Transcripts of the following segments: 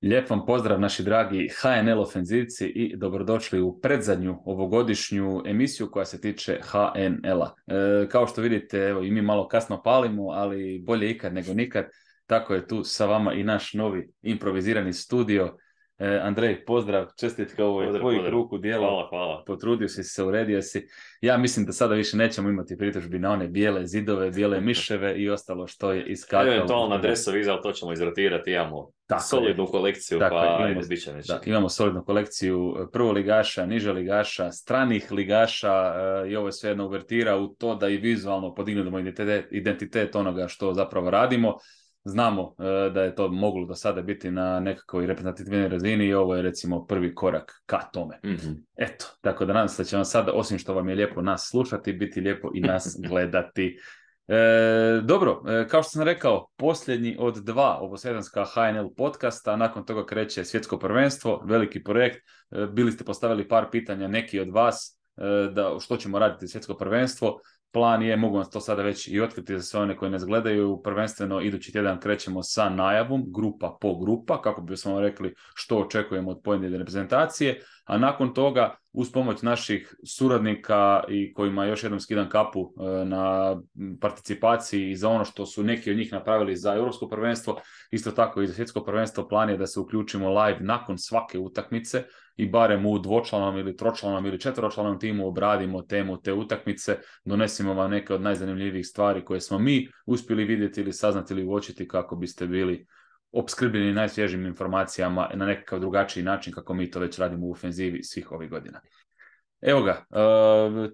Lijep vam pozdrav naši dragi HNL ofenzivci i dobrodošli u predzadnju ovogodišnju emisiju koja se tiče HNL-a. Kao što vidite, evo, i mi malo kasno palimo, ali bolje ikad nego nikad. Tako je tu sa vama i naš novi improvizirani studio. Andrej, pozdrav, čestitke, ovo je tvojih ruku djelo. Hvala. Potrudio si se, uredio si. Ja mislim da sada više nećemo imati pritužbi na one bijele zidove, bijele miševe i ostalo što je iskakalo. Eventualno adresovi iza, to ćemo izrotirati, imamo solidnu kolekciju, bit će neće. Imamo solidnu kolekciju prvoligaša, niželigaša, stranih ligaša i ovo je sve jedna uvertira u to da i vizualno podignemo identitet onoga što zapravo radimo. Znamo da je to moglo do sada biti na nekakvoj reprezentativnoj razini i ovo je recimo prvi korak ka tome. Mm-hmm. Eto, tako da nadam se da će vam sada, osim što vam je lijepo nas slušati, biti lijepo i nas gledati. Dobro, kao što sam rekao, posljednji od dva ovosjedanska HNL podcasta, nakon toga kreće svjetsko prvenstvo, veliki projekt. Bili ste postavili par pitanja, neki od vas, da što ćemo raditi svjetsko prvenstvo. Plan je, mogu vam to sada već i otkriti za sve one koji nas gledaju, prvenstveno idući tjedan krećemo sa najavom, grupa po grupa, kako bismo vam rekli što očekujemo od pojedine reprezentacije, a nakon toga, uz pomoć naših suradnika i kojima još jednom skidam kapu na participaciji i za ono što su neki od njih napravili za europsko prvenstvo, isto tako i za svjetsko prvenstvo, plan je da se uključimo live nakon svake utakmice i barem u dvočlanom ili tročlanom ili četveročlanom timu obradimo temu te utakmice, donesimo vam neke od najzanimljivijih stvari koje smo mi uspjeli vidjeti ili saznati ili uočiti kako biste bili opskrbljeni najsvježijim informacijama na nekakav drugačiji način kako mi to već radimo u ofenzivi svih ovih godina. Evo ga,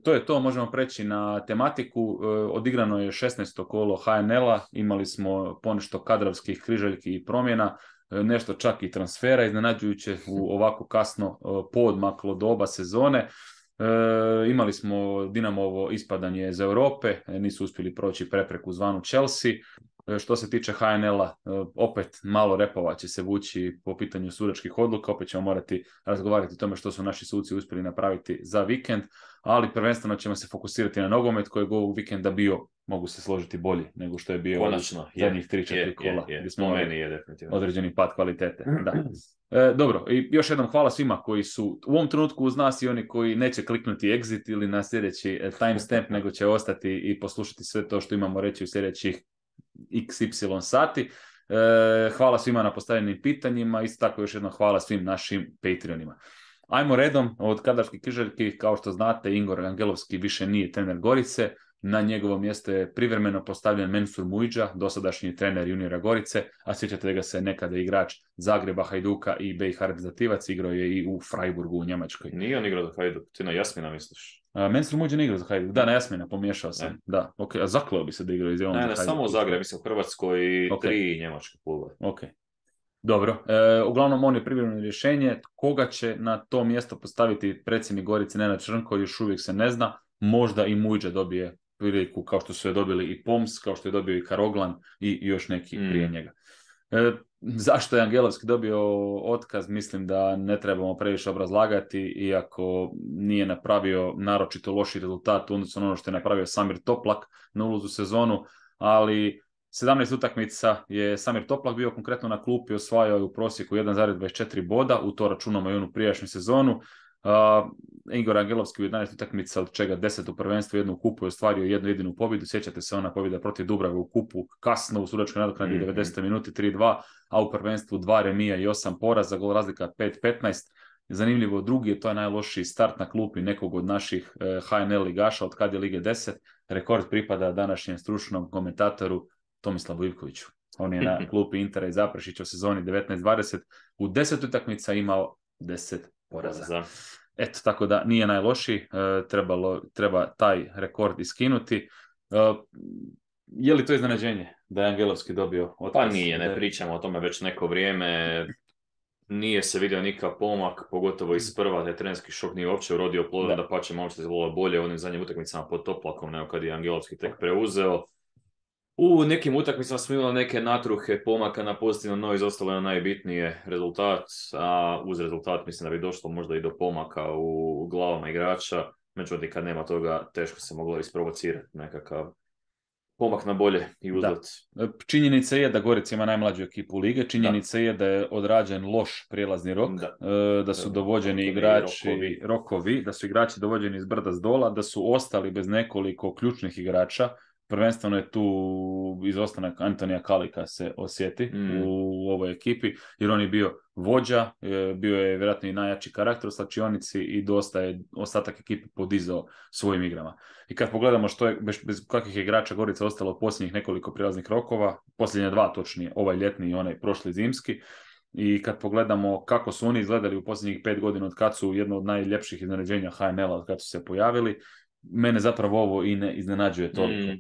to je to, možemo preći na tematiku. Odigrano je 16. kolo HNL-a, imali smo ponešto kadrovskih križaljki i promjena, nešto čak i transfera, iznenađujuće u ovako kasno poodmaklo doba sezone. Imali smo Dinamovo ispadanje iz Europe, nisu uspjeli proći prepreku zvanu Chelsea. Što se tiče HNL-a, opet malo repova će se vući po pitanju sudačkih odluka, opet ćemo morati razgovarati o tome što su naši suci uspjeli napraviti za vikend, ali prvenstveno ćemo se fokusirati na nogomet koji je ovog vikenda bio, mogu se složiti, bolji nego što je bio zadnjih 3-4 kola. Po meni je definitivno. Određeni pad kvalitete. Da. Dobro, i još jednom hvala svima koji su u ovom trenutku uz nas i oni koji neće kliknuti exit ili na sljedeći timestamp, nego će ostati i poslušati sve to što imamo reći u sljedećih XY sati. Hvala svima na postavljenim pitanjima, isto tako još jednom hvala svim našim Patreonima. Ajmo redom od kadarskih križaljki, kao što znate, Igor Angelovski više nije trener Gorice, na njegovo mjesto je privremeno postavljen Mensur Mujdža, dosadašnji trener juniora Gorice, a sjećate ga se nekada igrač Zagreba, Hajduka i BiH reprezentativac, igrao je i u Freiburgu u Njemačkoj. Nije on igrao za Hajduk, ti na Jasmina misliš? Mensur Mujdža ne igrao za Hajduk, da, na Jasmina, pomiješao sam. Ne. Da, okay. A zakleo bi se da igrao iz Javnom za Hajduk. Ne, samo u Zagreb, mislim u Hrvatskoj i 3 njemačke klube. Ok. Dobro, uglavnom on je privremeno rješenje. Koga će na to mjesto postaviti predsjednik Gorice Nenad Črnko, još uvijek se ne zna. Možda i Mujdža dobije priliku kao što su je dobili i Poms, kao što je dobio i Karoglan i još neki prije njega. Zašto je Angelovski dobio otkaz, mislim da ne trebamo previše obrazlagati, iako nije napravio naročito loši rezultat odnosno ono što je napravio Samir Toplak na ulazu sezonu, ali 17 utakmica je Samir Toplak bio konkretno na klupi, osvajao u prosjeku 1,24 boda, u to računamo i onu prijašnju sezonu. Igor Angelovski u 11 utakmica, od čega 10 u prvenstvu, jednu u kupu je ostvario jednu jedinu pobjedu. Sjećate se ona pobjeda protiv Dubrave u kupu, kasno u sudačkoj nadoknadi 90 minuti 3-2, a u prvenstvu 2 remija i 8 poraza, gol razlika 5-15. Zanimljivo, drugi je to najlošiji start na klupi nekog od naših HNL ligaša od kad je Lige 10. Rekord pripada današnjem stručnom komentatoru Tomislavu Ivkoviću. On je na klupi Intera i Zaprešića u sezoni 19-20 u 10 utakmica imao 10 poraza. Eto, tako da nije najlošiji, treba taj rekord iskinuti. Je li to iznenađenje da je Angelovski dobio otkaz? Pa nije, ne pričamo o tome već neko vrijeme. Nije se vidio nikakav pomak, pogotovo iz prva, taj trenerski šok nije uopće urodio plodom, da pače malo se izgledalo bolje u onim zadnjim utakmicama pod Toplakom nego kad je Angelovski tek preuzeo. U nekim utakmicama smo imali neke natruhe pomaka na pozitivno, no izostalo je najbitnije rezultat, a uz rezultat mislim da bi došlo možda i do pomaka u glavama igrača, međutim kad nema toga teško se moglo isprovocirati nekakav pomak na bolje i uzlet. Činjenica je da Gorica ima najmlađu ekipu lige, činjenica je da je odrađen loš prijelazni rok, da su dovođeni igrači, rokovi, da su igrači dovođeni iz brda s dola, da su ostali bez nekoliko ključnih igrača. Prvenstveno je tu izostanak Antonija Kalika se osjeti u ovoj ekipi, jer on je bio vođa, bio je vjerojatno i najjači karakter u slačionici i dosta je ostatak ekipe podizao svojim igrama. I kad pogledamo što je, bez kakvih igrača Gorica ostalo u posljednjih nekoliko prijelaznih rokova, posljednje 2 točnije, ovaj ljetni i onaj prošli zimski, i kad pogledamo kako su oni izgledali u posljednjih 5 godina od kad su jedno od najljepših iznenađenja HNL-a od kad su se pojavili, mene zapravo ovo i ne iznenađuje toliko.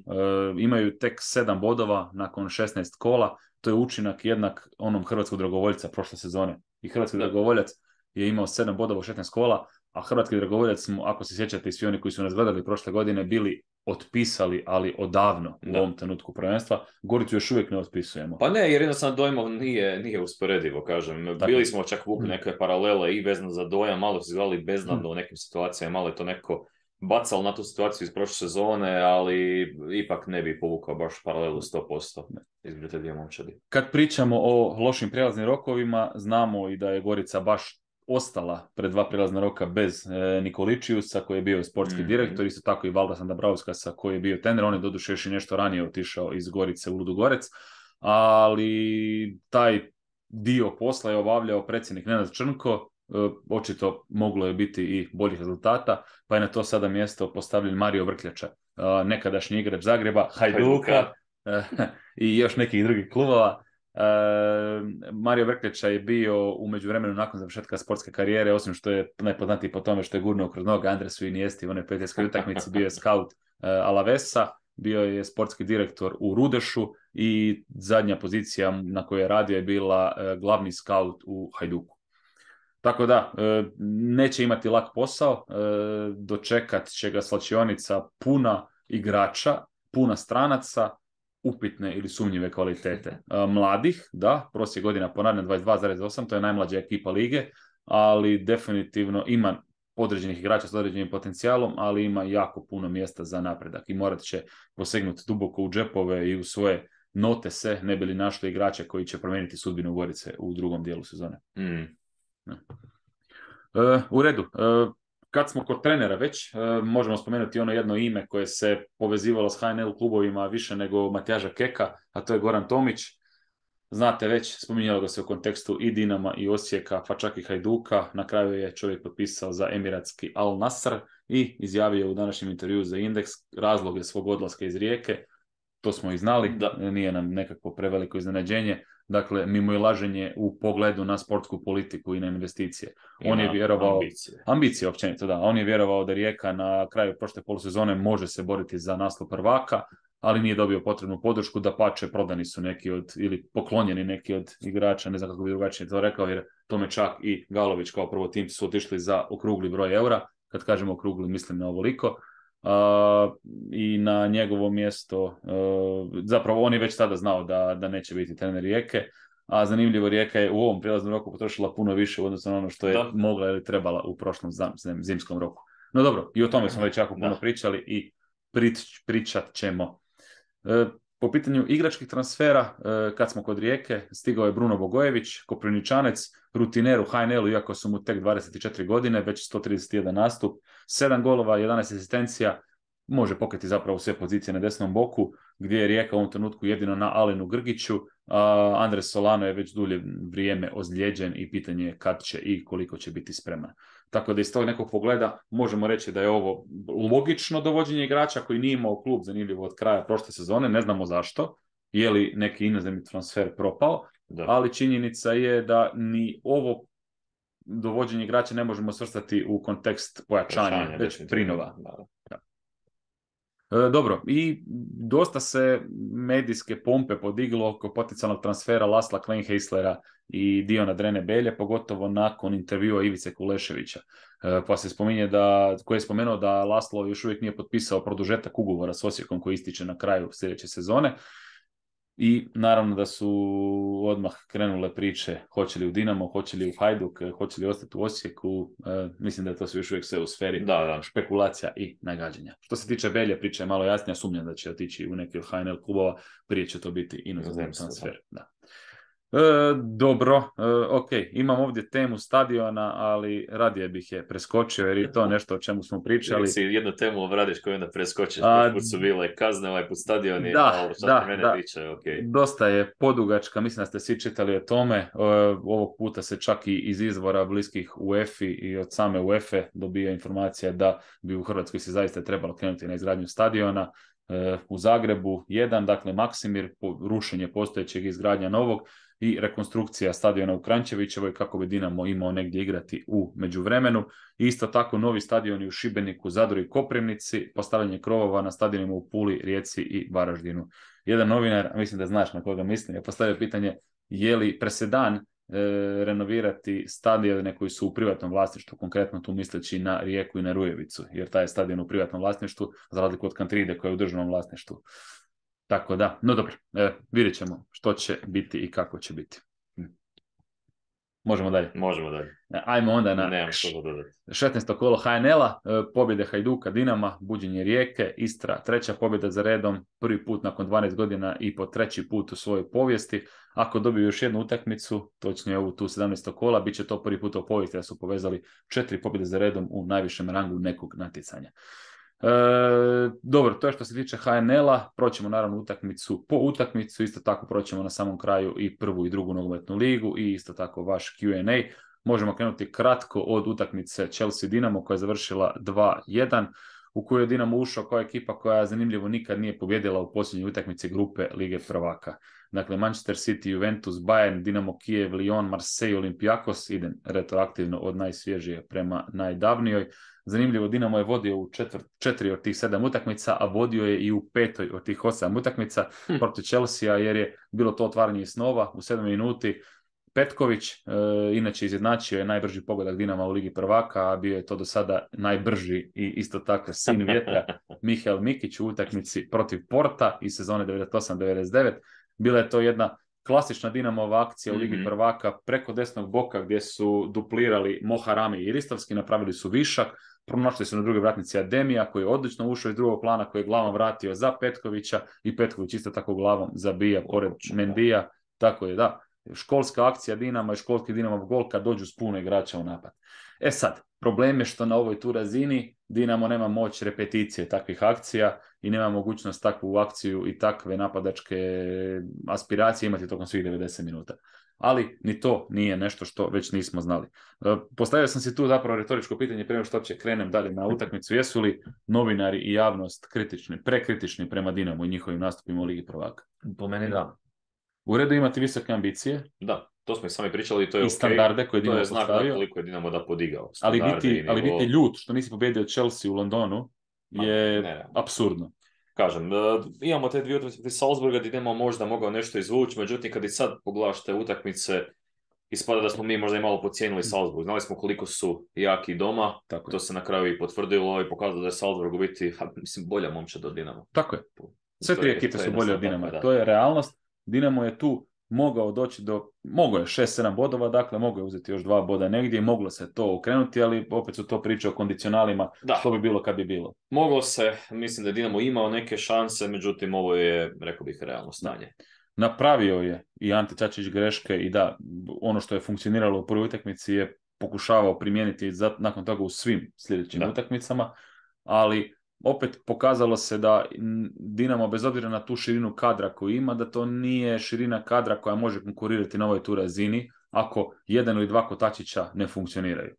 Imaju tek 7 bodova nakon 16 kola, to je učinak jednak onom hrvatskog dragovoljca prošle sezone. I hrvatski dragovoljac je imao 7 bodova u 16 kola, a hrvatski dragovoljac smo, ako se sjećate i svi oni koji su nas gledali prošle godine, bili otpisali, ali odavno u ovom trenutku prvenstva. Goricu još uvijek ne otpisujemo. Pa ne, jer jednostavno dojmov nije usporedivo, kažem. Bili smo čak vukli neke paralele i vezano za dojam, malo su izgledali beznadno u nekim situacijama, malo je to neko bacalo na tu situaciju iz prošle sezone, ali ipak ne bi povukao baš paralelu 100% između te dvije momčadi. Kad pričamo o lošim prijelaznim rokovima, znamo i da je Gorica baš ostala pred 2 prijelazna roka bez Nikoličiusa, koji je bio sportski direktor, isto tako i Valdasa Dabrauskasa, koji je bio trener. On je doduše još i nešto ranije otišao iz Gorice u Ludogorec, ali taj dio posla je obavljao predsjednik Nenad Črnko. Očito moglo je biti i boljih rezultata, pa je na to sada mjesto postavljen Mario Vrkljača, nekadašnji igrač Zagreba, Hajduka i još nekih drugih klubova. Mario Vrkljača je bio u međuvremenu nakon završetka sportske karijere, osim što je najpoznatiji po tome što je gurnuo kroz noge Andresu Iniesti u onoj prijateljskoj utakmici, bio je scout Alavesa, bio je sportski direktor u Rudešu i zadnja pozicija na kojoj je radio je bila glavni scout u Hajduku. Tako da, neće imati lak posao, dočekat će ga slačionica puna igrača, puna stranaca, upitne ili sumnjive kvalitete. Mladih, da, prosjek godina ponavljam 22,8, to je najmlađa ekipa lige, ali definitivno ima određenih igrača s određenim potencijalom, ali ima jako puno mjesta za napredak i morat će posegnuti duboko u džepove i u svoje notese, ne bi li našli igrače koji će promijeniti sudbinu Gorice u drugom dijelu sezone. U redu, kad smo kod trenera već, možemo spomenuti ono jedno ime koje se povezivalo s HNL klubovima više nego Matjaža Keka, a to je Goran Tomić. Znate već, spominjalo ga se u kontekstu i Dinama i Osijeka, pa čak i Hajduka. Na kraju je čovjek potpisao za emiratski Al Nassr i izjavio u današnjem intervjuu za Indeks razloge svog odlaska iz Rijeke. To smo i znali, nije nam nekako preveliko iznenađenje. Dakle, mimoilaženje u pogledu na sportsku politiku i na investicije. On je vjerovao... Ambicije općenito, da. On je vjerovao da Rijeka na kraju prošle polusezone može se boriti za naslov prvaka, ali nije dobio potrebnu podršku, dapače prodani su neki od, ili poklonjeni neki od igrača, ne znam kako bi drugačije to rekao, jer tome čak i Galović kao prvo tim su otišli za okrugli broj eura. Kad kažemo okrugli, mislim na ovoliko. I na njegovo mjesto, zapravo on je već tada znao da neće biti trener Rijeke, a zanimljivo Rijeka je u ovom prijelaznom roku potrošila puno više u odnosu na ono što je mogla ili trebala u prošlom zimskom roku. No dobro, i o tome smo već jako puno pričali i pričat ćemo. Po pitanju igračkih transfera, kad smo kod Rijeke, stigao je Bruno Bogojević, Koprivničanec, rutiner u HNL-u, iako su mu tek 24 godine, već 131 nastup, 7 golova, 11 asistencija, može pokriti zapravo sve pozicije na desnom boku, gdje je Rijeka u ovom trenutku jedino na Alenu Grgiću, a Andres Solano je već dulje vrijeme ozlijeđen i pitanje je kad će i koliko će biti spreman. Tako da iz tog nekog pogleda možemo reći da je ovo logično dovođenje igrača koji nije imao klub zanimljivo od kraja prošle sezone, ne znamo zašto, je li neki inozemni transfer propao, ali činjenica je da ni ovo dovođenje igrača ne možemo svrstati u kontekst pojačanja, već prinova. Dobro, i dosta se medijske pompe podiglo oko potencijalnog transfera Lasla Kleinheislera i Diona Drene Belje, pogotovo nakon intervjua Ivice Kuleševića. Pa se spominje koji je spomenuo da Laslo još uvijek nije potpisao produžetak ugovora s Osijekom koji ističe na kraju sljedeće sezone. I naravno da su odmah krenule priče hoće li u Dinamo, hoće li u Hajduk, hoće li ostati u Osijeku. Mislim da je to još uvijek sve u sferi špekulacija i nagađanja. Što se tiče Belje, priča je malo jasnija, sumnjam da će otići u neki od HNL klubova, prije će to biti inozemni transfer. Da. Dobro, ok, imam ovdje temu stadiona, ali radije bih je preskočio jer je to nešto o čemu smo pričali. Si jednu temu obradiš koju onda preskočiš, put su bile kazne, ovaj put stadioni, ali što se mene tiče, ok. Dosta je podugačka, mislim da ste svi čitali o tome, ovog puta se čak i iz izvora bliskih UEFA i od same UEFA dobija informacija da bi u Hrvatskoj se zaista trebalo krenuti na izgradnju stadiona. U Zagrebu jedan, dakle Maksimir, rušenje postojećeg izgradnja novog, i rekonstrukcija stadiona u Kranjčevićevoj kako bi Dinamo imao negdje igrati u međuvremenu. Isto tako novi stadioni u Šibeniku, Zadru i Koprivnici, postavljanje krovova na stadionima u Puli, Rijeci i Varaždinu. Jedan novinar, mislim da znaš na koga mislim, je postavio pitanje je li presedan renovirati stadione koji su u privatnom vlasništvu, konkretno tu misleći na Rijeku i na Rujevicu, jer taj je stadion u privatnom vlasništvu, za razliku od Kantride koja je u državnom vlasništvu. Tako da, no dobro, vidjet ćemo što će biti i kako će biti. Možemo dalje? Možemo dalje. Ajmo onda na 16. kolo HNL-a, pobjede Hajduka, Dinama, buđenje Rijeke, Istra, treća pobjeda za redom, prvi put nakon 12 godina i po treći put u svojoj povijesti. Ako dobiju još jednu utakmicu, točnije ovu tu 17. kola, bit će to prvi put u povijesti da su povezali 4 pobjede za redom u najvišem rangu nekog natjecanja. Dobro, to je što se tiče HNL-a, proćemo naravno utakmicu po utakmicu, isto tako proćemo na samom kraju i prvu i drugu nogometnu ligu i isto tako vaš Q&A. Možemo krenuti kratko od utakmice Chelsea-Dinamo koja je završila 2-1, u kojoj je Dinamo ušao kao ekipa koja zanimljivo nikad nije pobjedila u posljednjoj utakmici grupe Lige prvaka. Dakle, Manchester City, Juventus, Bayern, Dinamo Kijev, Lyon, Marseille, Olympiakos, idem retroaktivno od najsvježije prema najdavnijoj. Zanimljivo, Dinamo je vodio u 4 od tih 7 utakmica, a vodio je i u 5 od tih 8 utakmica protiv Chelsea, jer je bilo to otvaranje snova u 7 minuti. Petković, inače izjednačio je najbrži pogodak Dinama u Ligi prvaka, a bio je to do sada najbrži i isto tako sin vjetra Mihael Mikić u utakmici protiv Porta iz sezone 98-99. Bila je to jedna klasična Dinamova akcija u Ligi prvaka preko desnog boka gdje su duplirali Moharami i Ristovski, napravili su višak, pronašli su na druge vratnici Ademija koji je odlično ušao iz drugog plana, koji je glavom vratio za Petkovića i Petković isto tako glavom zabija pored Mendija. Tako je, da. Školska akcija Dinama i školski Dinamov gol kad dođu s puno igrača u napad. E sad, problem je što na ovoj tu razini Dinamo nema moć repeticije takvih akcija i nema mogućnost takvu akciju i takve napadačke aspiracije imati tokom svih 90 minuta. Ali ni to nije nešto što već nismo znali. Postavio sam si tu zapravo retoričko pitanje prema što će krenem dalje na utakmicu. Jesu li novinari i javnost kritični, prekritični prema Dinamu i njihovim nastupima u Ligi prvaka? Po meni da. U redu imati visoke ambicije. Da, to smo i sami pričali i to je i standarde koje Dinamo postavio. To je znak koliko je Dinamo da podigao. Ali biti ljut što nisi pobjedio Chelsea u Londonu je apsurdno. Kažem, imamo te dvije utakmice Salzburga gdje Dinamo možda mogao nešto izvući, međutim kad i sad pogledaš te utakmice, ispada da smo mi možda i malo podcijenili Salzburg. Znali smo koliko su jaki doma, tako to se na kraju i potvrdilo i pokazalo da je Salzburg u biti, bolja momčad od Dinamo. Tako je. Sve tri ekipe su bolje od Dinama. To je realnost. Dinamo je tu mogao doći mogao je 6-7 bodova, dakle mogao je uzeti još 2 boda negdje i moglo se to okrenuti, ali opet su to priče o kondicionalima, što bi bilo kad bi bilo. Moglo se, mislim da je Dinamo imao neke šanse, međutim ovo je, rekao bih, realno stanje. Napravio je i Ante Čačić greške i da, ono što je funkcioniralo u prvoj utakmici je pokušavao primijeniti nakon toga u svim sljedećim utakmicama, ali opet pokazalo se da Dinamo, bez obzira na tu širinu kadra koju ima, da to nije širina kadra koja može konkurirati na ovoj tu razini ako jedan ili dva kotačića ne funkcioniraju.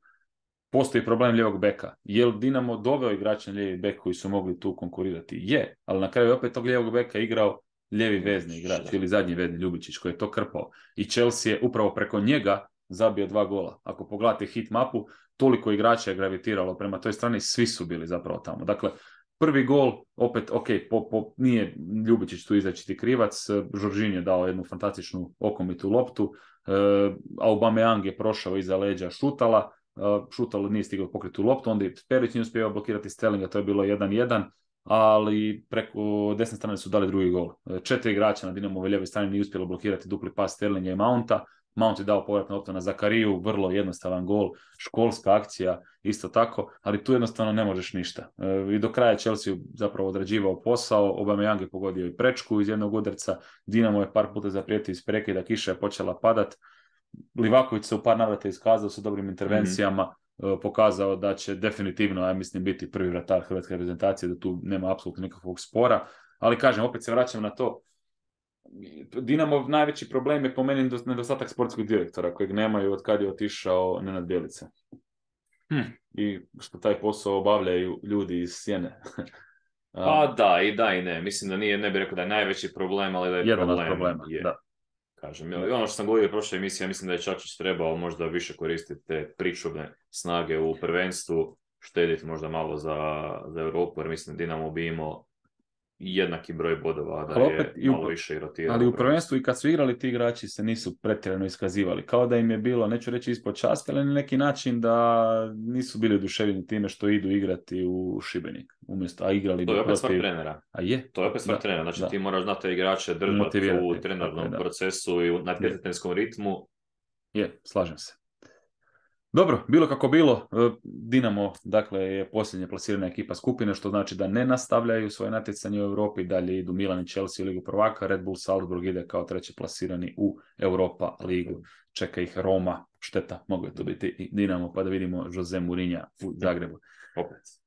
Postoji problem lijevog beka. Je li Dinamo doveo igrača na lijevi bek koji su mogli tu konkurirati? Je, ali na kraju opet tog lijevog beka igrao lijevi vezni igrač ili zadnji vezni Ljubičić koji je to krpao. I Chelsea je upravo preko njega zabio 2 gola. Ako pogledate hit mapu, toliko igrača je gravitiralo prema toj strani, svi su bili zapravo tamo. Dakle, prvi gol, opet, nije Ljubičić tu izrečiti krivac, Žoržin je dao jednu fantastičnu okomitu loptu, Aubameyang je prošao iza leđa Šutala, Šutalo nije stigao pokriti loptu, onda je Perić nije uspio blokirati Sterlinga, to je bilo 1-1, ali preko desne strane su dali drugi gol. 4 igrača na Dinamovoj lijevoj strani nije uspjelo blokirati dupli pas Sterlinga i Mounta. Mount je dao povratnu loptu na Zakariju, vrlo jednostavan gol, školska akcija isto tako, ali tu jednostavno ne možeš ništa. I do kraja Chelsea zapravo odrađivao posao, Aubameyang je pogodio i prečku iz jednog udarca, Dinamo je par puta zaprijetio iz prekida, kiša je počela padat, Livaković se u par navrata iskazao sa dobrim intervencijama, pokazao da će definitivno, ja mislim, biti prvi vratar hrvatske reprezentacije, da tu nema apsolutno nikakvog spora, ali kažem, opet se vraćam na to, Dinamov najveći problem je po meni nedostatak sportskog direktora, kojeg nemaju od kad je otišao Nenad Bjelica. I što taj posao obavljaju ljudi iz Sjene. Pa da i ne. Mislim da ne bih rekao da je najveći problem, ali da je jedan problem. Od problema, da. Kažem, ono što sam govorio u prošloj emisiji, ja mislim da je Čačić trebao možda više koristiti te pričuvne snage u prvenstvu, štediti možda malo za Europu, jer mislim da Dinamo bi imao jednaki broj bodova, da je malo više i rotirao. Ali u prvenstvu i kad su igrali ti igrači se nisu pretjerano iskazivali. Kao da im je bilo, neću reći ispod časti, ali na neki način da nisu bili oduševljeni time što idu igrati u Šibenik. A igrali to je opet stvar trenera. A je? To je opet stvar trenera. Znači ti moraš znati igrače držati u trenernom procesu i na natjecateljskom ritmu. Je, slažem se. Dobro, bilo kako bilo, Dinamo dakle, je posljednja plasirana ekipa skupine, što znači da ne nastavljaju svoje natjecanje u Europi, dalje idu Milan i Chelsea u Ligu prvaka, Red Bull Salzburg ide kao treći plasirani u Europa ligu, čeka ih Roma, šteta, mogu je to biti i Dinamo, pa da vidimo Jose Mourinha u Zagrebu. Opet.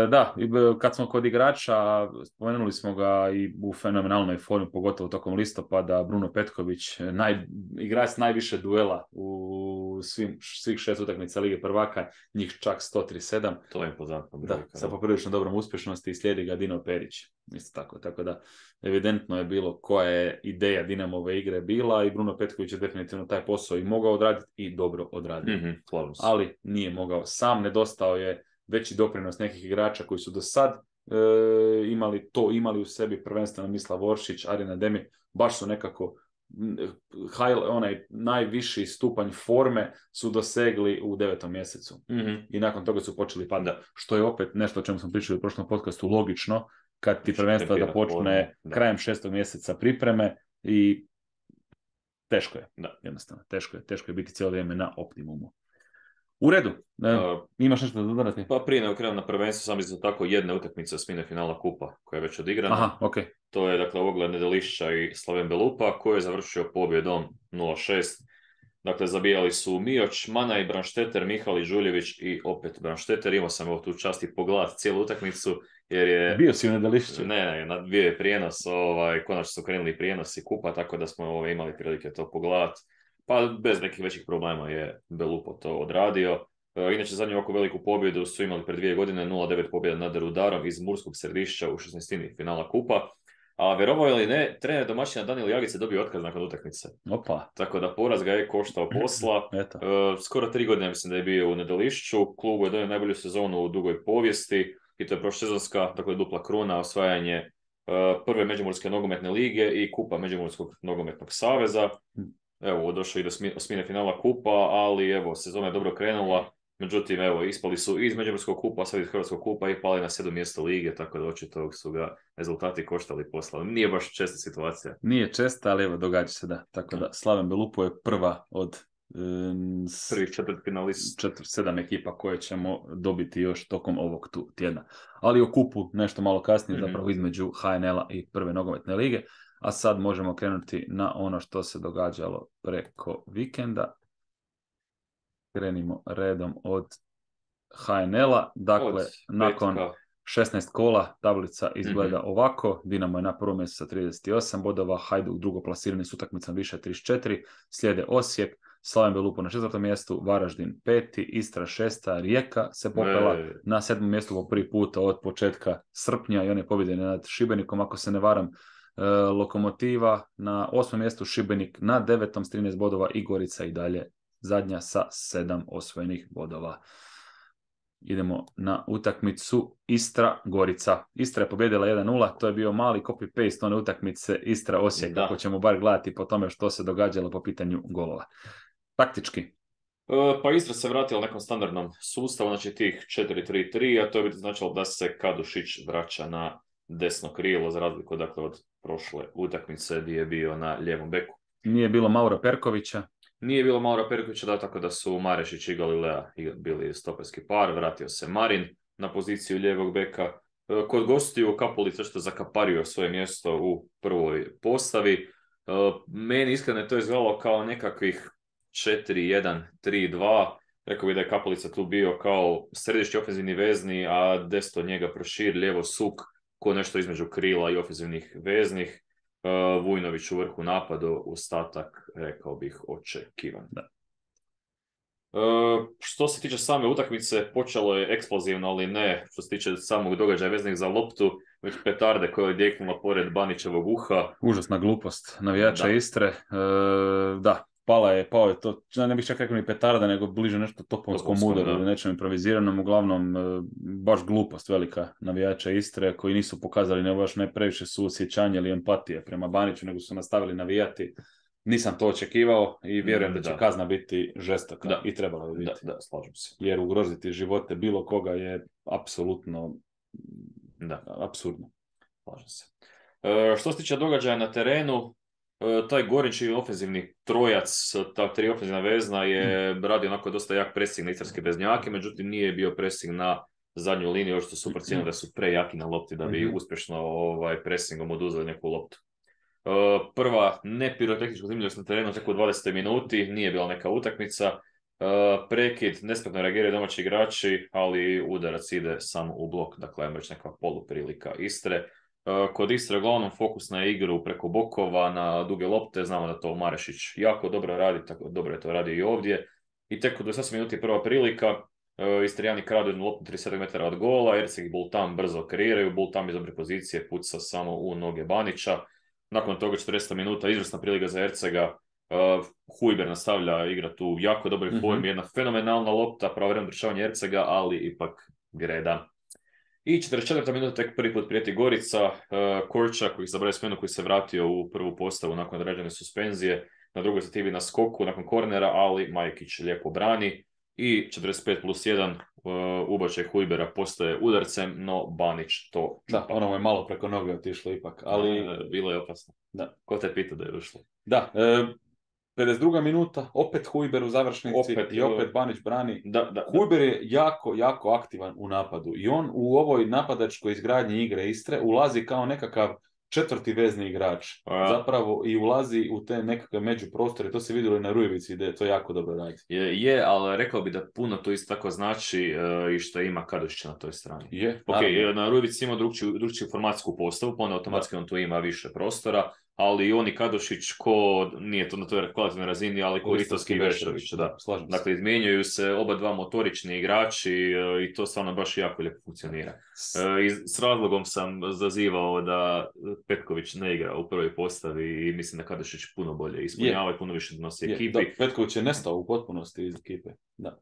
Da, kad smo kod igrača, spomenuli smo ga i u fenomenalnoj formi, pogotovo tokom listopada, Bruno Petković, igrač najviše duela u svih 6 utakmica Lige prvaka, njih čak 137. To je impozantno. Da, sa poprilično dobrom uspješnosti i slijedi ga Dino Perić. Isto tako da evidentno je bilo koja je ideja Dinamove igre bila i Bruno Petković je definitivno taj posao i mogao odraditi i dobro odradio. Ali nije mogao sam, nedostao je veći doprinos nekih igrača koji su do sad imali u sebi, prvenstveno Mislav Oršić, Arina Demir, baš su nekako onaj najviši stupanj forme su dosegli u 9. mjesecu. I nakon toga su počeli padati. Što je opet nešto o čemu smo pričali u prošlom podcastu logično, kad ti prvenstvo da počne krajem 6. mjeseca pripreme i teško je. Jednostavno, teško je biti cijelo vrijeme na optimumu. U redu, imaš nešto da dodati? Pa prije nego krenem na prvenstvo, sam isto tako jedna utakmica osmine finala kupa koja je već odigrana. Aha, okay. To je dakle Ogled Nedelišća i Slaven Belupa koji je završio pobjedom 0-6. Dakle, zabijali su Mioć, Mana i Branšteter, Mihali Žuljević i opet Branšteter. Imao sam ovo tu čast i pogledat cijelu utakmicu jer je... Bio si u Nedelišću? Ne, bio je prijenos, konačno su krenuli prijenosi kupa, tako da smo imali prilike to pogledat. Pa bez nekih većih problema je Belupo to odradio. Inače, zadnju ovako veliku pobjedu su imali pred 2 godine, 0-9 pobjeda nad Rudarom iz Murskog Središća u 16. finala kupa. A vjerovao ili ne, trener domaćina Danijel Jagić je dobio otkaz nakon utakmice. Opa. Tako da poraz ga je koštao posla. Skoro 3 godine mislim da je bio u Nedelišću. Klubu je donio najbolju sezonu u dugoj povijesti i to je prošsezonska, dakle dupla kruna, osvajanje prve Međimurske nogometne lige i kupa Međimurskog nogometnog saveza. Evo, došao i do osmine finala kupa, ali evo, sezona je dobro krenula. Međutim, evo, ispali su iz Međimurskog kupa, sad iz Hrvatskog kupa i pali na 7. mjesto lige, tako da očito su ga rezultati koštali posla. Nije baš česta situacija. Nije česta, ali evo, događa se da. Tako da, Slaven Belupo je prva od prvih 4 finalista. 7 ekipa koje ćemo dobiti još tokom ovog tjedna. Ali o kupu nešto malo kasnije, zapravo između HNL-a i prve nogometne lige. A sad možemo krenuti na ono što se događalo preko vikenda. Krenimo redom od HNL-a. Dakle, nakon 16 kola tablica izgleda ovako. Dinamo je na prvom mjestu sa 38 bodova, Hajduk drugo plasirani s utakmicom više 34, slijede Osijek, Slaven Belupo na 4. mjestu, Varaždin 5, Istra 6, Rijeka se popela na 7. mjestu po prvi puta od početka srpnja i on je pobjeđen nad Šibenikom, ako se ne varam. Lokomotiva na 8. mjestu, Šibenik na 9. s 13 bodova i Gorica i dalje zadnja sa 7 osvojenih bodova. Idemo na utakmicu Istra-Gorica. Istra je pobjedila 1-0, to je bio mali copy-paste one utakmice Istra-Osijek, ako ćemo bar gledati po tome što se događalo po pitanju golova. Taktički. Pa Istra se vratila nekom standardnom sustavu, znači tih 4-3-3, a to je biti značilo da se Kadušić vraća na desno krilo, za razliku dakle, od prošle utakmice gdje je bio na lijevom beku. Nije bilo Maura Perkovića. Nije bilo Maura Perkovića, da, tako da su Marešić i Galilea bili stoperski par, vratio se Marin na poziciju lijevog beka. Kod gostiju Kapulica što zakapario svoje mjesto u prvoj postavi. Meni iskreno je to izgledalo kao nekakvih 4-1-3-2. Rekao bih da je Kapulica tu bio kao središnji ofenzivni vezni, a desno njega Prošir, lijevo Suk, ko nešto između krila i ofenzivnih veznih. Vujnović u vrhu napadu, ostatak, rekao bih, očekivan. Da. Što se tiče same utakmice, počelo je eksplozivno, ali ne što se tiče samog događaja veznih za loptu, već petarde koja je odjeknula pored Banićevog uha. Užasna glupost navijača Istre. Da, pao je to, ne bih čak rekao ni petarda, nego bliže nešto topovskom udaru ili nečem improviziranom, uglavnom baš glupost velika navijača Istre, koji nisu pokazali ne previše suosjećanja ili empatije prema Baniću, nego su nastavili navijati. Nisam to očekivao i vjerujem da će kazna biti žestoka i trebala bi biti. Da, slažem se. Jer ugroziti živote bilo koga je apsolutno apsurdno. Slažem se. Što se tiče događaja na terenu, taj Gorinčić ofenzivni trojac, ta tri ofenzivna vezna je radio onako dosta jak presing na istarske veznjake, međutim nije bio presing na zadnju liniju, još što su procijenili da su prejaki na lopti da bi uspješno presingom oduzeli neku loptu. Prva nepirotehnička zanimljivost na terenu tek u 20 minuti, nije bila neka utakmica. Prekid, nespretno reagiraju domaći igrači, ali udarac ide samo u blok, dakle ajmo reći neka poluprilika Istre. Kod Istre uglavnom fokus na igru preko bokova, na duge lopte, znamo da to Marešić jako dobro radi, tako dobro je to radio i ovdje. I tek u 28 minuti prva prilika, Istrijani kradu jednu loptu 37 metara od gola, Erceg i Bultan brzo kreiraju, Bultan iz dobre pozicije puca samo u noge Banića. Nakon toga 40 minuta, izvrsna prilika za Ercega, Hujber nastavlja igrati u jako dobroj formi, jedna fenomenalna lopta, pravovremeno rješavanje Ercega, ali ipak greda. I 44. minuta tek prvi put prijeti Gorica, Korčak koji zabraje smjenu, koji se vratio u prvu postavu nakon određene suspenzije, na drugoj stativi na skoku nakon kornera, ali Majkić lijepo brani. I 45+1 ubačaj Hujbera postaje udarcem, no Banić to čupa. Da, ono mu je malo preko noge otišlo ipak, ali... bilo je opasno. Da. Ko te pita da je ušlo? Da, 52. minuta, opet Hujber u završnici i opet Banić brani. Hujber je jako aktivan u napadu i on u ovoj napadačkoj izgradnji igre Istre ulazi kao nekakav četvrti vezni igrač, zapravo i ulazi u te nekakve međuprostore, to se vidjelo i na Rujevici gdje to jako dobro radi. Je, ali rekao bi da puno to isto tako znači i što ima Kadušića na toj strani. Je, na Rujevici ima drugčiju formatsku postavu, pa onda automatski on tu ima više prostora, ali i on i Kadušić ko, nije to na toj kvalitetnoj razini, ali ko Ristovski i Vešović. Dakle, izmjenjuju se oba dva motorični igrači i to stvarno baš jako lijepo funkcionira. S razlogom sam zazivao da Petković ne igra u prvoj postavi i mislim da Kadušić puno bolje ispunjava i puno više donosi ekipi. Da, Petković je nestao u potpunosti iz ekipe. Da.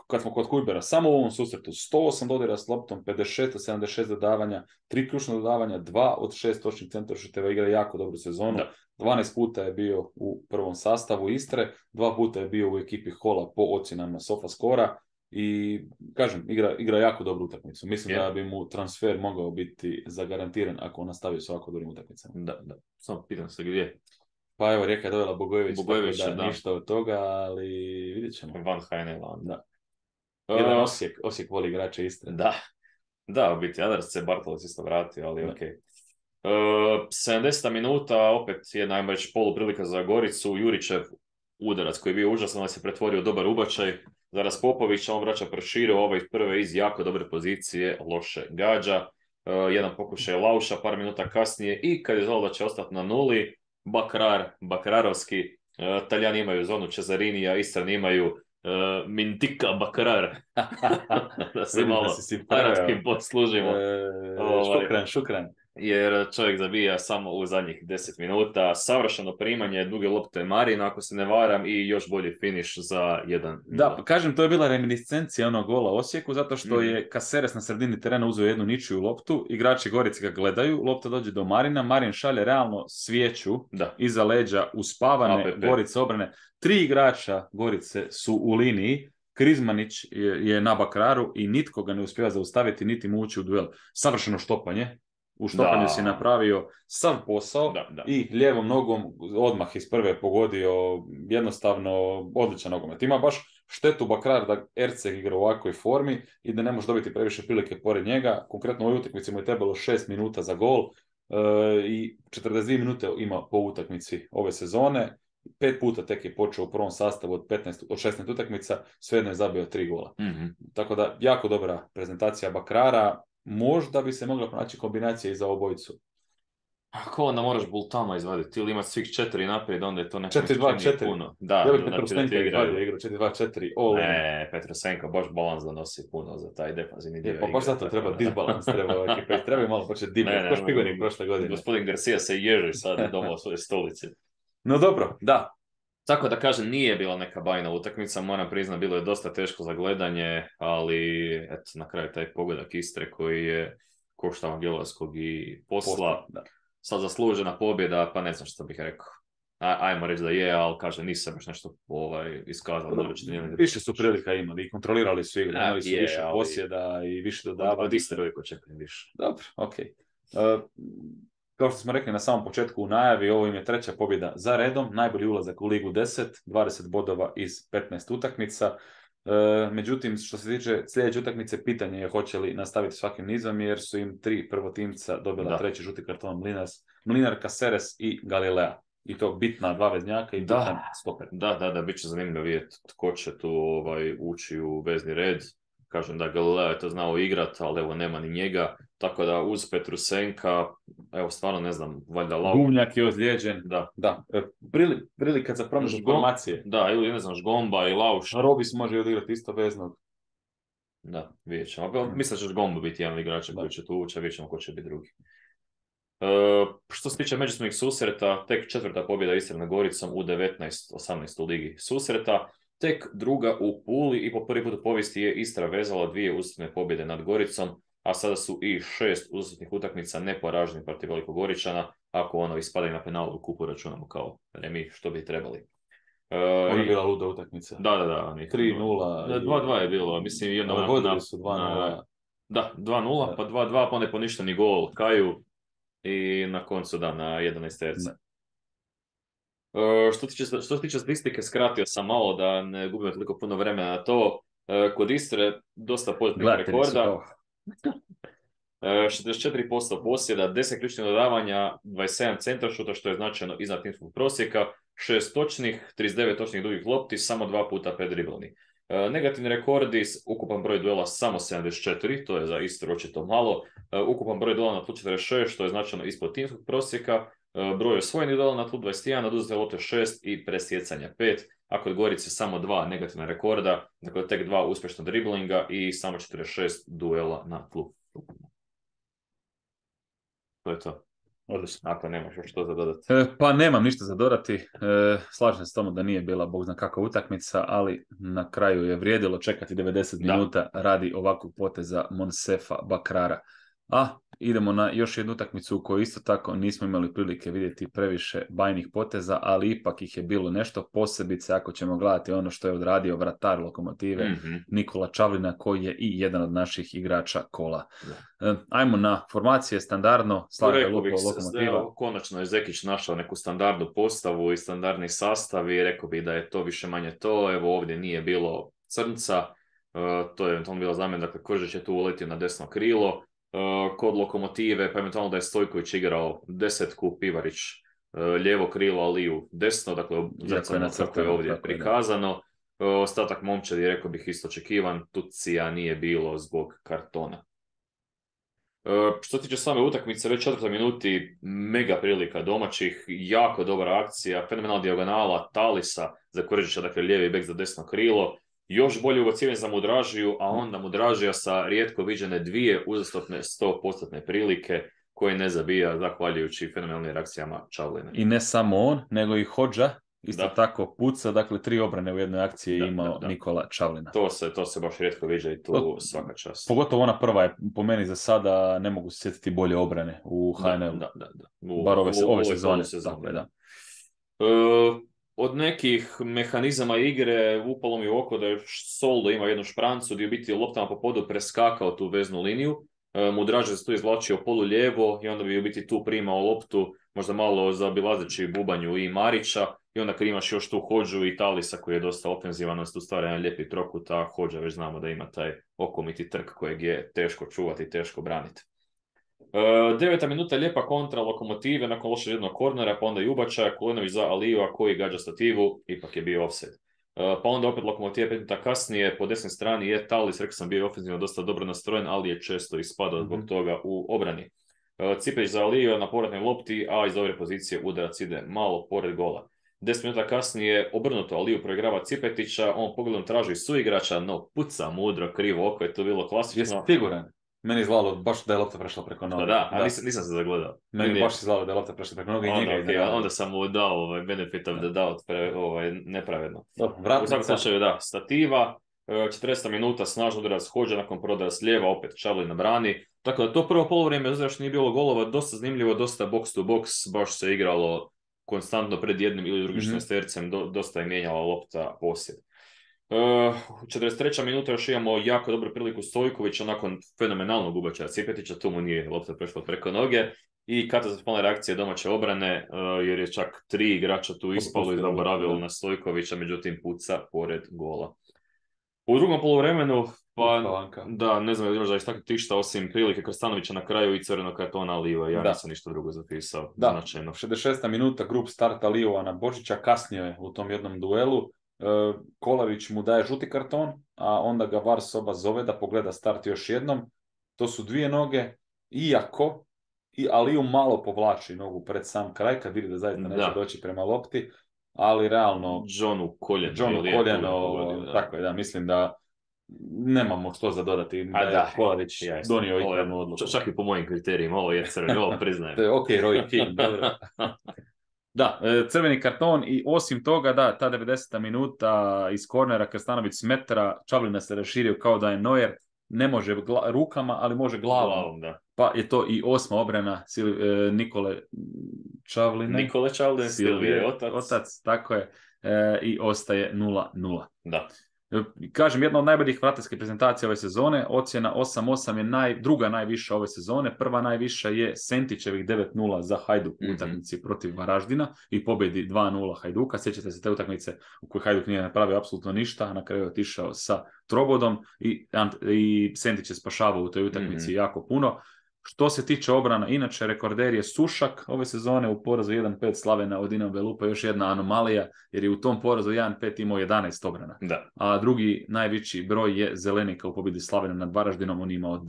Kad smo kod Hujbera, samo u ovom susretu 108 dodira s loptom, 56-76 dodavanja, 3 ključna dodavanja, 2 od 6 točnih centaršuteva, igra jako dobru sezonu. 12 puta je bio u prvom sastavu Istre, 2 puta je bio u ekipi Hola po ocjenama SofaScora i kažem, igra jako dobru utakmicu. Mislim da bi mu transfer mogao biti zagarantiran ako on nastavi s ovako dobrim utakmicama. Da. Samo pitam se gdje. Pa evo, Rijeka je dovela Bogojević, da ništa od toga, ali vidjet ćemo. Van Heineland. Da. Jedan Osijek voli igrače Istre. Da, u biti, Adars se Bartolac isto vratio, ali okej. 70 minuta, opet jedna, ajmo reći, poluprilika za Goricu, Jurićev udarac koji je bio užasan, ali se pretvorio u dobar ubačaj. Za Raspopovića, on vraća Proširu, ovaj prve iz jako dobre pozicije, loše gađa. Jedan pokušaj Lauša, par minuta kasnije i kad je znalo da će ostati na nuli, Bakararovski, Talijani imaju zonu Cesarinija, Istrani imaju Mintika Bakarar. Da se malo arapskim poslužimo. Šukran. Jer čovjek zabija samo u zadnjih 10 minuta. Savršeno primanje, duge lopte Marina, ako se ne varam, i još bolji finiš za 1-0. Da, kažem, to je bila reminiscencija onog gola Osijeku, zato što je Caceres na sredini terena uzeo jednu ničiju loptu, igrači Gorice ga gledaju, lopta dođe do Marina, Marin šalje realno svijeću iza leđa uspavane Gorice obrane. 3 igrača Gorice su u liniji, Krizmanić je na Bakararu i nitko ga ne uspijeva zaustaviti, niti mu ući u duel. Savršeno štopanje. U štokanju si Da. napravio sav posao Da. i lijevom nogom odmah iz prve pogodio jednostavno odličan nogomet. Ima baš štetu Bakrar da Erceg igra u ovakvoj formi i da ne može dobiti previše prilike pored njega. Konkretno u ovoj utakmici mu je trebalo 6 minuta za gol i 42 minute ima po utakmici ove sezone. 5 puta tek je počeo u prvom sastavu od 16 utakmica, svejedno je zabio 3 gola. Mm-hmm. Tako da, jako dobra prezentacija Bakrara. Možda bi se mogla pronaći kombinacija i za obojicu. Ako onda moraš Bultama izvaditi ili imaš svih 4 naprijed, onda je to neko 4-2-4. puno. Da, Ja bih znači Petrosenka izvadio igru 4-2-4. Ne, Petrosenka baš balans donosi puno za taj defanzivni dio. Pa baš zato treba disbalans, treba ekipa. Treba malo početi divljati. Ko Špigonik prošle godine. Gospodin Garcia se ježi sad doma u svoje stolici. No dobro, da. Tako da kažem, nije bila neka bajna utakmica, moram priznati, bilo je dosta teško za gledanje, ali eto, na kraju taj pogodak Istre koji je koštao Angelovskog i posla. Sad zaslužena pobjeda, pa ne znam što bih rekao. Ajmo reći da je, ali kaže, nisam baš nešto iskazalo. Više su prilika imali i kontrolirali su igru, imali su više posjeda i više dodavanja. Od Istre uvijek očekujem više. Dobro, okej. Kao što smo rekli na samom početku u najavi, ovo im je 3. pobjeda za redom, najbolji ulazak u Ligu 10, 20 bodova iz 15 utakmica. Međutim, što se tiče sljedeće utakmice, pitanje je hoće li nastaviti svakim nizom, jer su im 3 prvotimca dobila 3. žuti karton Mlinar, Caceres i Galilea. I to bitna 2 veznjaka i bitan stoper. Da, bit će zanimljivo vidjeti tko će tu ući u vezni red. Kažem da Galileo je to znao igrat, ali evo nema ni njega. Tako da uz Petrusenka, evo stvarno ne znam, valjda Gumnjak je ozlijeđen. Da. Prilika za promjenu formacije. Da, ili ne znam, Žgomba i Lauš. Robis može odigrati isto veznog. Da, vidjet ćemo. Mislim da će Žgomba biti jedan igrač koji će tu ući, a vidjet ćemo ko će biti drugi. Što se tiče međusobnih susreta, tek 4. pobjeda Istre nad Goricom u 19-18 u ligi susreta. Tek 2. u Puli i po prvi put u povijesti je Istra vezala 2 uzastopne pobjede nad Goricom, a sada su i 6 uzastopnih utakmica neporaženi protiv Velikogoričana, ako ispadaju na penalu u kupu računamo kao remi, što bi trebali. Ona je bila luda utakmica. Da. 3-0. 2-2 je bilo, mislim jedno... Vodili su 2-0. Da, 2-0, pa 2-2, pa onda je poništeni gol Kaju i na koncu na 11 terca. Što se tiče statistike, skratio sam malo da ne gubimo toliko puno vremena na to. Kod Istre dosta pozitivnih rekorda. 64% posjeda, 10 ključnih dodavanja, 27 centaršuta, što je značajno iznad timskog prosjeka, 6 točnih, 39 točnih dugih lopti, samo 2 puta predriblani. Negativni rekordi, ukupan broj duela samo 74, to je za Istru očito malo, ukupan broj duela na tlu 46, što je značajno ispod timskog prosjeka, broj osvojenih duela na tlu 21, oduzete lopte 6 i presjecanja 5, a kod Gorice samo 2 negativna rekorda, dakle tek 2 uspješna driblinga i samo 46 duela na tlu. To je to. Odlično, ako nemaš još što za dodati. Pa nemam ništa za dodati. Slažem se s tomu da nije bila bog zna kakva utakmica, ali na kraju je vrijedilo čekati 90 minuta radi ovakvog poteza Monsefa Bakrara. A idemo na još jednu utakmicu u kojoj isto tako nismo imali prilike vidjeti previše bajnih poteza, ali ipak ih je bilo nešto, posebice ako ćemo gledati ono što je odradio vratar Lokomotive Nikola Čavlina, koji je i jedan od naših igrača kola. Ajmo na formacije standardno. Lokomotiva. Konačno je Zekić našao neku standardnu postavu i standardni sastav i rekao bih da je to više manje to. Evo ovdje nije bilo Crnca, to je eventualno bila zamjena, dakle Kržić je tu uletio na desno krilo. Kod Lokomotive, pa eventualno da je Stojković igrao desetku, Pivarić lijevo krilo, Aliju desno, dakle kako je ovdje prikazano. Ostatak momčadi, rekao bih, isto očekivan, Tucija nije bilo zbog kartona. Što se tiče same utakmice, već 4. minuti mega prilika domaćih, jako dobra akcija, fenomenalna dijagonala Talisa za Kržića, dakle lijevi bek za desno krilo. Još bolje ubacivanje za Mudražiju, a onda Mudražija sa rijetko viđene 2 uzastopne 100% prilike koje ne zabija zahvaljujući fenomenalnim reakcijama Čavlina. I ne samo on, nego i Hodža isto tako puca, dakle 3 obrane u jednoj akciji je imao Nikola Čavlina. To se baš rijetko viđa i tu svaka čast. Pogotovo ona prva je po meni za sada, ne mogu se sjetiti bolje obrane u HNL. Bar ove sezone. Da. Od nekih mehanizama igre upalo mi u oko da je Soldo ima jednu šprancu gdje je biti loptama po podu preskakao tu veznu liniju, mu draže se tu izvlačio polu lijevo i onda bi u biti tu primao loptu, možda malo zaobilazeći bubanju i Marića, i onda kad imaš još tu Hodžu i Talisa koji je dosta ofenzivan, tu stvara jedan lijepi trokut, a Hodža već znamo da ima taj okomiti trk kojeg je teško čuvati i teško braniti. 9. minuta lijepa kontra Lokomotive nakon lošeg jednog kornera, pa onda i ubačaja, Kulenović za Alijeva koji gađa stativu, ipak je bio offside. Pa onda opet Lokomotive 5 minuta kasnije, po desnoj strani je Talis, rekao sam, bio ofenzivno dosta dobro nastrojen, ali je često ispadao zbog toga u obrani. Cipeć za Alijeva na povratnoj lopti, a iz dobre pozicije udarac ide malo pored gola. 10 minuta kasnije obrnuto, Aliju proigrava Cipetića, on pogledom traži suigrača, no puca mudro, krivo oko je to bilo klasično. Jesi siguran? Meni izgledalo baš da je lopta prešla preko noge. Da, nisam se zagledao. Meni baš izgledalo da je lopta prešla preko noge i njega. Onda sam mu dao benefit of the doubt, nepravedno. U svakom slučaju, da, stativa, 40 minuta, snažno udarac Hodža, nakon prodara s lijeva, opet Čavli na brani. Tako da to prvo polovrijeme, uzra što nije bilo golova, dosta zanimljivo, dosta box to box, baš se igralo konstantno pred jednim ili drugim šestercem, dosta je mijenjala lopta posjed. 43. minuta još imamo jako dobru priliku Stojkovića nakon fenomenalnog ubačaja Cipetića, tu mu nije lopta prešla preko noge i katastrofalna reakcija domaće obrane, jer je čak 3 igrača tu ispalo i zaboravilo na Stojkovića, međutim puca pored gola. U drugom poluvremenu, da, ne znam još da istaknuti išta osim prilike Krstanovića na kraju i crvenog kartona Lijeva, ja nisam ništa drugo zapisao. Da, značajno. 66. minuta, grup starta Lijeva na Božića, kasnio je u tom jednom duelu. Kolavić mu daje žuti karton, a onda ga VAR soba zove da pogleda start još jednom. To su 2 noge, iako i Aliju malo povlači nogu pred sam kraj, kad vidi da zaista neće doći prema lopti, ali realno Johnu koljeno, tako je, da, mislim da nemamo što za dodati, da je Kolavić donio ispravnu odluku. Čak i po mojim kriterijima, ovo je crveni, ovo priznajem. Ok, Roy King, dobro. Da, crveni karton i osim toga, da, ta 90. minuta iz kornera Krstanović s metra, Čavlina se raširio kao da je Neuer, ne može rukama, ali može glavom. Da. Pa je to i 8. obrana Nikole Čavline. Silvije, otac, tako je, i ostaje 0-0. Da. Kažem, jedna od najboljih vrateljskih prezentacija ove sezone, ocjena 8-8 je druga najviša ove sezone, prva najviša je Sentićevih 9-0 za Hajduk u utakmici protiv Varaždina i pobjedi 2-0 Hajduka. Sjećate se te utakmice u kojoj Hajduk nije napravio apsolutno ništa, a na kraju je otišao sa trobodom i Sentić je spašavao u toj utakmici jako puno. Što se tiče obrana, inače rekorder je Sušak ove sezone u porazu 1-5 Slavena od Dinamo Belupa, još jedna anomalija, jer je u tom porazu 1-5 imao 11 obrana. Da. A drugi najveći broj je Zelenika u pobjedi Slavena nad Varaždinom, on imao 9.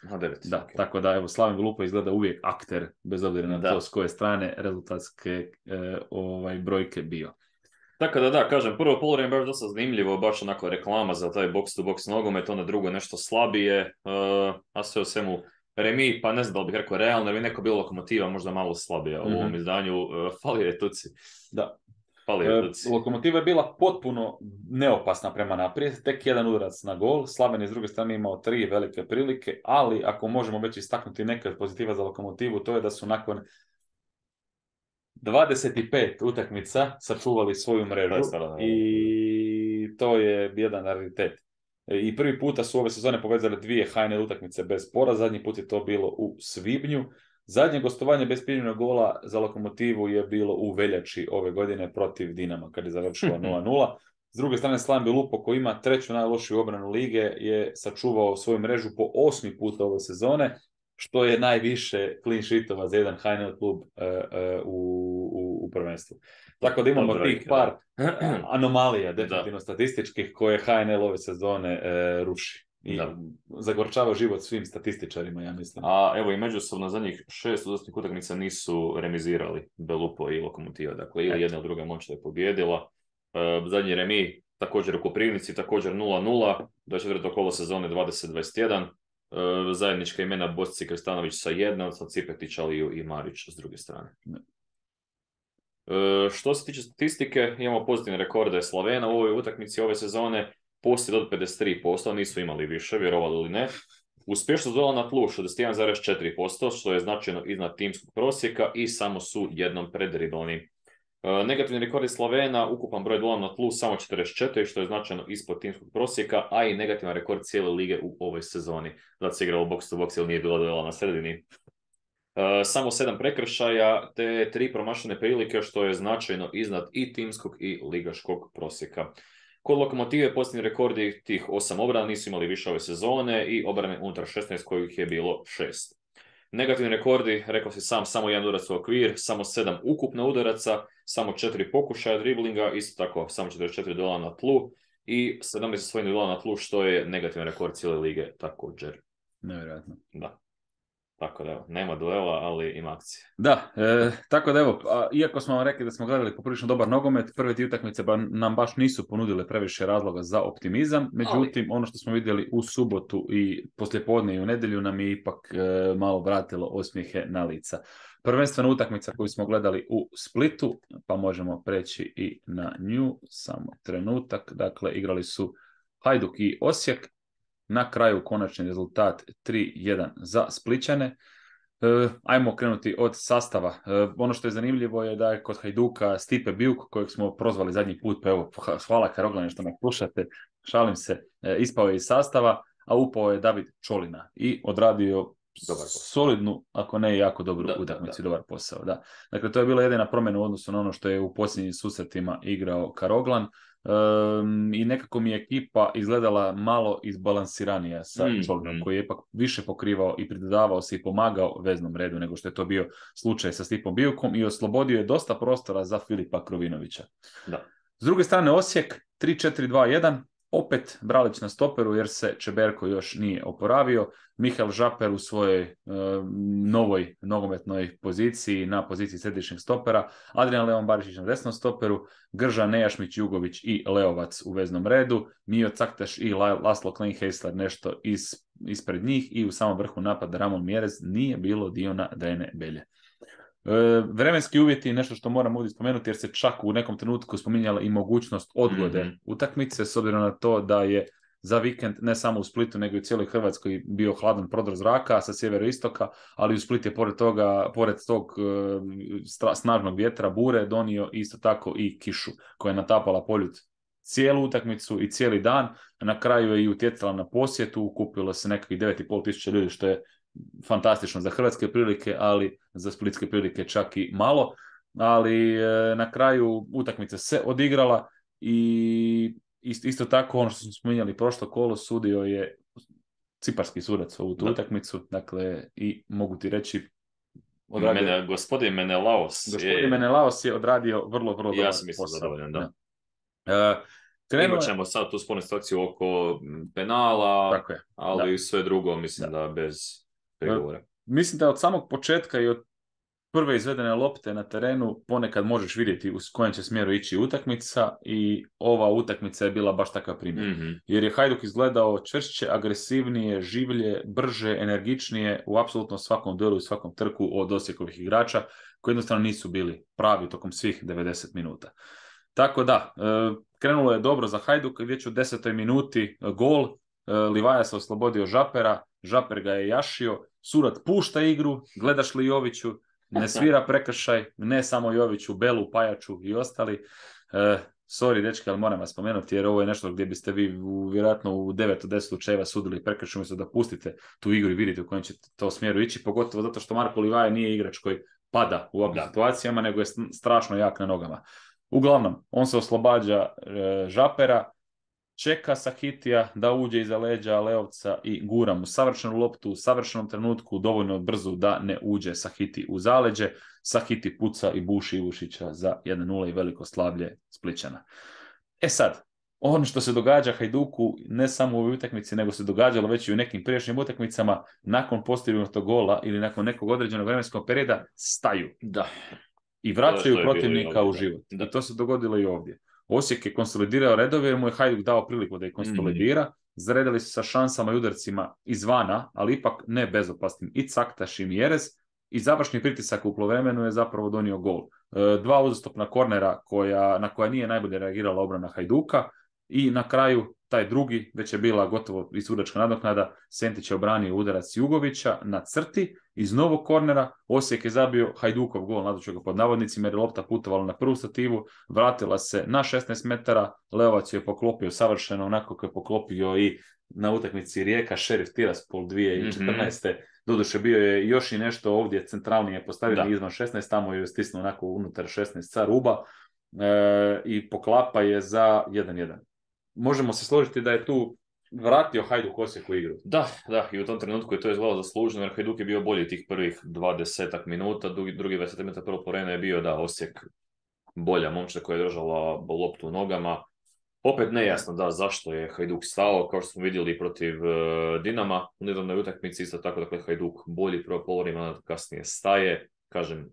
Da, okay. Tako da evo, Slaven Belupa izgleda uvijek akter, bez obzira na to s koje strane rezultatske brojke bio. Tako da, kažem, prvo poluvreme baš dosta zanimljivo, baš onako reklama za taj box-to-box nogomet, onda drugo nešto slabije, a sve u svemu remi, pa ne znam da li bih rekao realno, jer bi neko bilo Lokomotiva možda malo slabija u ovom izdanju, fali je tuci. Da. Lokomotiva je bila potpuno neopasna prema naprijed, tek jedan udarac na gol, Slaven je s druge strane imao 3 velike prilike, ali ako možemo već istaknuti neke pozitiva za Lokomotivu, to je da su nakon 25 utakmica sačuvali svoju mrežu i to je jedan raritet. I prvi puta su ove sezone povezali 2 HNL utakmice bez poraza, zadnji put je to bilo u svibnju. Zadnje gostovanje bez primljenog gola za Lokomotivu je bilo u veljači ove godine protiv Dinama, kad je završilo 0-0. S druge strane, Slaven Belupo, koji ima 3. najlošiju obranu lige, je sačuvao svoju mrežu po 8. puta ove sezone, što je najviše clean sheetova za jedan HNL klub u prvenstvu. Tako da imamo tih par anomalija, definitivno statističkih, koje HNL ove sezone ruši. I zagorčava život svim statističarima, ja mislim. A evo i međusobno zadnjih 6 uzastopnih utakmica nisu remizirali Belupo i Lokomotiva. Dakle, ili jedna ili druga moć je pobjedila. Zadnji remi također u Koprivnici, također 0-0, do 4. kolo sezone 2021. Zajednička imena Bosci Krstanović sa 1, sa Cipetić, Aliju i Marić s druge strane. Što se tiče statistike, imamo pozitivne rekorde Slavena u ovoj utakmici ove sezone, posjed od 53%, nisu imali više, vjerovali ili ne. Uspješnost duela na tlu 61,4%, što je značajno iznad timskog prosjeka i samo su jednom predriblani. Negativni rekord Slovena, ukupan broj duela na tlu samo 44, što je značajno ispod timskog prosjeka, a i negativan rekord cijele lige u ovoj sezoni. Zato se igralo box to box ili nije bilo duela na sredini. Samo 7 prekršaja te 3 promašene prilike, što je značajno iznad i timskog i ligaškog prosjeka. Kod Lokomotive posljednji rekordi tih 8 obrana nisu imali više ove sezone i obrane unutar 16 kojih je bilo 6. Negativni rekordi, rekao si sam, samo jedan udarac u okvir, samo 7 ukupno udaraca, samo 4 pokušaja driblinga, isto tako samo 44 duela na tlu i 17 osvojenih duela na tlu, što je negativan rekord cijele lige također. Nevjerojatno. Da. Tako da evo, nema duela, ali ima akcije. Da, tako da evo, iako smo vam rekli da smo gledali poprilično dobar nogomet, prve ti utakmice nam baš nisu ponudile previše razloga za optimizam, međutim, ono što smo vidjeli u subotu i poslijepodne i u nedjelju nam je ipak malo vratilo osmijehe na lica. Prvenstvena utakmica koju smo gledali u Splitu, pa možemo preći i na nju, samo trenutak, dakle, igrali su Hajduk i Osijek, na kraju konačni rezultat 3-1 za Splićane. Ajmo krenuti od sastava. Ono što je zanimljivo je da je kod Hajduka Stipe Biuk, kojeg smo prozvali zadnji put, pa evo, hvala Karoglane što me slušate, šalim se, ispao je iz sastava, a upao je David Čolina i odradio solidnu, ako ne jako dobru utakmicu, dobar posao. Da. Dakle, to je bila jedina promjena u odnosu na ono što je u posljednjim susretima igrao Karoglan. I nekako mi je ekipa izgledala malo izbalansiranija sa Čolinom, koji je ipak više pokrivao i pridodavao se i pomagao veznom redu nego što je to bio slučaj sa Stipom Bijukom i oslobodio je dosta prostora za Filipa Krovinovića. Da. S druge strane Osijek 3-4-2-1, opet Bralić na stoperu jer se Čeberko još nije oporavio, Mihael Žaper u svojoj novoj nogometnoj poziciji na poziciji središnjeg stopera, Adrian Leon Barišić na desnom stoperu, Grža, Nejašmić, Jugović i Leovac u veznom redu, Mio Caktaš i Laslo Kleinheisler nešto ispred njih i u samom vrhu napada Ramon Mjerez, nije bilo Diona Drene Belje. Vremenski uvjeti, nešto što moram ovdje spomenuti jer se čak u nekom trenutku spominjala i mogućnost odgode utakmice, s obzirom na to da je za vikend ne samo u Splitu nego i u cijeloj Hrvatskoj bio hladan prodor zraka sa sjeveroistoka, ali u Split je pored tog snažnog vjetra bure donio isto tako i kišu koja je natapala Poljud cijelu utakmicu i cijeli dan. Na kraju je i utjecala na posjetu, kupilo se nekakvih 9.500 ljudi, što je fantastično za hrvatske prilike, ali za splitske prilike čak i malo. Ali na kraju utakmica se odigrala i isto tako ono što smo spominjali prošlo kolo, sudio je ciparski sudac ovu tu utakmicu, dakle i mogu ti reći gospodin Menelaos Menelaos je odradio vrlo dobar posao. Ja sam mislim zadovoljan, da. Imat ćemo sad tu spornu situaciju oko penala, ali sve drugo mislim da bez pregovora. Mislim da od samog početka i od prve izvedene lopte na terenu ponekad možeš vidjeti u kojem će smjeru ići utakmica i ova utakmica je bila baš takav primjer. Jer je Hajduk izgledao čvršće, agresivnije, življe, brže, energičnije u apsolutno svakom duelu i svakom trku od Osijekovih igrača koji jednostavno nisu bili pravi tokom svih 90 minuta. Tako da, krenulo je dobro za Hajduk, već u 10. minuti gol, Livaja se oslobodio Žapera, Žaper ga je jašio, Surat pušta igru, gledaš li Joviću, ne svira prekršaj, ne samo Joviću, Belu, Pajaču i ostali. Sorry, dečki, ali moram vas spomenuti jer ovo je nešto gdje biste vi vjerojatno u 9 od 10 slučajeva sudili prekršaj, umjesto da pustite tu igru i vidite u kojem će to smjeru ići, pogotovo zato što Marko Livaja nije igrač koji pada u ovim situacijama, nego je strašno jak na nogama. Uglavnom, on se oslobađa Žapera, čeka Sahitija da uđe iza leđa Leovca i gura mu savršenu loptu u savršenom trenutku, dovoljno brzo da ne uđe Sahiti u zaleđe. Sahiti puca i buši Ivušića za 1-0 i veliko slavlje Splićana. E sad, ono što se događa Hajduku ne samo u ovoj utakmici, nego se događalo već i u nekim prijašnjim utakmicama, nakon postignutog gola ili nakon nekog određenog vremenskog perioda staju. Da. I vraćaju protivnika u život. I to se dogodilo i ovdje. Osijek je konsolidirao redove jer mu je Hajduk dao priliku da ih konsolidira. Zaredali su sa šansama i udarcima izvana, ali ipak ne bezopasnim i Caktaš i Mjerez. I završni pritisak u poluvremenu je zapravo donio gol. 2 uzastopna kornera na koja nije najbolje reagirala obrana Hajduka. i na kraju taj drugi, već je bila gotovo i sudačka nadoknada, Sentić je obranio udarac Jugovića na crti, iz novog kornera Osijek je zabio Hajdukov gol, naduću ga pod navodnicima, jer je lopta putovala na prvu stativu, vratila se na 16 metara, Leovac je poklopio savršeno, onako kako je poklopio i na utakmici Rijeka Šerif Tiraspol 2014. Doduše bio je još i nešto ovdje centralnije postavljeno izvan 16, tamo je stisnuo onako unutar 16 sa ruba i poklapa je za 1-1. Možemo se složiti da je tu vratio Hajduk Osijeku igru. Da, i u tom trenutku je to izgledalo zasluženo, jer Hajduk je bio bolji tih prvih 20 minuta, drugi 20 minuta prvo povremeno je bio Osijek bolja momča koja je držala loptu u nogama. Opet nejasno zašto je Hajduk stao, kao što smo vidjeli protiv Dinama u nedavnoj utakmici, isto tako dakle Hajduk bolji prvo polovreme, kasnije staje, kažem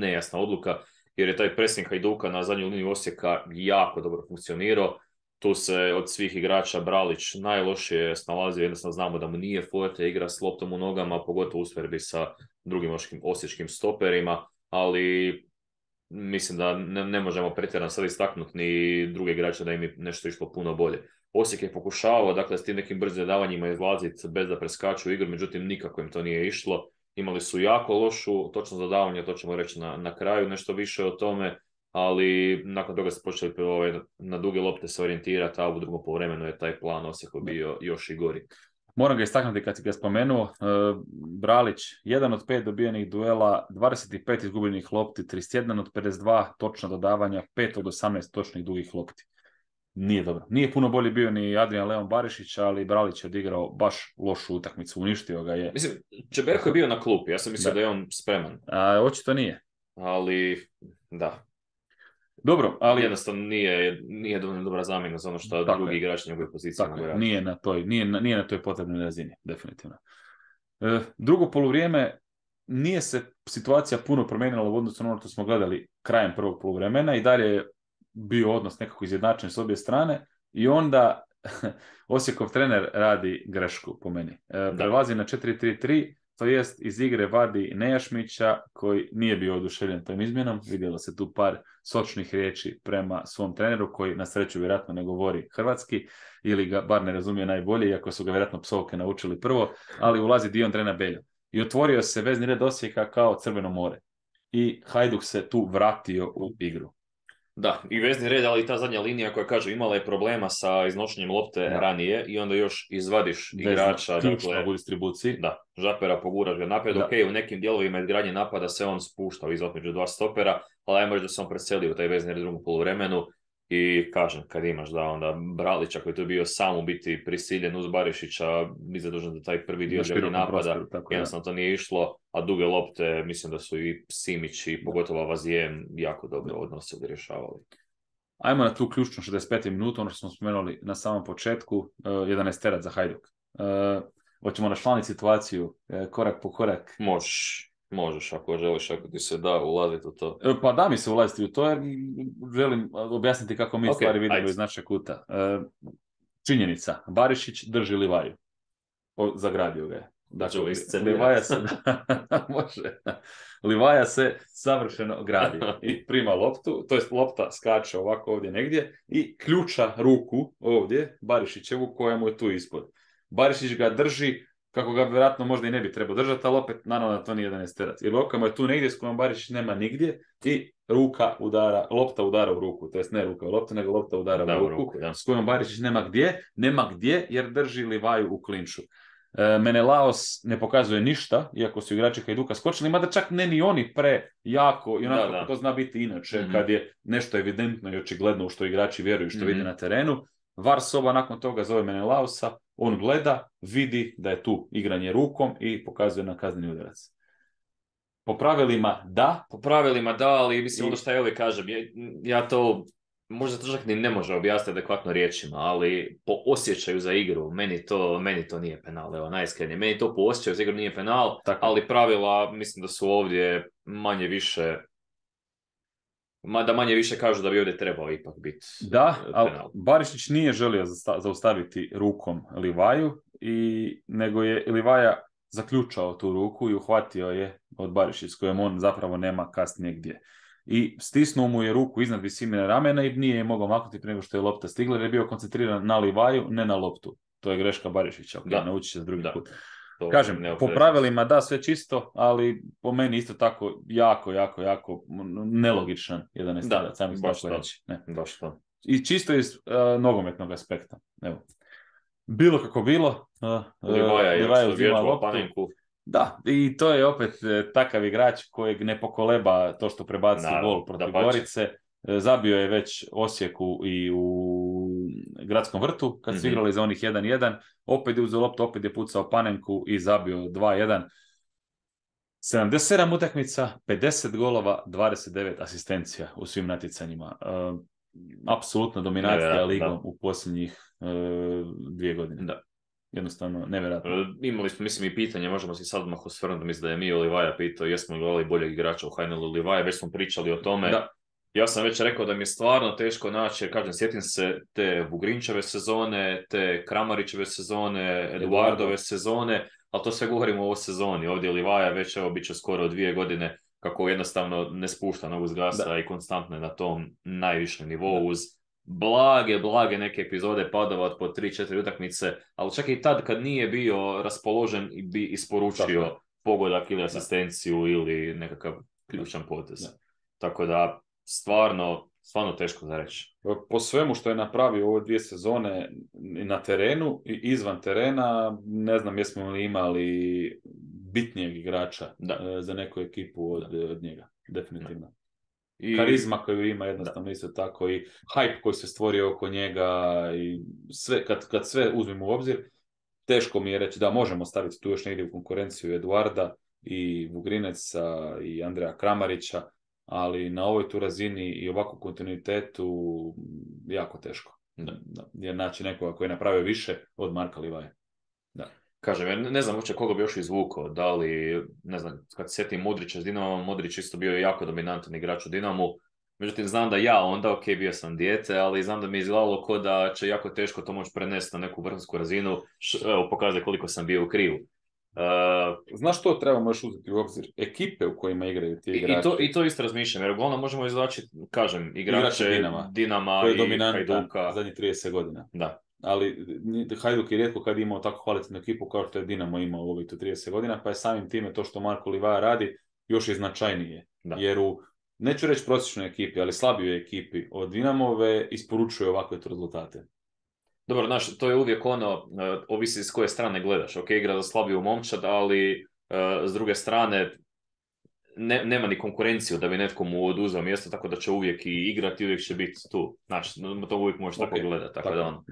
nejasna odluka, jer je taj pressing Hajduka na zadnju liniju Osijeka jako dobro funkcionirao. Tu se od svih igrača Bralić najlošije snalazio, jednostavno znamo da mu nije forte igra s loptom u nogama, pogotovo u usporedbi sa drugim osječkim stoperima, ali mislim da ne možemo pretjerano sad istaknuti ni druge igrače da im je nešto išlo puno bolje. Osijek je pokušavao, dakle, s tim nekim brzim davanjima izlaziti bez da preskaču igru, međutim nikako im to nije išlo. Imali su jako lošu točno zadavanje, to ćemo reći na kraju nešto više o tome, ali nakon toga su počeli na duge lopte se orijentirati, a u drugom poluvremenu je taj plan Osijeku bio još i gori. Moram ga istaknuti kad si ga spomenuo, Bralić, 1 od 5 dobijenih duela, 25 izgubljenih lopti, 31 od 52 točna dodavanja, 5 od 18 točnih dugih lopti. Nije dobro. Nije puno bolje bio ni Adrian Leon Barišić, ali Bralić je odigrao baš lošu utakmicu, uništio ga je. Mislim, Čeberko je bio na klupi, ja sam mislio da je on spreman. Očito nije. Ali, da. Dobro, ali... Jednostavno nije dovoljno dobra zamjena za ono što drugi igrač njegove pozicije mogu raditi. Nije na toj potrebnoj razini, definitivno. Drugo poluvrijeme nije se situacija puno promijenila u odnosu na ono što smo gledali krajem prvog poluvremena i dalje je bio odnos nekako izjednačen s obje strane i onda Osijekov trener radi grešku po meni. Prelazi na 4-3-3, to jest iz igre vadi Nejašmića koji nije bio oduševljen tom izmjenom. Vidjelo se tu par sočnih riječi prema svom treneru koji na sreću vjerojatno ne govori hrvatski ili ga bar ne razumije najbolje, iako su ga vjerojatno psovke naučili prvo, ali ulazi Dion Drena Beljo. I otvorio se vezni red Osijeka kao Crveno more. I Hajduk se tu vratio u igru. Da, i vezni red, ali i ta zadnja linija koja kaže imala je problema sa iznošenjem lopte ranije i onda još izvadiš igrača. Ključna u distribuciji. Da, Žapera poguraš ga naprijed. Ok, u nekim dijelovima izgradnje napada se on spušta između dva stopera, ali ajmo reći da se on preselio u taj vezni red u drugom poluvremenu i kažem, kad imaš onda Bralića koji je tu bio sam u biti prisiljen uz Barišića, bi zadužen za taj prvi dio izgradnje napada, jednostavno to nije išlo, a duge lopte, mislim da su i Simić i pogotovo Avazijem jako dobro odnosili, rješavali. Ajmo na tu ključnu 65. minutu, ono što smo spomenuli na samom početku, 11 terac za Hajduk. Hoćemo našlaniti situaciju korak po korak. Možeš ako želiš, ako ti se da ulaziti u to. Pa da mi se ulaziti u to jer želim objasniti kako mi stvari vidimo iz našeg kuta. Činjenica, Barišić drži Livaju. Zagradio ga je. Dakle, Livaja se savršeno gradi i prima loptu, to jest lopta skače ovako ovdje negdje i ključa ruku ovdje Barišićevu koja mu je tu ispod. Barišić ga drži kako ga vjerojatno možda i ne bi trebao držati, ali opet naravno da to nije 11 terac. Jer ruka mu je tu negdje s kojom Barišić nema nigdje i lopta udara u ruku. To jest ne ruka u loptu, nego lopta udara u ruku s kojom Barišić nema gdje jer drži Livaju u klinču. Menelaos ne pokazuje ništa, iako su igrači Hajduka skočili, mada čak ne ni oni prejako, i onako to zna biti inače, kad je nešto evidentno i očigledno u što igrači vjeruju, što vide na terenu. VAR soba nakon toga zove Menelaosa, on gleda, vidi da je tu igranje rukom i pokazuje na kazneni udarac. Po pravilima da, ali mislim ono što ja uvijek kažem, ja to možda to čak ni ne može objasniti adekvatno riječima, ali po osjećaju za igru, meni to nije penal, evo najiskrenije. Meni to po osjećaju za igru nije penal, ali pravila mislim da su ovdje manje više kažu da bi ovdje trebao ipak biti da, ali Barišić nije želio zaustaviti rukom Livaju, nego je Livaja zaključao tu ruku i uhvatio je od Barišić s kojom on zapravo nema kasnije gdje. i stisnuo mu je ruku iznad visine ramena i nije je mogao maknuti prije nego što je lopta stigla jer je bio koncentriran na Livaju, ne na loptu. To je greška Barišića, nauči se drugi put. Kažem, po pravilima da, sve čisto, ali po meni isto tako jako nelogičan 11-terac, sam tako reći. Baš to. I čisto iz nogometnog aspekta. Evo. Bilo kako bilo, Livaja uzima loptu. Panenku. Da, i to je opet takav igrač kojeg ne pokoleba to što prebaci gol protiv Gorice. Zabio je već Osijeku i u Gradskom vrtu, kad su igrali za onih 1-1. Opet je uzeo loptu, opet je pucao Panenku i zabio 2-1. 77 utakmica, 50 golova, 29 asistencija u svim natjecanjima. Apsolutna dominacija ligom u posljednjih 2 godine. Da. Jednostavno, nevjerojatno. Imali smo, mislim, i pitanje, možemo si sad odmah osvrnuti, mislim da je Mio Livaja pitao jesmo li gledali boljeg igrača u HNL-u Livaja, već smo pričali o tome. Da. Ja sam već rekao da mi je stvarno teško naći, jer kažem, sjetim se te Vugrinčeve sezone, te Kramarićeve sezone, Eduardove sezone, ali to sve govorimo o ovoj sezoni. Ovdje Livaja već, evo, bit će skoro 2 godine kako jednostavno ne spušta nogu s gasa i konstantno je na tom najvišem nivou uz blage neke epizode padova od po 3-4 utakmice, ali čak i tad kad nije bio raspoložen bi isporučio pogodak ili asistenciju ili nekakav ključan potez. Tako da stvarno teško za reći. Po svemu što je napravio ove 2 sezone na terenu i izvan terena, ne znam jesmo li imali bitnijeg igrača za neku ekipu od njega. Definitivno. I karizma koju ima jednostavno isto tako i hype koji se stvorio oko njega i sve, kad sve uzmemo u obzir, teško mi je reći da možemo staviti tu još negdje u konkurenciju Eduarda i Vugrineca i Andreja Kramarića, ali na ovoj tu razini i ovakvom kontinuitetu jako teško. Jer naći nekoga koji je napravio više od Marka Livaje. Da. Kažem, ne znam uopće koga bi još izvukao, da li, ne znam, kad se sjetim Modrića s Dinamom, Modrić isto bio jako dominantan igrač u Dinamu, međutim znam da ja onda, bio sam dijete, ali znam da mi je izgledalo ko da će jako teško to moći prenesti na neku vrhunsku razinu, evo pokazuje koliko sam bio u krivu. Znaš što trebamo još uzeti u obzir? Ekipe u kojima igraju ti igrači. I to isto razmišljam, jer uglavnom možemo izvlači, kažem, igrače Dinama koji je i dominantan Hajduka. Zadnjih 30 godina. Da. Ali Hajduk je rijetko kad imao tako kvalitetnu ekipu kao što je Dinamo imao u ovih 30 godina, pa je samim time to što Marko Livaja radi još i značajnije. Da. Jer u, neću reći prosječnoj ekipi, ali slabijoj ekipi od Dinamove isporučuje ovakve rezultate. Dobro, znaš, to je uvijek ono, ovisi s koje strane gledaš. Ok, igra za slabiju momčad, ali s druge strane nema ni konkurenciju da bi netko mu oduzeo mjesto, tako da će uvijek i igrati, uvijek će biti tu. Znači, to uvijek možeš tako gledati. Tako da on,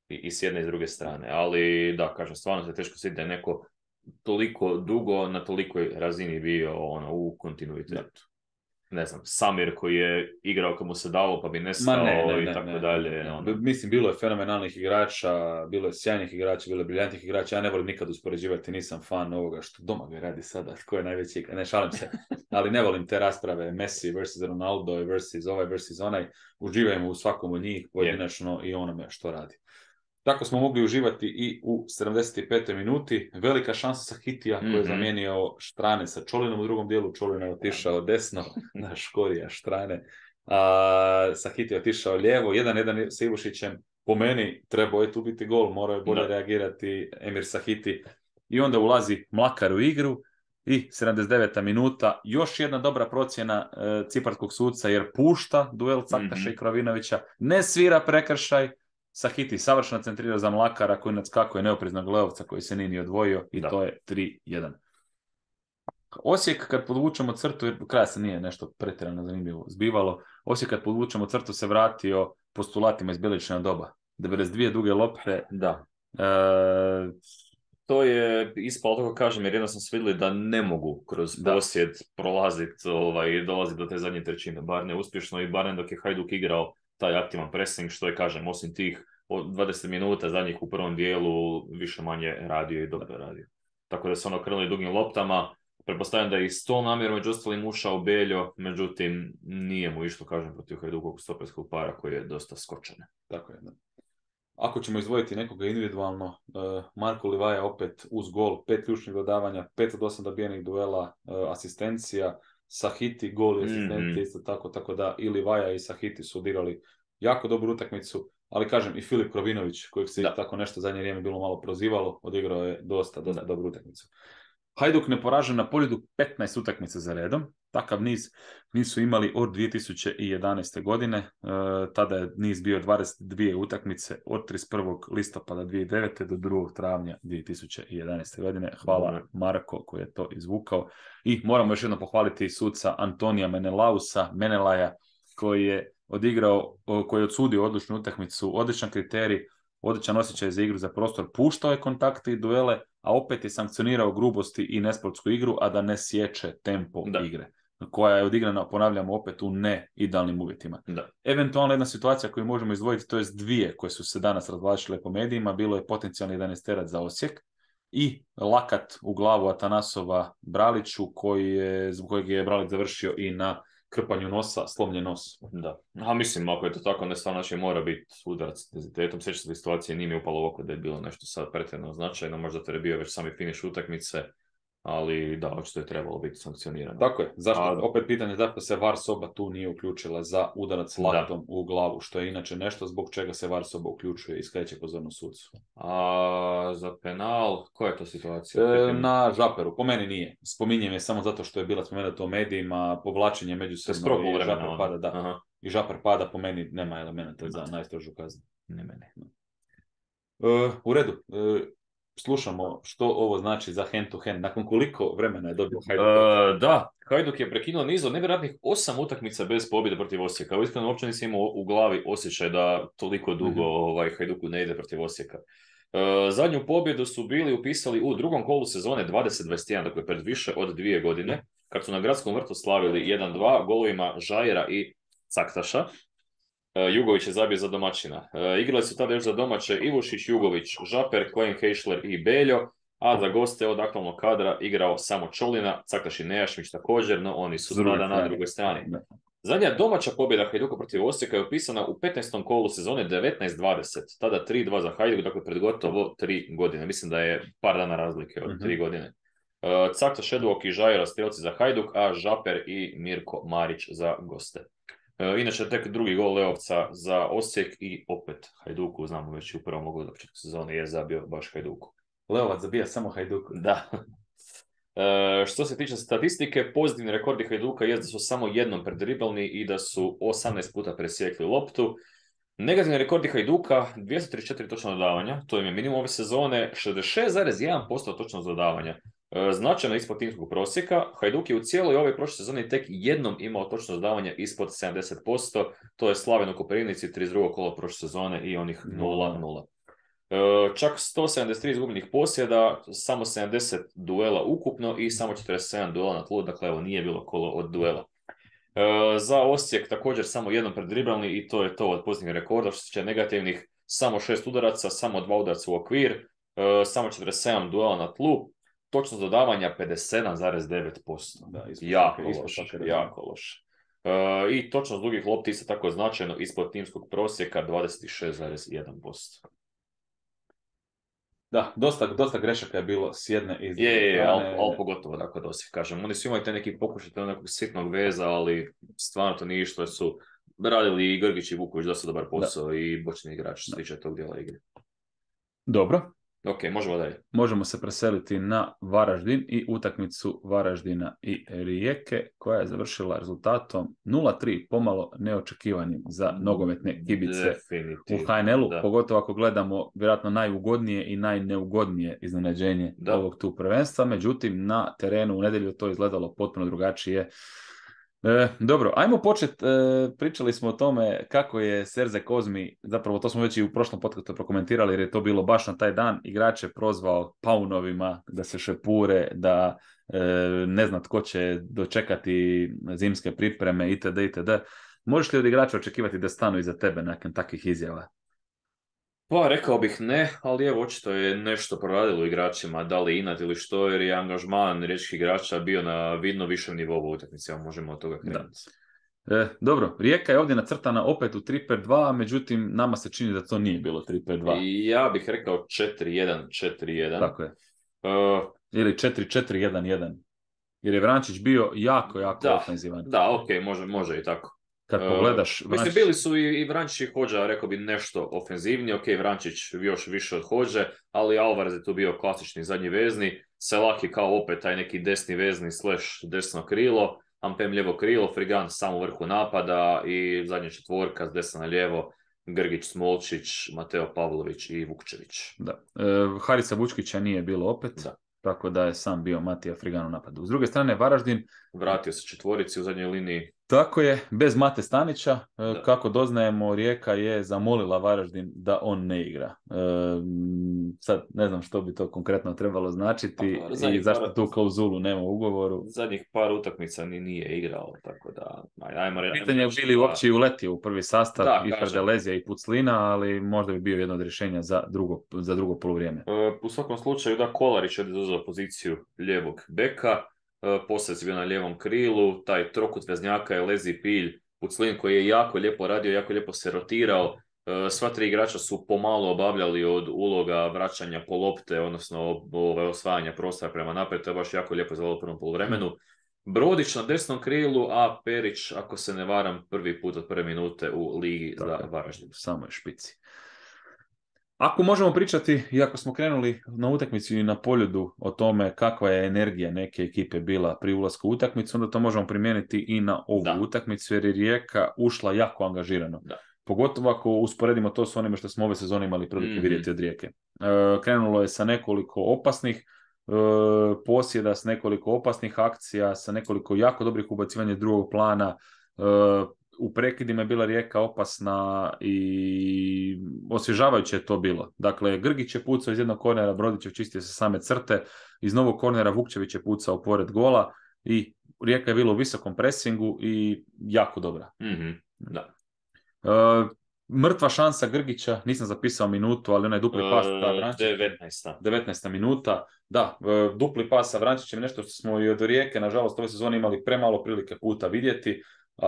i s jedne i s druge strane. Ali da, kažem, stvarno se teško sjetiti da je neko toliko dugo na tolikoj razini bio u kontinuitetu. Ne znam, Samir koji je igrao kad mu se dalo pa bi nestao i tako dalje. Mislim, bilo je fenomenalnih igrača, bilo je sjajnih igrača, bilo je briljantnih igrača. Ja ne volim nikad uspoređivati, nisam fan ovoga što Domagoj radi sada, tko je najveći igrač. Ne, šalim se, ali ne volim te rasprave Messi versus Ronaldo versus ovaj versus onaj. Uživajmo u svakom od njih pojedinačno i onome što radi. Tako smo mogli uživati i u 75. minuti. Velika šansa Sahitija koji je zamijenio Štrane sa Čolinom u drugom dijelu. Čolin je otišao desno na Škorija Štrane. Sahitija je otišao lijevo. 1-1 sa Ivušićem. Po meni trebao je tu biti gol. Morao je bolje reagirati Emir Sahiti. I onda ulazi Mlakar u igru. I 79. minuta. Još jedna dobra procjena ciparskog suca jer pušta duel Caktaša i Krovinovića. Ne svira prekršaj. Sahiti savršeno centrirao za Mlakara koji nadskakuje neopreznog Leovca koji se nije ni odvojio i to je 3-1. Osijek kad podvučemo crtu, jer do kraja se nije nešto pretjerano zanimljivo zbivalo, Osijek kad podvučemo crtu se vratio postulatima iz Bjeličina doba. 92 duge lopte. Da. To je ispalo, tako kažem, jer jednostavno su vidjeli da ne mogu kroz posjed prolaziti i dolaziti do te zadnje trećine. Bar ne uspješno i bar ne dok je Hajduk igrao taj aktivan pressing, što je, kažem, osim tih od 20 minuta zadnjih u prvom dijelu više manje radio i dobro radio. Tako da su krenuli dugim loptama. Pretpostavljam da je i s tom namjerom među ostalim ušao Beljo, međutim nije mu išlo, kažem, protiv Hajdukovog stoperskog para koji je dosta skočan. Tako je, da. Ako ćemo izdvojiti nekoga individualno, Marko Livaja opet uz gol, 5 ključnih dodavanja, 5 od 8 dobijenih duela, asistencija, Sahiti, gol i asistenti, isto tako da i Livaja i Sahiti su odigrali jako dobru utakmicu, ali kažem i Filip Krovinović, kojeg se tako nešto zadnje vrijeme bilo malo prozivalo, odigrao je dosta dobru utakmicu. Hajduk neporažen na Poljudu 15 utakmica za redom. Takav niz nisu imali od 2011. godine. Tada je niz bio 22 utakmice od 31. listopada 2009. do 2. travnja 2011. godine. Hvala Marko koji je to izvukao. I moramo još jednom pohvaliti suca Antonija Menelaja koji je odigrao, koji je odsudio odličnu utakmicu, odličan kriterij, odličan osjećaj za igru za prostor, puštao je kontakte i duele, a opet je sankcionirao grubosti i nesportsku igru, a da ne sječe tempo igre, koja je odigrana, ponavljamo, opet u neidealnim uvjetima. Eventualno jedna situacija koju možemo izdvojiti, to je dvije koje su se danas razvlačile po medijima, bilo je potencijalni 11-terac za Osijek i lakat u glavu Atanasova Braliću, zbog kojeg je Bralić završio i na krpanju nosa, slomljen nos. Da. A mislim, ako je to tako, ne stvarno će mora biti udarac s intenzitetom. Sjeća se situacije, nije mi upalo u oko da je bilo nešto sad pretjerano značajno, možda to je bio već sami finiš utakmice, ali da, očito je trebalo biti sankcionirano. Tako je. Opet pitanje, zašto se VAR soba tu nije uključila za udarac laktom u glavu, što je inače nešto zbog čega se VAR soba uključuje i skreće pozornost sucu. A za penal, koja je to situacija? Na Žaperu, po meni nije. Spominjem je samo zato što je bila spomenuta u medijima, povlačenje međusobno i Žaper pada, i Žaper pada, po meni nema elementa za najstrožu kaznu. Ne mene. U redu. Slušamo što ovo znači za hand to hand. Nakon koliko vremena je dobio Hajduk? Da, Hajduk je prekinuo niz od nevjerojatnih 8 utakmica bez pobjede protiv Osijeka. Iskreno, uopće nisam imao u glavi osjećaj da toliko dugo Hajduku ne ide protiv Osijeka. Zadnju pobjedu su bili upisali u drugom kolu sezone 2021, dakle pred više od 2 godine, kad su na Gradskom vrtu slavili 1-2 golovima Žajera i Caktaša. Jugović je zabio za domaćina. Igrali su tada još za domaće Ivušić, Jugović, Žaper, Klein, Heišler i Beljo, a za goste od aktualnog kadra igrao samo Čolina, Caktaš i Nejašmić također, no oni su sada na drugoj strani. Zadnja domaća pobjeda Hajduka protiv Osijeka je upisana u 15. kolu sezone 19-20, tada 3-2 za Hajduk, dakle pred gotovo 3 godine. Mislim da je par dana razlike od 3 godine. Caktaš, Edvok i Žajera strelci za Hajduk, a Žaper i Mirko Marić za goste. Inače, tek drugi gol Leovca za Osijek i opet Hajduku, znamo već u prvom mogu da početku sezone je zabio baš Hajduku. Leovac zabija samo Hajduku. Da. Što se tiče statistike, pozitivni rekordi Hajduka je da su samo jednom predriblani i da su 18 puta presjekli loptu. Negativni rekordi Hajduka, 234 točna dodavanja, to im je minimum ove sezone, 66,1% točnog dodavanja. Značajno ispod timskog prosjeka. Hajduk je u cijeloj ovoj prošloj sezoni tek jednom imao točno dodavanja ispod 70%. To je Slaven u Koprivnici, 32. kolo prošle sezone i onih 0-0. Čak 173 izgubljenih posjeda, samo 70 duela ukupno i samo 47 duela na tlu, dakle evo nije bilo kolo od duela. Za Osijek također samo jednom predriblani i to je to od pozitivnih rekorda. Što se tiče negativnih, samo 6 udaraca, samo 2 udarca u okvir, samo 47 duela na tlu. Točnost dodavanja 57,9%. Jako loše. I točnost dugih lopti isto tako značajno ispod timskog prosjeka 26,1%. Da, dosta grešaka je bilo s jedne i s druge strane. Ali pogotovo tako da Osijek kažem. Oni su imali te neki pokušaj nekog sitnog veza, ali stvarno to nije što su radili i Grgić i Vuković dosta dobar posao i bočni igrač što se tiče tog dijela igre. Dobro. Ok, možemo dalje. Možemo se preseliti na Varaždin i utakmicu Varaždina i Rijeke, koja je završila rezultatom 0-3, pomalo neočekivanim za nogometne kibice u HNL-u, pogotovo ako gledamo vjerojatno najugodnije i najneugodnije iznenađenje ovog tu prvenstva. Međutim, na terenu u nedjelju to izgledalo potpuno drugačije. Dobro, ajmo početi, pričali smo o tome kako je Serze Kozmi, zapravo to smo već i u prošlom podcastu prokomentirali jer je to bilo baš na taj dan, igrače prozvao paunovima da se šepure, da ne zna tko će dočekati zimske pripreme itd. Možeš li od igrača očekivati da stanu iza tebe nakon takvih izjava? Pa rekao bih ne, ali evo očito je nešto proradilo igračima, da li inat ili što, jer je angažman riječkih igrača bio na vidno višem nivou u utakmici, možemo od toga krenuti. Dobro, Rijeka je ovdje nacrtana opet u 3-5-2, međutim nama se čini da to nije bilo 3-5-2. Ja bih rekao 4-1-4-1. Tako je. Ili 4-4-1-1. Jer je Vrančić bio jako ofenzivan. Da, ok, može i tako. Kad pogledaš... Mislim, bili su i Vrančić i Hodža, rekao bi, nešto ofenzivniji. Ok, Vrančić još više od Hodže, ali Alvarez je tu bio klasični zadnji vezni. Selak je kao opet taj neki desni vezni / desno krilo. Ampem lijevo krilo, Frigan samo u vrhu napada i zadnja četvorka s desna na lijevo. Grgić, Smolčić, Mateo Pavlović i Vukčević. Da. Harica Vučkića nije bilo opet. Da. Tako da je sam bio Matija Frigan u napadu. S druge strane, Varaždin... Vratio se četvorici u zadnjoj liniji. Tako je, bez Mate Stanića. Kako doznajemo, Rijeka je zamolila Varaždin da on ne igra. Sad ne znam što bi to konkretno trebalo značiti i zašto tu klauzulu nema u ugovoru. Zadnjih par utakmica nije igrao, tako da... Pitanje je bili uopće i uletio u prvi sastav i Ferdelezija i Puclina, ali možda bi bio jedno od rješenja za drugo poluvrijeme. U svakom slučaju, da, Kolarić je zauzeo poziciju lijevog beka, poslije je bio na lijevom krilu, taj trokut veznjaka je Lezi, Pilj, Puclin koji je jako lijepo radio, jako lijepo se rotirao. Sva tri igrača su pomalo obavljali od uloga vraćanja po lopte, odnosno osvajanja prostora prema naprijed, to je baš jako lijepo izgledalo u prvom poluvremenu. Brodić na desnom krilu, a Perić, ako se ne varam, prvi put od prve minute u ligi za Varaždin. Samo je špici. Ako možemo pričati, iako smo krenuli na utakmicu i na Poljudu o tome kakva je energija neke ekipe bila pri ulasku u utakmicu, onda to možemo primijeniti i na ovu utakmicu, jer je Rijeka ušla jako angažirano. Da. Pogotovo ako usporedimo to s onime što smo ove sezone imali prilike vidjeti od Rijeke. Krenulo je sa nekoliko opasnih posjeda, s nekoliko opasnih akcija, sa nekoliko jako dobrih ubacivanja drugog plana. U prekidima je bila Rijeka opasna i osvježavajuće je to bilo. Dakle, Grgić je pucao iz jednog kornera, Brodić je čistio sa same crte, iz novog kornera Vukčević je pucao pored gola i Rijeka je bila u visokom presingu i jako dobra. Da. Mrtva šansa Grgića, nisam zapisao minutu, ali onaj dupli pas 19. minuta. Da, dupli pas sa Vrančićem, nešto što smo i od Rijeke, nažalost, ove sezone imali premalo prilike puta vidjeti.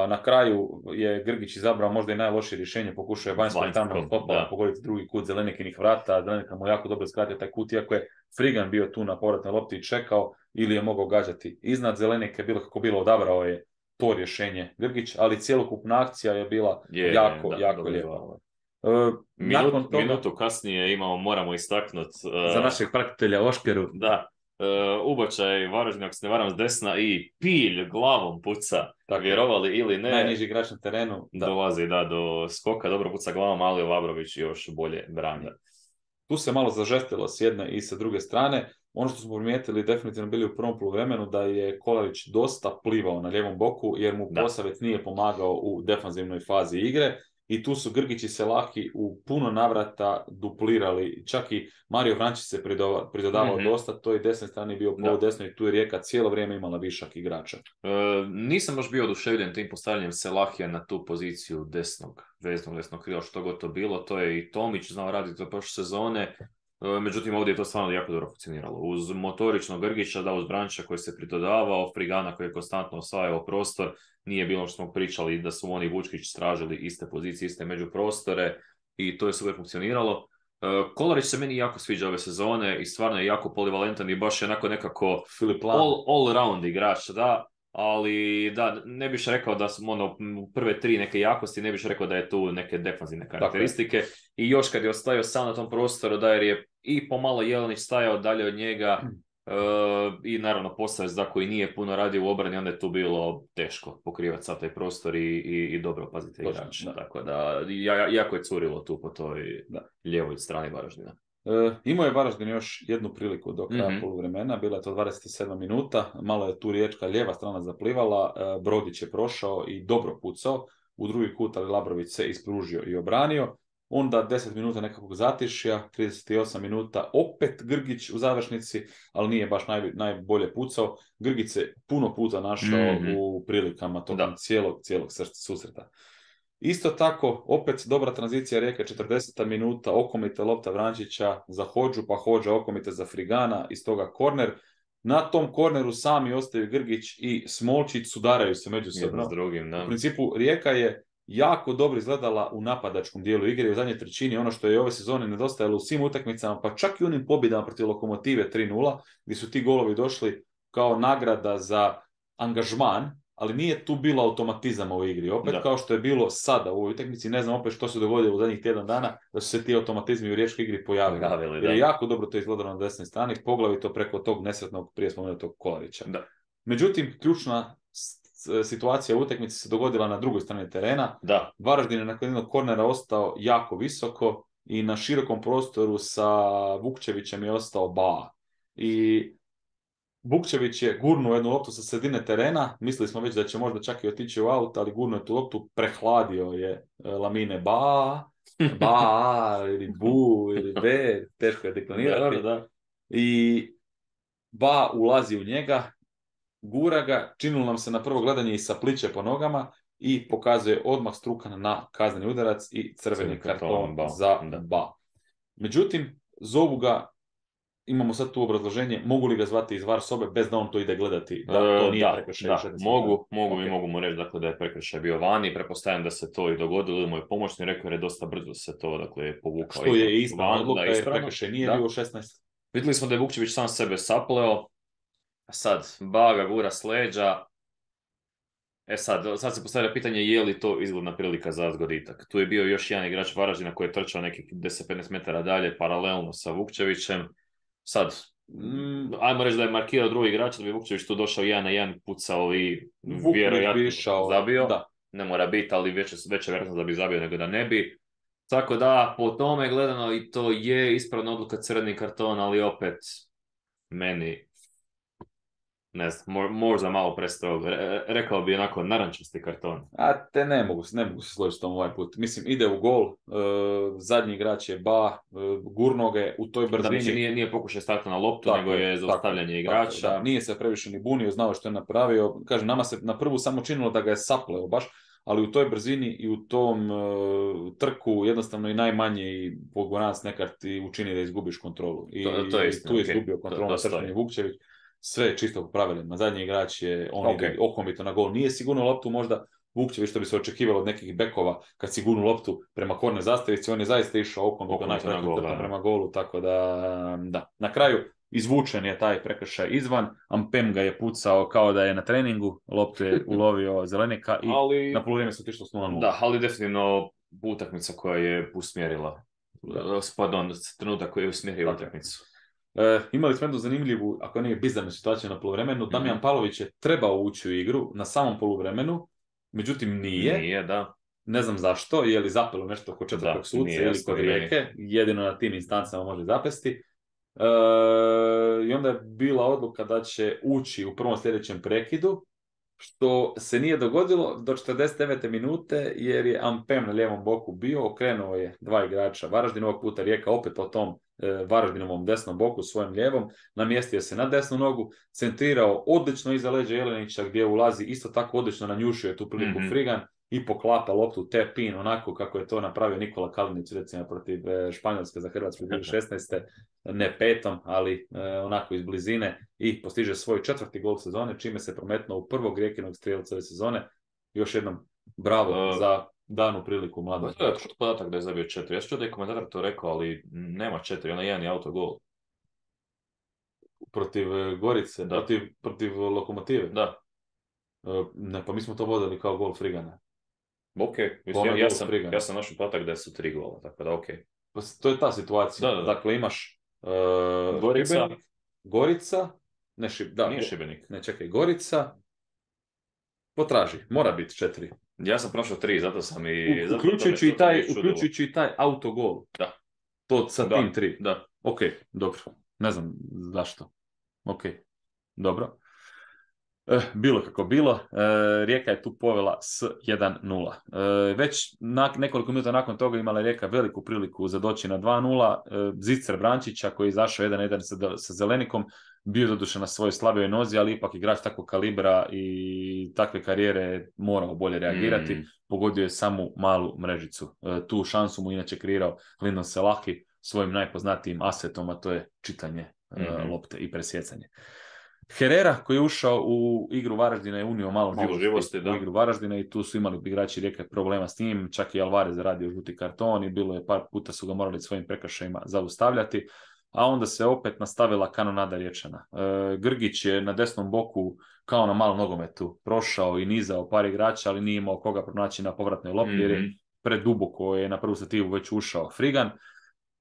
Na kraju je Grgić izabrao možda i najlošije rješenje, pokušao je vanjsko tamo pogoditi drugi kut Zelenikinih vrata, Zelenika mu jako dobro skratio taj kut, iako je Frigan bio tu na povratnoj lopti i čekao, ili je mogao gađati iznad Zelenike, bilo kako bilo, odabrao je to rješenje Grgić, ali cjelokupna akcija je bila jako lijepa. Minutu kasnije moramo istaknuti za našeg pratitelja Oškeru. Da. Ubačaj Varaždin, ako se ne varam, s desna i Pilj glavom puca, vjerovali ili ne. Najniži igrač na terenu. Dolazi do skoka, dobro puca glavom, ali Vabrović još bolje brani. Tu se malo zažestilo s jedne i sa druge strane. Ono što smo primijetili, definitivno bili u prvom poluvremenu, da je Kolarić dosta plivao na lijevom boku, jer mu Posavec nije pomagao u defanzivnoj fazi igre. I tu su Grgić i Selahi u puno navrata duplirali, čak i Mario Vrančić se pridodavao dosta, to je desne strane bio poludesno i tu je Rijeka cijelo vrijeme imala višak igrača. Nisam baš bio oduševljen tim postavljanjem Selahija na tu poziciju desnog krila, što god to bilo, to je i Tomić znao raditi do prošle sezone. Međutim, ovdje je to stvarno jako dobro funkcioniralo. Uz motoričnog Grgića, uz Branča koji se pridodavao, Frigana koji je konstantno osvajao prostor, nije bilo što smo pričali da su oni Vučkić tražili iste pozicije, iste međuprostore i to je super funkcioniralo. Kolarić se meni jako sviđa ove sezone i stvarno je jako polivalentan i baš je nekako all round igrač, da. Ali da, ne biš rekao da su prve tri neke jakosti, ne biš rekao da je tu neke defanzivne karakteristike. I još kad je ostajao sam na tom prostoru, da jer je i pomalo Jelenić stajao dalje od njega i naravno Posavec da koji nije puno radio u obrani, onda je tu bilo teško pokrivati sav taj prostor i dobro paziti igrač. Tako da jako je curilo tu po toj lijevoj strani Varaždina. Imao je Varaždin još jednu priliku do kraja poluvremena, bila je to 27 minuta, malo je tu Riječka lijeva strana zaplivala, Brodić je prošao i dobro pucao, u drugi kut ali Labrović se ispružio i obranio, onda 10 minuta nekakvog zatišja, 38 minuta opet Grgić u završnici, ali nije baš najbolje pucao, Grgić se puno puta našao u prilikama tokom cijelog susreta. Isto tako, opet dobra tranzicija Rijeke, 40 minuta, okomite lopta Vrančića za Hodžu, pa Hodža okomite za Frigana, iz toga korner. Na tom korneru sami ostaju Grgić i Smolčić, sudaraju se međusobno. S drugim, da. U principu, Rijeka je jako dobro izgledala u napadačkom dijelu igre, u zadnjoj trećini, ono što je ove sezone nedostajalo u svim utakmicama, pa čak i onim pobjedama protiv Lokomotive 3-0, gdje su ti golovi došli kao nagrada za angažman, ali nije tu bilo automatizama u igri. Opet kao što je bilo sada u ovoj utakmici, ne znam opet što se dogodilo u zadnjih tjedan dana, da su se ti automatizmi u riječkoj igri pojavili. Jer je jako dobro to izgledalo na desnoj strani, poglavito preko tog nesretnog prije spomenutog Kolarića. Da. Međutim, ključna situacija u utakmici se dogodila na drugoj strani terena. Da. Varaždin je nakon jednog kornera ostao jako visoko i na širokom prostoru sa Vukčevićem je ostao Ba. I Vukčević je gurnuo jednu loptu sa sredine terena, mislili smo već da će možda čak i otići u aut, ali gurnuo je tu loptu, prehladio je Lamine Ba ili Bu ili B, teško je deklinirati. Da. I Ba ulazi u njega, gura ga, činilo nam se na prvo gledanje i sapliće po nogama i pokazuje odmah Strukan na kazneni udarac i crveni karton za Ba. Međutim, zovu ga, imamo sad tu obrazloženje, mogu li ga zvati iz VAR sobe bez da on to ide gledati? Da, to nije prekršaj. Da, mogu mu reći dakle, da je prekršaj bio vani, pretpostavljam da se to i dogodilo, ili moj pomoćni rekao jer je dosta brzo se to dakle, povukao. Što je ispravno odluka, jer prekršaj nije bio 16. Vidjeli smo da je Vukčević sam sebe sapleo, sad Baga gura s leđa. Sad se postavlja pitanje je li to izgledna prilika za zgoditak. Tu je bio još jedan igrač Varaždina koji je trčao nekih 10-15 metara dalje paralelno sa Vukčevićem. Sad, ajmo reći da je markirao drugi igrač, da bi Vukčević tu došao 1-1, pucao i vjerojatno zabio. Da. Ne mora biti, ali veća vjerojatnost da bi zabio nego da ne bi. Tako da, po tome gledano i to je ispravna odluka crveni karton, ali opet meni ne znam, možda malo prestrogo. Rekao bi onako narančasti karton. A te ne mogu se složiti s tom ovaj put. Mislim, ide u gol, zadnji igrač je Ba, gurno ga u toj brzini. Da, nije pokušaj starta na loptu, nego je zaustavljanje igrača. Da, nije se previše ni bunio, znao što je napravio. Kažem, nama se na prvu samo činilo da ga je sapleo baš, ali u toj brzini i u tom trku jednostavno i najmanje i pogonac nekad ti učini da izgubiš kontrolu. I to je istina, tu je izgubio kontrolu na trčanje Vukčević. Sve je čisto po pravilima. Zadnji igrač je, ide okomito na gol. Nije sigurno loptu možda Vukčević što bi se očekivalo od nekih bekova kad si gurnu loptu prema korner zastavici. On je zaista išao okomito prema golu. Tako da. Na kraju izvučen je taj prekršaj izvan. Ampem ga je pucao kao da je na treningu. Loptu je ulovio Zelenika i na polovrijeme se otišlo s 0:0. Da, ali definitivno utakmica koja je usmjerila. Trenutak koji je usmjerio utakmicu. Imali smo jednu zanimljivu, ako nije bizarnu situaciju na poluvremenu. Damjan Pavlović je trebao ući u igru na samom poluvremenu, međutim nije. Da. Ne znam zašto, je li zapelo nešto kod četvrtog suca ili kod Rijeke, jedino na tim instancama može zapesti. I onda je bila odluka da će ući u prvom sljedećem prekidu, što se nije dogodilo do 49. minute, jer je Ampem na lijevom boku bio, okrenuo je dva igrača Varaždina, ovog puta Rijeka opet po tom Varaždinovom desnom boku, svojim lijevom, namjestio se na desnu nogu, centrirao odlično iza leđa Jelenića, gdje ulazi isto tako odlično, nanjušio je tu priliku Frigan i poklapa loptu tap-in, onako kako je to napravio Nikola Kalinić, recimo protiv Španjolske za Hrvatsku 2016. Ne petom, ali onako iz blizine, i postiže svoj 4. gol sezone, čime se prometnuo u prvog Rijekinog strijelca ove sezone. Još jednom bravo za danu priliku mladog. To je podatak da je zabio 4. Ja ću da je komentator to rekao, ali nema 4, ona jedan je autogol. Protiv Gorice, protiv Lokomotive? Da. Ne, pa mi smo to vodili kao gol Frigana. Ok, ja sam našao podatak da su 3 gola, tako da ok. Pa to je ta situacija. Da. Dakle, imaš Gorica, nije Šibenik. Ne, čekaj, Gorica, potraži, mora biti 4. Ja sam prošao 3, zato sam i... Uključujući i taj autogol. Da. To sa tim 3. Da. Ok, dobro. Ne znam zašto. Ok, dobro. Bilo kako bilo, Rijeka je tu povela s 1:0. Već nekoliko minuta nakon toga imala Rijeka veliku priliku za doći na 2:0. Zicer Brančića koji je izašao 1:1 sa Zelenikom, bio doduše na svojoj slabijoj nozi, ali ipak igrač takvog kalibra i takve karijere morao bolje reagirati. Pogodio je samu malu mrežicu. Tu šansu mu inače kreirao Lindon Selahi svojim najpoznatijim asetom, a to je čitanje lopte i presjecanje. Herrera koji je ušao u igru Varaždina je unio malo živosti u igru Varaždina i tu su imali igrači Rijeke problema s njim, čak i Alvarez zaradio žuti karton i bilo je par puta su ga morali svojim prekršajima zaustavljati, a onda se opet nastavila kanonada Riječana. Grgić je na desnom boku kao na malom nogometu prošao i nizao par igrača, ali nije imao koga pronaći na povratnoj lopti, jer je preduboko je na prvu stativu već ušao Frigan.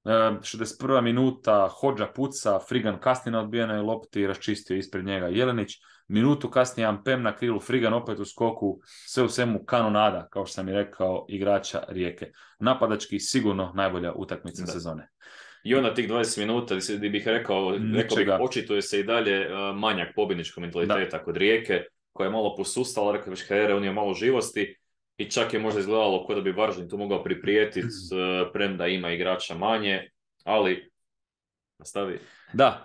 61. minuta, Hodža puca, Frigan kasni na odbijenoj lopti i raščistio ispred njega Jelenić. Minutu kasnije Ampem na krilu, Frigan opet u skoku, sve u svemu kanonada, kao što sam i rekao, igrača Rijeke. Napadački sigurno najbolja utakmica sezone. I onda tih 20 minuta, gdje bih rekao bih, očituje se i dalje manjak pobjedničkog mentaliteta kod Rijeke, koja je malo posustala, rekao bih karijere, on je malo živosti. I čak je možda izgledalo kao da bi Varaždin tu mogao priprijetiti, premda ima igrača manje, ali nastavi. Da,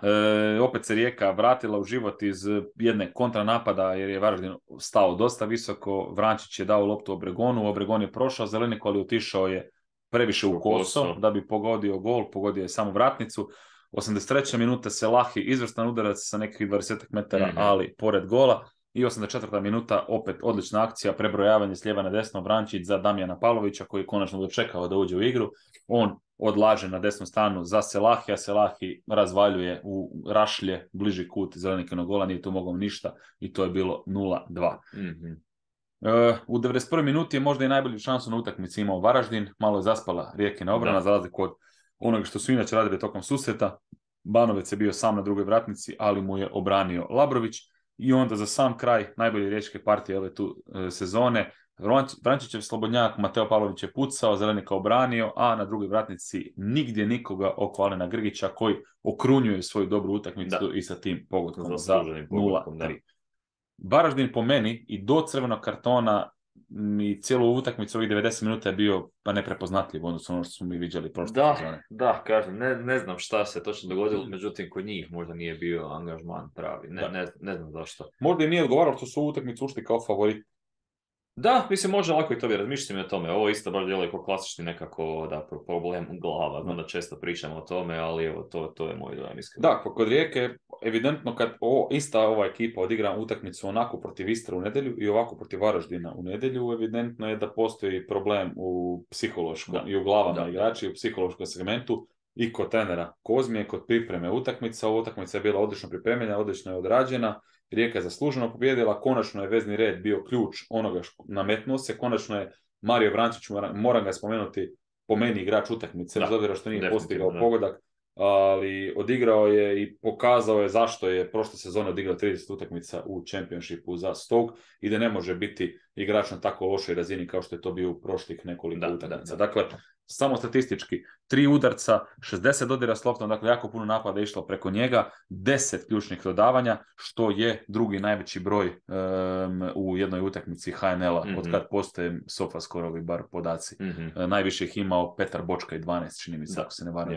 opet se Rijeka vratila u život iz jedne kontranapada, jer je Varaždin stao dosta visoko, Vrančić je dao loptu Obregonu, Obregon je prošao Zelenik, ali otišao je previše u koso da bi pogodio gol, pogodio je samo vratnicu. 83. minuta Selahi, izvrstan udarac sa nekih 20 metara, ali pored gola. I 84. minuta, opet odlična akcija, prebrojavanje s lijeva na desno, Vrančić za Damjana Pavlovića, koji je konačno dočekao da uđe u igru. On odlaže na desnom stranu za Selahija, Selahi razvaljuje u rašlje, bliži kut Zelenikinog gola, nije tu mogao ništa i to je bilo 0-2. U 91. minuti je možda i najbolju šansu na utakmici imao Varaždin, malo je zaspala Rijekina obrana, za razliku od onoga što su inače radili tokom susreta. Banovec je bio sam na drugoj vratnici, ali mu je obranio Labrović. I onda za sam kraj najbolje riječke partije ove tu sezone, Vrančićev slobodnjak, Mateo Pavlović je pucao, Zelenika obranio, a na drugoj vratnici nigdje nikoga oko Alena Grgića, koji okrunjuje svoju dobru utakmicu i sa tim pogodkom za 0-3. Varaždin po meni i do crvenog kartona i cijelu utakmicu ovih 90 minuta je bio pa neprepoznatljiv, odnosno ono što smo mi vidjeli prošle sezone. Da, kažem, ne znam šta se točno dogodilo, međutim kod njih možda nije bio angažman pravi, ne znam zašto. Možda i nije odgovaralo što su u utakmicu ušli kao favorit. Da, mislim, može lako i to bi razmišljati o tome. Ovo isto baš djeluje kao klasični nekako problem glava. Znam da često pričamo o tome, ali evo, to je moj dojam iskreno. Da, kod Rijeke, evidentno kad ista ova ekipa odigra utakmicu onako protiv Istre u nedjelju i ovako protiv Varaždina u nedjelju, evidentno je da postoji problem u psihološkom i u glavama igrača i u psihološkom segmentu i kod trenera Kozmije, kod pripreme utakmica. Ova utakmica je bila odlično pripremljena, odlično je odrađena. Rijeka je zasluženo pobjedila, konačno je vezni red bio ključ onoga što nametnuo se, konačno je Mario Vrančić, moram ga spomenuti, po meni igrač utakmice, bez obzira što nije postigao pogodak, ali odigrao je i pokazao je zašto je prošle sezone odigrao 30 utakmica u Championshipu za Stoke i da ne može biti igrač na tako lošoj razini kao što je to bio u prošlih nekoliko utakmica. Dakle, samo statistički, 3 udarca, 60 dodira s loptom, dakle jako puno napada je išlo preko njega, 10 ključnih dodavanja, što je drugi najveći broj u jednoj utakmici HNL-a, od kad postoje SofaScore-ovi bar podaci. Najviše ih imao Petar Bočka i 12, čini mi se, ako se ne varam.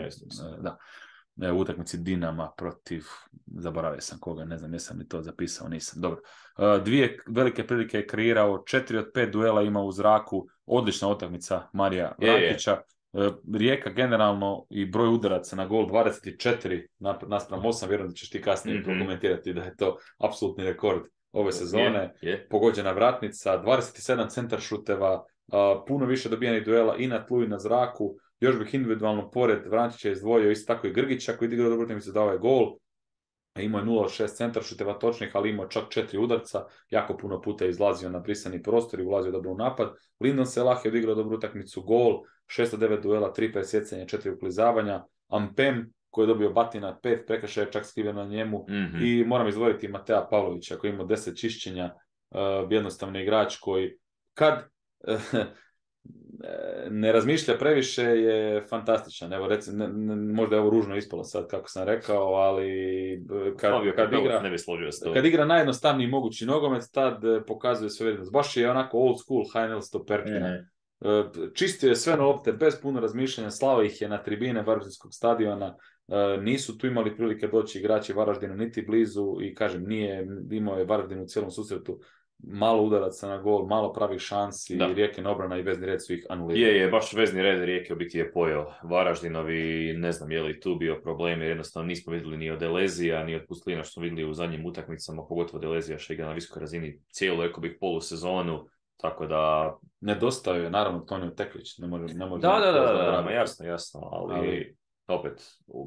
U utakmici Dinama protiv, zaboravio sam koga, ne znam, jesam li to zapisao, nisam. Dobro. 2 velike prilike je kreirao, 4 od 5 duela ima u zraku, odlična utakmica Marija Vrankića. Rijeka generalno i broj udaraca na gol 24 naspram 8, vjerujem da ćeš ti kasnije prokomentirati da je to apsolutni rekord ove sezone. Pogođena vratnica, 27 centar šuteva, puno više dobijenih duela i na tlu i na zraku. Još bih individualno pored Vrančića izdvojio isto tako i Grgića koji je igrao dobro utakmicu, dao je gol. Imao je 0-6 centar šuteva točnih, ali imao čak 4 udarca. Jako puno puta je izlazio na brisani prostor i ulazio dobro u napad. Lyndon Selah je odigrao dobru utakmicu, gol, 609 duela, 3 presjecanja, 4 uklizavanja. Ampem koji je dobio batina, 5 prekršaja čak skriveno na njemu. I moram izdvojiti Matea Pavlovića koji ima 10 čišćenja, jednostavni igrač koji kad ne razmišlja previše je fantastičan. Evo možda je ovo ružno ispalo sad kako sam rekao, ali kad igra najjednostavniji mogući nogomet, tad pokazuje svoju vrijednost. Baš je onako old school HNL stopertina. Čistio je sve na lopte bez puno razmišljanja, slao ih je na tribine Varaždinskog stadiona. Nisu tu imali prilike doći igrači Varaždina niti blizu i kažem, imao je Varaždin u cijelom susretu malo udaraca na gol, malo pravih šansi, Rijekin obrana i vezni red su ih anulirali. Je, baš vezni red Rijeke u biti je pojeo Varaždinovi, ne znam je li tu bio problem, jer jednostavno nismo vidjeli ni od Delezija, ni od Pustlina što smo vidjeli u zadnjim utakmicama, pogotovo Delezija što igra na visokoj razini cijelu, rekao bih, polusezonu, tako da... Nedostaje je, naravno, Tonio Teklić, ne može da, jasno, ali opet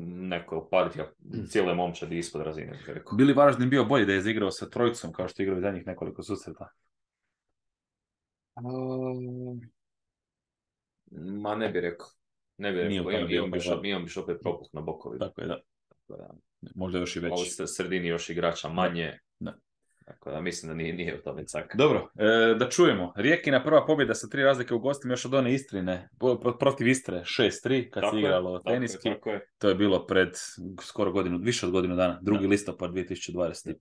neko partija cijele momčadi ispod razine. Bih rekao. Bili Varaždin bio bolji da je igrao sa trojicom, kao što je igrao zadnjih nekoliko susreta? Ma ne bih rekao. Ne bih Nije u rekao. tome bio Imam biš opet propuh na bokovima. Tako je, da. Možda još i Ovo veći. sredini još igrača manje. Da. Tako da mislim da nije u tome cak. Dobro, da čujemo. Rijekina prva pobjeda sa 3 razlike u gostima još od one Istrine, protiv Istre 6-3 kad se igralo teniski. Tako je. To je bilo pred skoro više od godinu dana, 2. listopad 2021.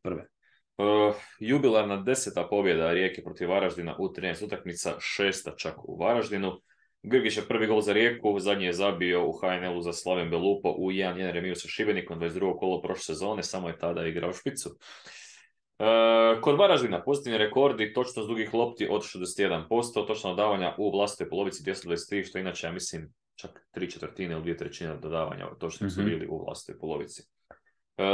Jubilarna 10. pobjeda Rijeke protiv Varaždina u 13 utakmica, 6. čak u Varaždinu. Grgić je prvi gol za Rijeku, zadnji je zabio u HNL-u za Slaven Belupo u 1-1 remiju sa Šibenikom, 22. kolo prošle sezone, samo je tada igrao špicu. Kod Varaždina pozitivni rekordi, točnost dugih lopti od 61%, točno dodavanja u vlastitoj polovici 223, što inače, ja mislim, čak 3/4 ili 2/3 dodavanja točno su bili u vlastitoj polovici.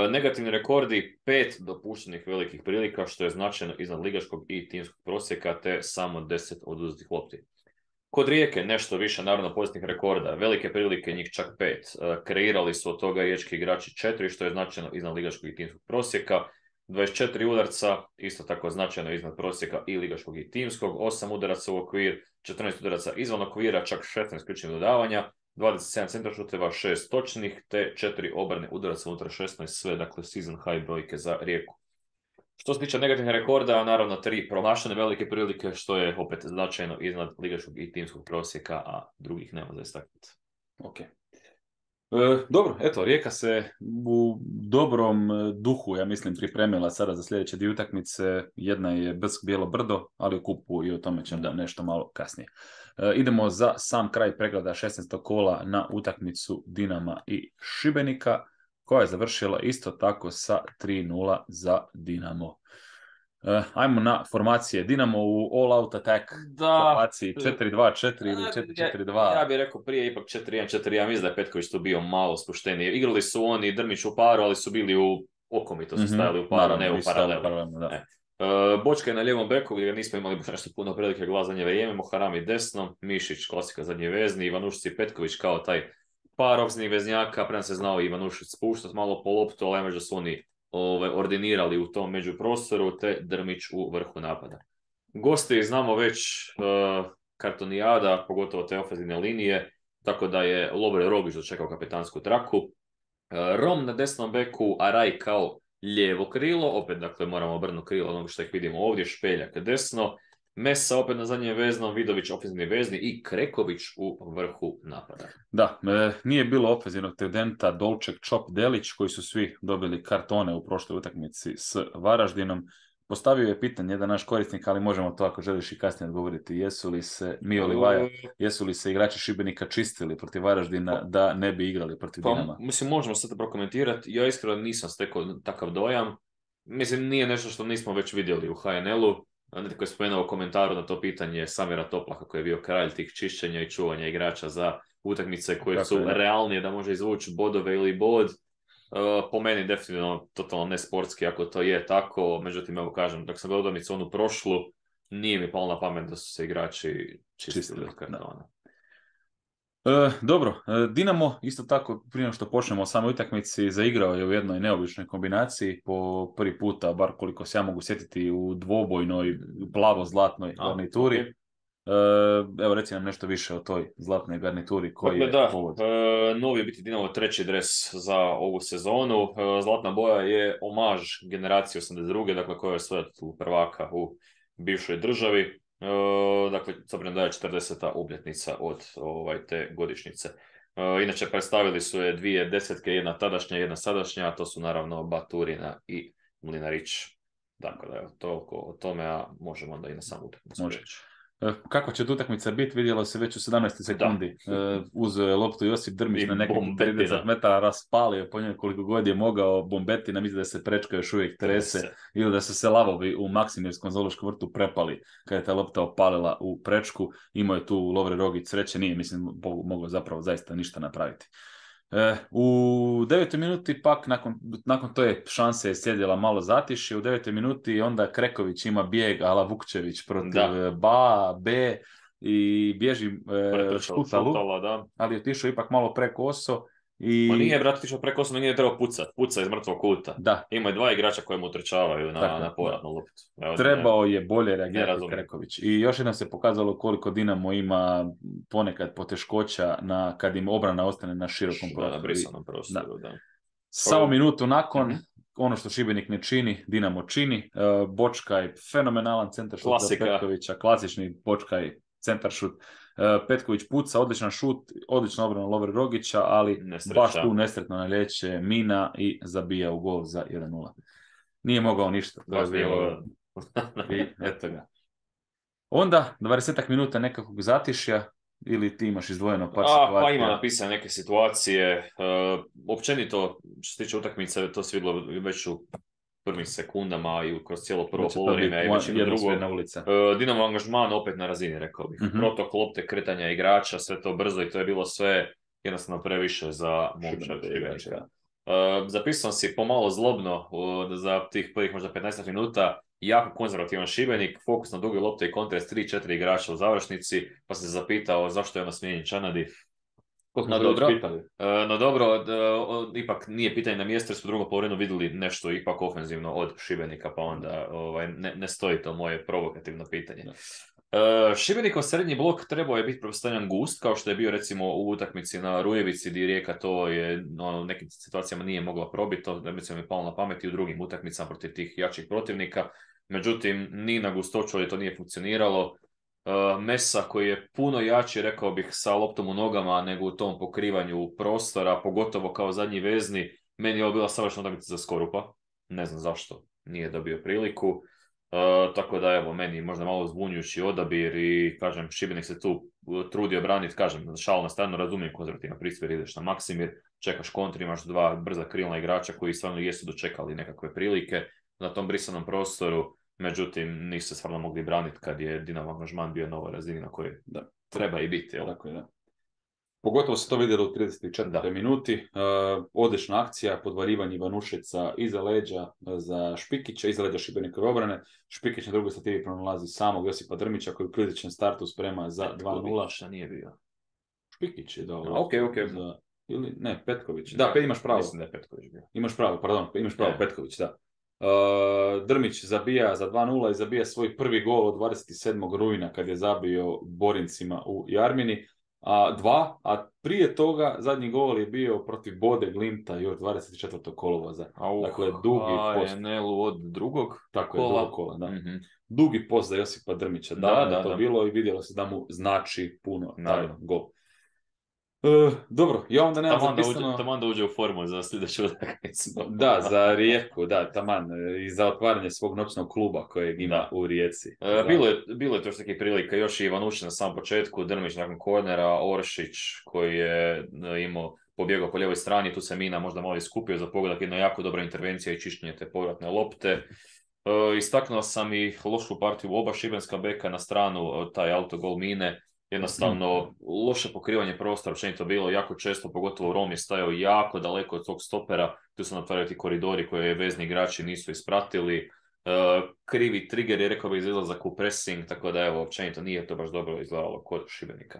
Negativni rekordi, 5 dopuštenih velikih prilika, što je značajno iznad ligaškog i timskog prosjeka, te samo 10 oduzetih lopti. Kod Rijeke nešto više, naravno, pozitivnih rekorda, velike prilike, njih čak 5. Kreirali su od toga riječki igrači 4, što je značajno iznad ligaškog i timskog prosjeka. 24 udarca, isto tako značajno iznad prosjeka i ligaškog i timskog. 8 udaraca u okvir, 14 udaraca izvan okvira, čak 16 ključnih dodavanja. 27 centaršuteva, 6 točnih, te 4 obrane udaraca unutar 16, sve, dakle, season high brojke za Rijeku. Što se tiče negativnih rekorda, naravno 3 promašene velike prilike, što je opet značajno iznad ligaškog i timskog prosjeka, a drugih nema za istaknuti. Ok. Dobro, eto, Rijeka se u dobrom duhu, ja mislim, pripremila sada za sljedeće 2 utakmice. Jedna je Brsk Bijelo Brdo, ali u kupu i o tome ćemo nešto malo kasnije. Idemo za sam kraj pregleda 16. kola na utakmicu Dinama i Šibenika, koja je završila isto tako sa 3-0 za Dinamo. Ajmo na formacije. Dinamo u all-out attack formaciji 4-2-4 ili 4-4-2. Ja bih rekao prije ipak 4-1-4-1. Mislim da je Petković tu bio malo spušteniji. Igrali su oni Drmić u paru, ali su bili u okomito, su stajali u paru, naravno, ne u paralelu. Bočka je na lijevom beku, gdje nismo imali nešto puno prilike glas zadnje vrijeme. Moharami desno, Mišić, klasika zadnji vezni, Ivanušić i Petković kao taj par opsnih veznjaka. Prema se znao Ivanušić spuštati malo po loptu, ali možda su oni ordinirali u tom međuprostoru, te Drmić u vrhu napada. Gosti znamo već kartonijada, pogotovo te ofenzivne linije, tako da je Lovre Rogić dočekao kapitansku traku. Rom na desnom beku, Araj kao lijevo krilo, opet dakle moramo obrnuti krilo onog što ih vidimo ovdje, Špeljak desno, Mesa opet na zadnjem veznom, Vidović ofenzivni vezni i Kreković u vrhu napada. Da, nije bilo ofenzivnog tridenta Dolček, Čop, Delić, koji su svi dobili kartone u prošloj utakmici s Varaždinom. Postavio je pitanje jedan naš korisnik, ali možemo to ako želiš i kasnije odgovoriti. Jesu li se igrači Šibenika čistili protiv Varaždina da ne bi igrali protiv Dinama? Mislim, možemo sad prokomentirati. Ja iskreno nisam stekao takav dojam. Mislim, nije nešto što nismo već vidjeli u HNL-u. Netko je spomenuo u komentaru na to pitanje Samira Toplaha, koji je bio kralj tih čišćenja i čuvanja igrača za utakmice koje su realnije da može izvući bodove ili bod. Po meni definitivno totalno nesportski ako to je tako, međutim, evo kažem, dok sam gledao utakmicu onu prošlu, nije mi palo na pamet da su se igrači čistili od kartona. Dobro, Dinamo isto tako, prije što počnemo o samoj utakmici, zaigrao je u jednoj neobičnoj kombinaciji po prvi puta, bar koliko se ja mogu sjetiti, u dvobojnoj plavo-zlatnoj garnituri. Okay. Evo reci nam nešto više o toj zlatnoj garnituri koji je povod. Novi je biti Dinamo 3. dres za ovu sezonu. Zlatna boja je omaž generacije 82. dakle koja je svoja prvaka u bivšoj državi. Dakle, s obzirom da je 40. obljetnica od te godišnjice. Inače, predstavili su je 2 desetke, jedna tadašnja, jedna sadašnja, a to su naravno Baturina i Mlinarić. Dakle, da je toliko o tome, a možemo onda i na samu utakmicu. Kakva će utakmica biti, vidjelo se već u 17. sekundi. Uzeo je loptu Josip Drmić na nekih 30 metara, raspalio po njoj koliko god je mogao. Bombetina, mislim da se prečka još uvijek trese, ili da su se lavovi u Maksimirskom zoološkom vrtu prepali kada je ta lopta opalila u prečku. Imao je tu Lovre Rogić sreće, nije, mislim, mogao zapravo zaista ništa napraviti. U 9. minuti pak, nakon te šanse je sjedila malo zatiši, u 9. minuti onda Kreković ima bijeg ala Vukčević protiv B i bježi Škutalu, ali je otišao ipak malo preko oso Ma I nije, brate, tišao preko 8, nije trebao puca iz mrtvog kuta. da, Ima je 2 igrača koji mu trčavaju tako je, na povratnu loptu. Evo, trebao je bolje ne reagirati razumijem. Kreković. I još jednom se pokazalo koliko Dinamo ima ponekad poteškoća kad im obrana ostane na širokom Na prostoru. brisanom prostoru, da. Samo minutu nakon, Mhm. ono što Šibenik ne čini, Dinamo čini. Bočkaj, fenomenalan centaršut za Klasika. Petkovića, klasični Bočkaj centaršut. Petković puca, odličan šut, odlična obrana Lovre Rogića, ali Nesreća. baš tu nesretno naljeće mina i zabija u gol za 1:0. Nije mogao ništa. To je Baš nije bilo... mogao. I eto ga. Onda, 20 minuta nekakvog zatišja, ili ti imaš izdvojeno par situacija? Pa ima napisane neke situacije. Općenito, što se tiče utakmice, to se vidjelo već u prvim sekundama i kroz cijelo prvo poluvreme i većinu drugo. ulica. Dinamo angažman opet na razini, rekao bih. Mhm. Protok lopte, kretanja igrača, sve to brzo i to je bilo sve jednostavno previše za momčad Šibenika. Zapisao si pomalo zlobno za tih prvih možda 15 minuta, jako konzervativan Šibenik, fokus na duge lopte i kontra s 3-4 igrača u završnici, pa se zapitao zašto je ono smijenjen Čanadi. No dobro, ipak nije pitanje na mjestu jer smo drugo poluvremenu vidjeli nešto ipak ofenzivno od Šibenika, pa onda ne stoji to moje provokativno pitanje. Šibenikov srednji blok trebao je biti pretpostavljan gust, kao što je bio recimo u utakmici na Rujevici, gdje Rijeka to je u nekim situacijama nije mogla probiti, to recimo mi je palo na pamet i u drugim utakmicama protiv tih jačih protivnika. Međutim, ni na gustoću ali to nije funkcioniralo. Mesa koji je puno jači, rekao bih, sa loptom u nogama nego u tom pokrivanju prostora, pogotovo kao zadnji vezni. Meni je ovo bila savršena utakmica za Skorupa. Ne znam zašto nije dobio priliku. Tako da evo, meni možda malo zbunjujući odabir i kažem, Šibenik se tu trudio braniti, kažem, šal na stranu, razumijem konzervativno pristup, ideš na Maksimir, čekaš kontri, imaš 2 brza krilna igrača koji stvarno jesu dočekali nekakve prilike na tom brisanom prostoru. Međutim, nisu se stvarno mogli braniti kad je Dinamo angažman bio na ovoj razini na kojoj treba i biti. Jel? Tako je, da. Pogotovo se to vidjelo u 34. minuti. Odlična akcija, podvarivanje Ivanušeca iza leđa za Špikića, iza leđa Šibenikove obrane. Špikić na drugoj stativi pronalazi samog Josipa Drmića koji u kritičnom startu sprema za 2:0. Šta nije bio? Špikić je dao. Okay. Ili ne, Petković. Da, imaš pravo. Mislim da je Petković bio. Imaš pravo, Petković, da. Drmić zabija za 2:0 i zabija svoj prvi gol od 27. rujna kad je zabio Borincima u Jarmini. A prije toga zadnji gol je bio protiv Bode Glimta još 24. kolovoza. Dakle, dugi post. NL-u od drugog Tako kola. Je, drugog kola, da. Mm-hmm. Dugi post za Josipa Drmića. Da, bilo i vidjelo se da mu znači puno taj gol. Dobro, ja onda nemam zapisano... Taman da uđe u formu za sljedeću utakmicu. Da, za Rijeku, da, taman. I za otvaranje svog noćnog kluba kojeg ima u Rijeci. Bilo je to što takih prilika. Još i Ivanušić na samom početku, Drmić nakon kornera, Oršić koji je pobjegao po lijevoj strani, tu se Mina možda malo iskupio za pogodak, jedna jako dobra intervencija i čišćenje te povratne lopte. Istaknuo sam i lošu partiju oba šibenska beka na stranu, taj autogol Mine. Jednostavno, loše pokrivanje prostora, općenito bilo jako često, pogotovo Rom je stajao jako daleko od tog stopera, tu su natvarali ti koridori koje vezni igrači nisu ispratili, krivi trigger je rekao bih za izlazak u pressing, tako da evo, općenito nije to baš dobro izgledalo kod Šibenika.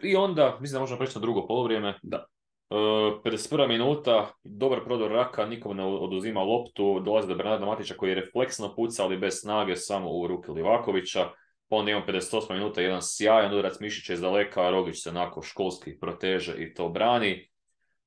I onda, mislim da možemo preći na drugo poluvrijeme. Da. 51. minuta, dobar prodor Raka, nikom ne oduzima loptu, dolazi do Bernarda Matića koji je refleksno pucao, ali bez snage, samo u ruke Livakovića. Pa onda imamo 58 minuta, jedan sjajan udarac Mišića iz daleka, Rogić se onako školski proteže i to brani.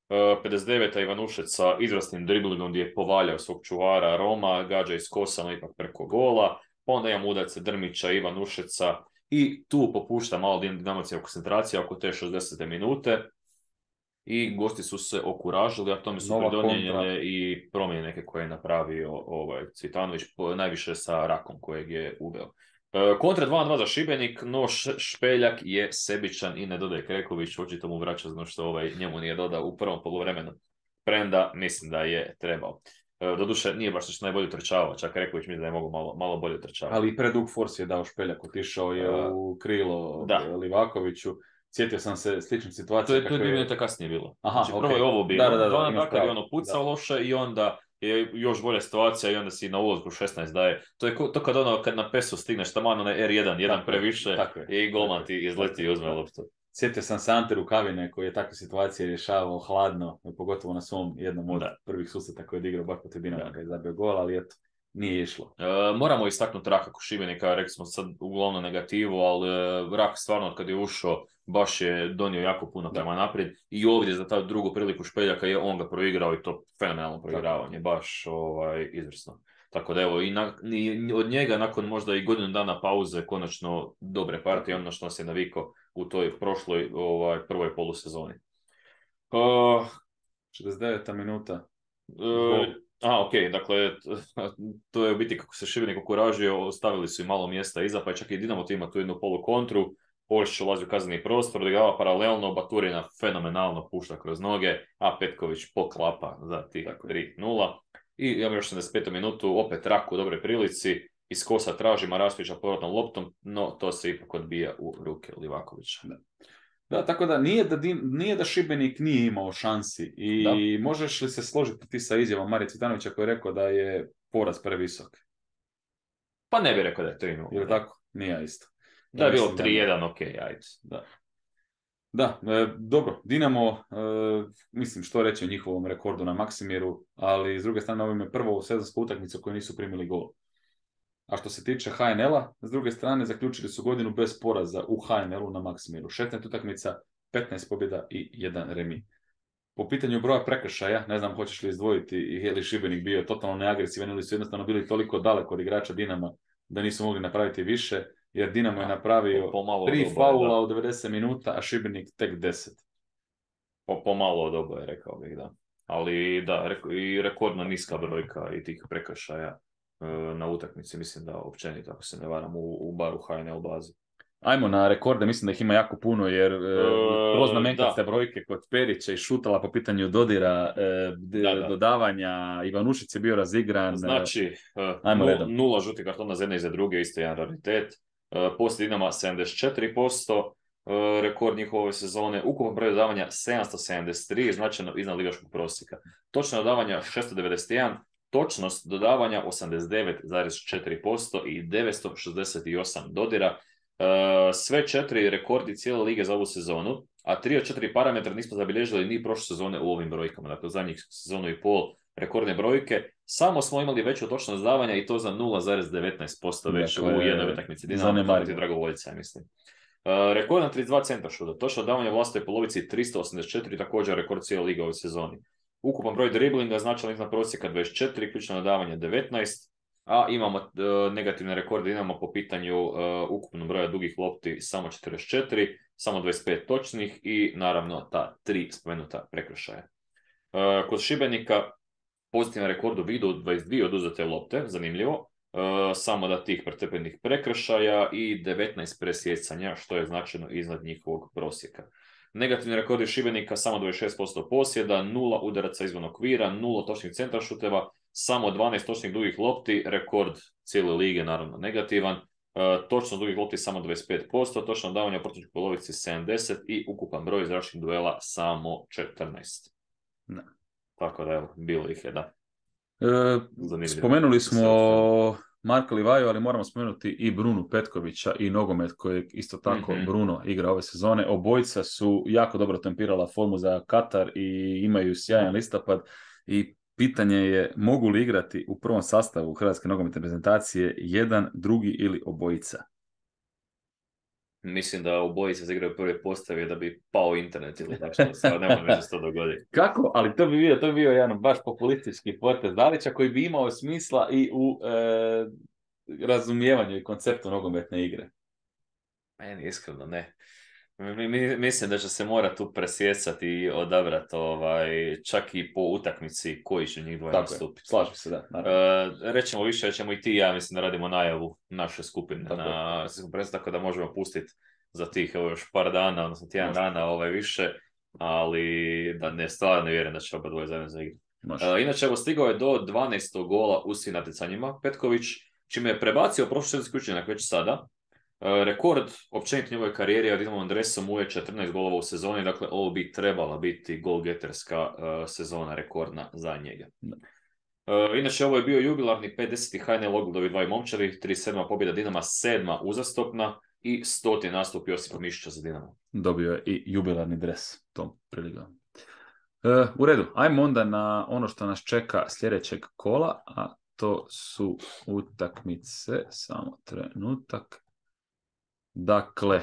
59. Ivanušec sa izvrsnim driblingom gdje je povaljao svog čuvara Roma, gađa iz kosa, no ipak preko gola. Pa onda imamo udarce Drmića, Ivanušeca i tu popušta malo Dinamocija koncentracija oko te 60. minute. I gosti su se okuražili, a tome su pridonijene i promjene neke koje je napravio Cvitanović, najviše sa Rakom kojeg je uveo. Kontra 2:2 za Šibenik, no Špeljak je sebičan i ne dodaje Kreković, očito mu vraća zno što njemu nije dodao u prvom poluvremenu. Premda mislim da je trebao. Doduše nije baš što najbolje trčavao, čak Kreković mislim da je mogao malo bolje trčavati. Ali i predug force je dao Špeljak, otišao je u krilo Livakoviću. Sjetio sam se slične situacije. To je 2 minute kasnije bilo. Aha, znači prvo je ovo bilo. Da, kad je ono pucao loše i onda je još bolja situacija i onda si na ulazku 16 daje. To je to kad na PES-u stigneš taman onaj R1, jedan previše i golman ti izleti i uzme loptu. Sjetio sam se Ante Rukavine koji je takve situacije rješavao hladno, pogotovo na svom jednom od prvih susreta koji je odigrao baš protiv Dinama kada je zabio gol, ali eto, nije išlo. Moramo istaknuti Raka Šibenika, rekli smo sad uglavnom negativu, ali Rak stvarno kad je ušao baš je donio jako puno prema naprijed i ovdje za ta drugu priliku Špeljaka je on ga proigrao i to fenomenalno proigravanje, baš izvrsno. Tako da evo, i od njega nakon možda i godinu dana pauze konačno dobre partije, ono što nas je navikao u toj prošloj prvoj polusezoni. 69. minuta. Ok, dakle, to je u biti kako se Šibenik okuražio, ostavili su i malo mjesta iza, pa je čak i Dinamo tu ima tu jednu polu kontru, Polišić ulazi u kazneni prostor, odigrava paralelno, Baturina fenomenalno pušta kroz noge, a Petković poklapa za tih 3-0. I imamo još 75. minutu, opet Rak u dobroj prilici, iz kosa traži Marasovića povratnom loptom, no to se ipak odbija u ruke Livakovića. Da, tako da nije da Šibenik nije imao šansi i možeš li se složiti ti sa izjavom Marija Cvitanovića koji je rekao da je poraz previsok? Pa ne bih rekao da je 3-0. Ili tako? Nije isto. Da je bilo 3-1, ok, ajde. Da, dobro, Dinamo, mislim što reći o njihovom rekordu na Maksimiru, ali s druge strane ovo im je prvo sezonsku utakmicu koju nisu primili gol. A što se tiče HNL-a, s druge strane zaključili su godinu bez poraza u HNL-u na Maksimiru. 16 utakmica, 15 pobjeda i 1 remi. Po pitanju broja prekršaja, ne znam hoćeš li izdvojiti, je li Šibenik bio totalno neagresivan ili su jednostavno bili toliko daleko od igrača Dinama da nisu mogli napraviti više, jer Dinamo je napravio 3 faula u 90 minuta, a Šibenik tek 10. Pomalo od oboje, rekao bih, da. Ali da, i rekordno niska brojka i tih prekršaja na utakmici, mislim da općenito, ako se ne varam, u baru HNL bazi. Ajmo na rekorde, mislim da ih ima jako puno, jer proznamenkaste brojke kod Perića i Šutala po pitanju dodira, dodavanja, Ivanušić je bio razigran. Znači, 0 žuti kartona za jedne i za druge, isto jedan raritet. Poslije Dinama 74%, rekord njihove sezone, ukupan broj dodavanja 773, značajno iznad ligaškog prosjeka. Točno dodavanja 691, točnost dodavanja 89,4% i 968 dodira. Sve 4 rekordi cijele lige za ovu sezonu, a 3 od 4 parametra nismo zabilježili ni prošle sezone u ovim brojkama. Dakle, zadnjih sezonu i pol rekordne brojke. Samo smo imali veću točnost dodavanja i to za 0,19% već u jednoj utakmici. Dinamo ti dragovoljca, mislim. Rekord na 32 centra šuta. Točno dodavanje u vlastitoj polovici 384, također rekord cijele lige u ovoj sezoni. Ukupan broj driblinga značajno iznad prosjeka 24, ključno dodavanje 19, a imamo negativne rekorde, imamo po pitanju ukupnog broja dugih lopti samo 44, samo 25 točnih i naravno ta 3 spomenuta prekršaja. Kod Šibenika pozitivan rekord u vidu 22 oduzete lopte, zanimljivo, samo da tih pretrpenih prekršaja i 19 presjecanja, što je značajno iznad njihovog prosjeka. Negativni rekordi Šibenika, samo 26% posjeda, 0 udaraca izvan okvira, 0 točnih centra šuteva, samo 12 točnih dugih lopti, rekord cijele lige, naravno negativan. Točno dugih lopti samo 25%, točno davanje u protivničkoj polovici 70 i ukupan broj zračnih duela samo 14. Ne. Tako da evo, bilo ih je, da. Spomenuli smo Marka Livaju, ali moramo spomenuti i Brunu Petkovića i nogomet koji isto tako Bruno igra ove sezone. Obojica su jako dobro tempirala formu za Katar i imaju sjajan listopad i pitanje je mogu li igrati u prvom sastavu Hrvatske nogometne reprezentacije jedan, drugi ili obojica? Mislim da obojica se igraju prvi postavi da bi pao internet ili tako što stvar, ne može se to dogoditi. Kako? Ali to bi bio jedan baš populistički potez Dalića koji bi imao smisla i u razumijevanju i konceptu nogometne igre. Meni iskreno ne. Mislim da će se morati tu presjecati i odabrati čak i po utakmici koji će njih dvoje nastupiti. Slažem se, da. Rećemo više, ćemo i ti ja, mislim da radimo najavu naše skupine na svjetskom prvenstvu, tako da možemo pustiti za tih još par dana, odnosno tjedan dana više, ali da ne stvarno vjerujem da će oba dvoje zajedno zaigrati. Inače, stigao je do 12. gola u svim natjecanjima Petković, čime je prebacio prošli sezonski učinak već sada. Rekord općenito njegove karijere od Dinamom dresom je 14 golova u sezoni, dakle ovo bi trebala biti golgeterska sezona rekordna za njega. Inače ovo je bio jubilarni 50. HNL Ogledovi 2 momčari, 37. pobjeda Dinama, 7. uzastopna i 100. nastup Josipa Mišića za Dinamo. Dobio je i jubilarni dres tom prilikom. U redu, ajmo onda na ono što nas čeka sljedećeg kola, a to su utakmice, samo trenutak. Dakle,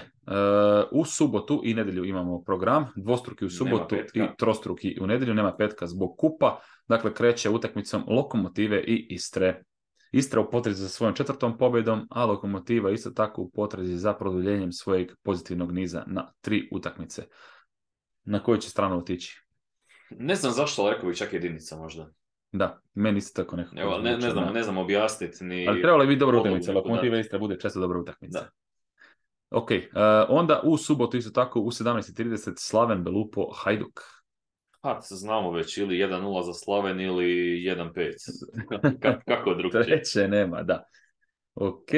u subotu i nedjelju imamo program, dvostruki u subotu i trostruki u nedjelju, nema petka zbog kupa, dakle kreće utakmicom Lokomotive i Istre. Istra u potrazi za svojom 4. pobjedom, a Lokomotiva isto tako u potrazi za produljenjem svojeg pozitivnog niza na 3 utakmice. Na koju će stranu otići? Ne znam zašto, ali rekao bih čak jedinica možda. Da, meni isto tako nekako. Evo, ne znam objasniti ni... Ali trebalo je biti dobra utakmica, Lokomotiva Istra bude često dobra utakmica. Da. Ok, onda u subotu isto tako u 17:30 Slaven Belupo Hajduk. Znamo već, ili 1-0 za Slaven ili 1-5. Kako drugčije? Treće nema, da. Ok,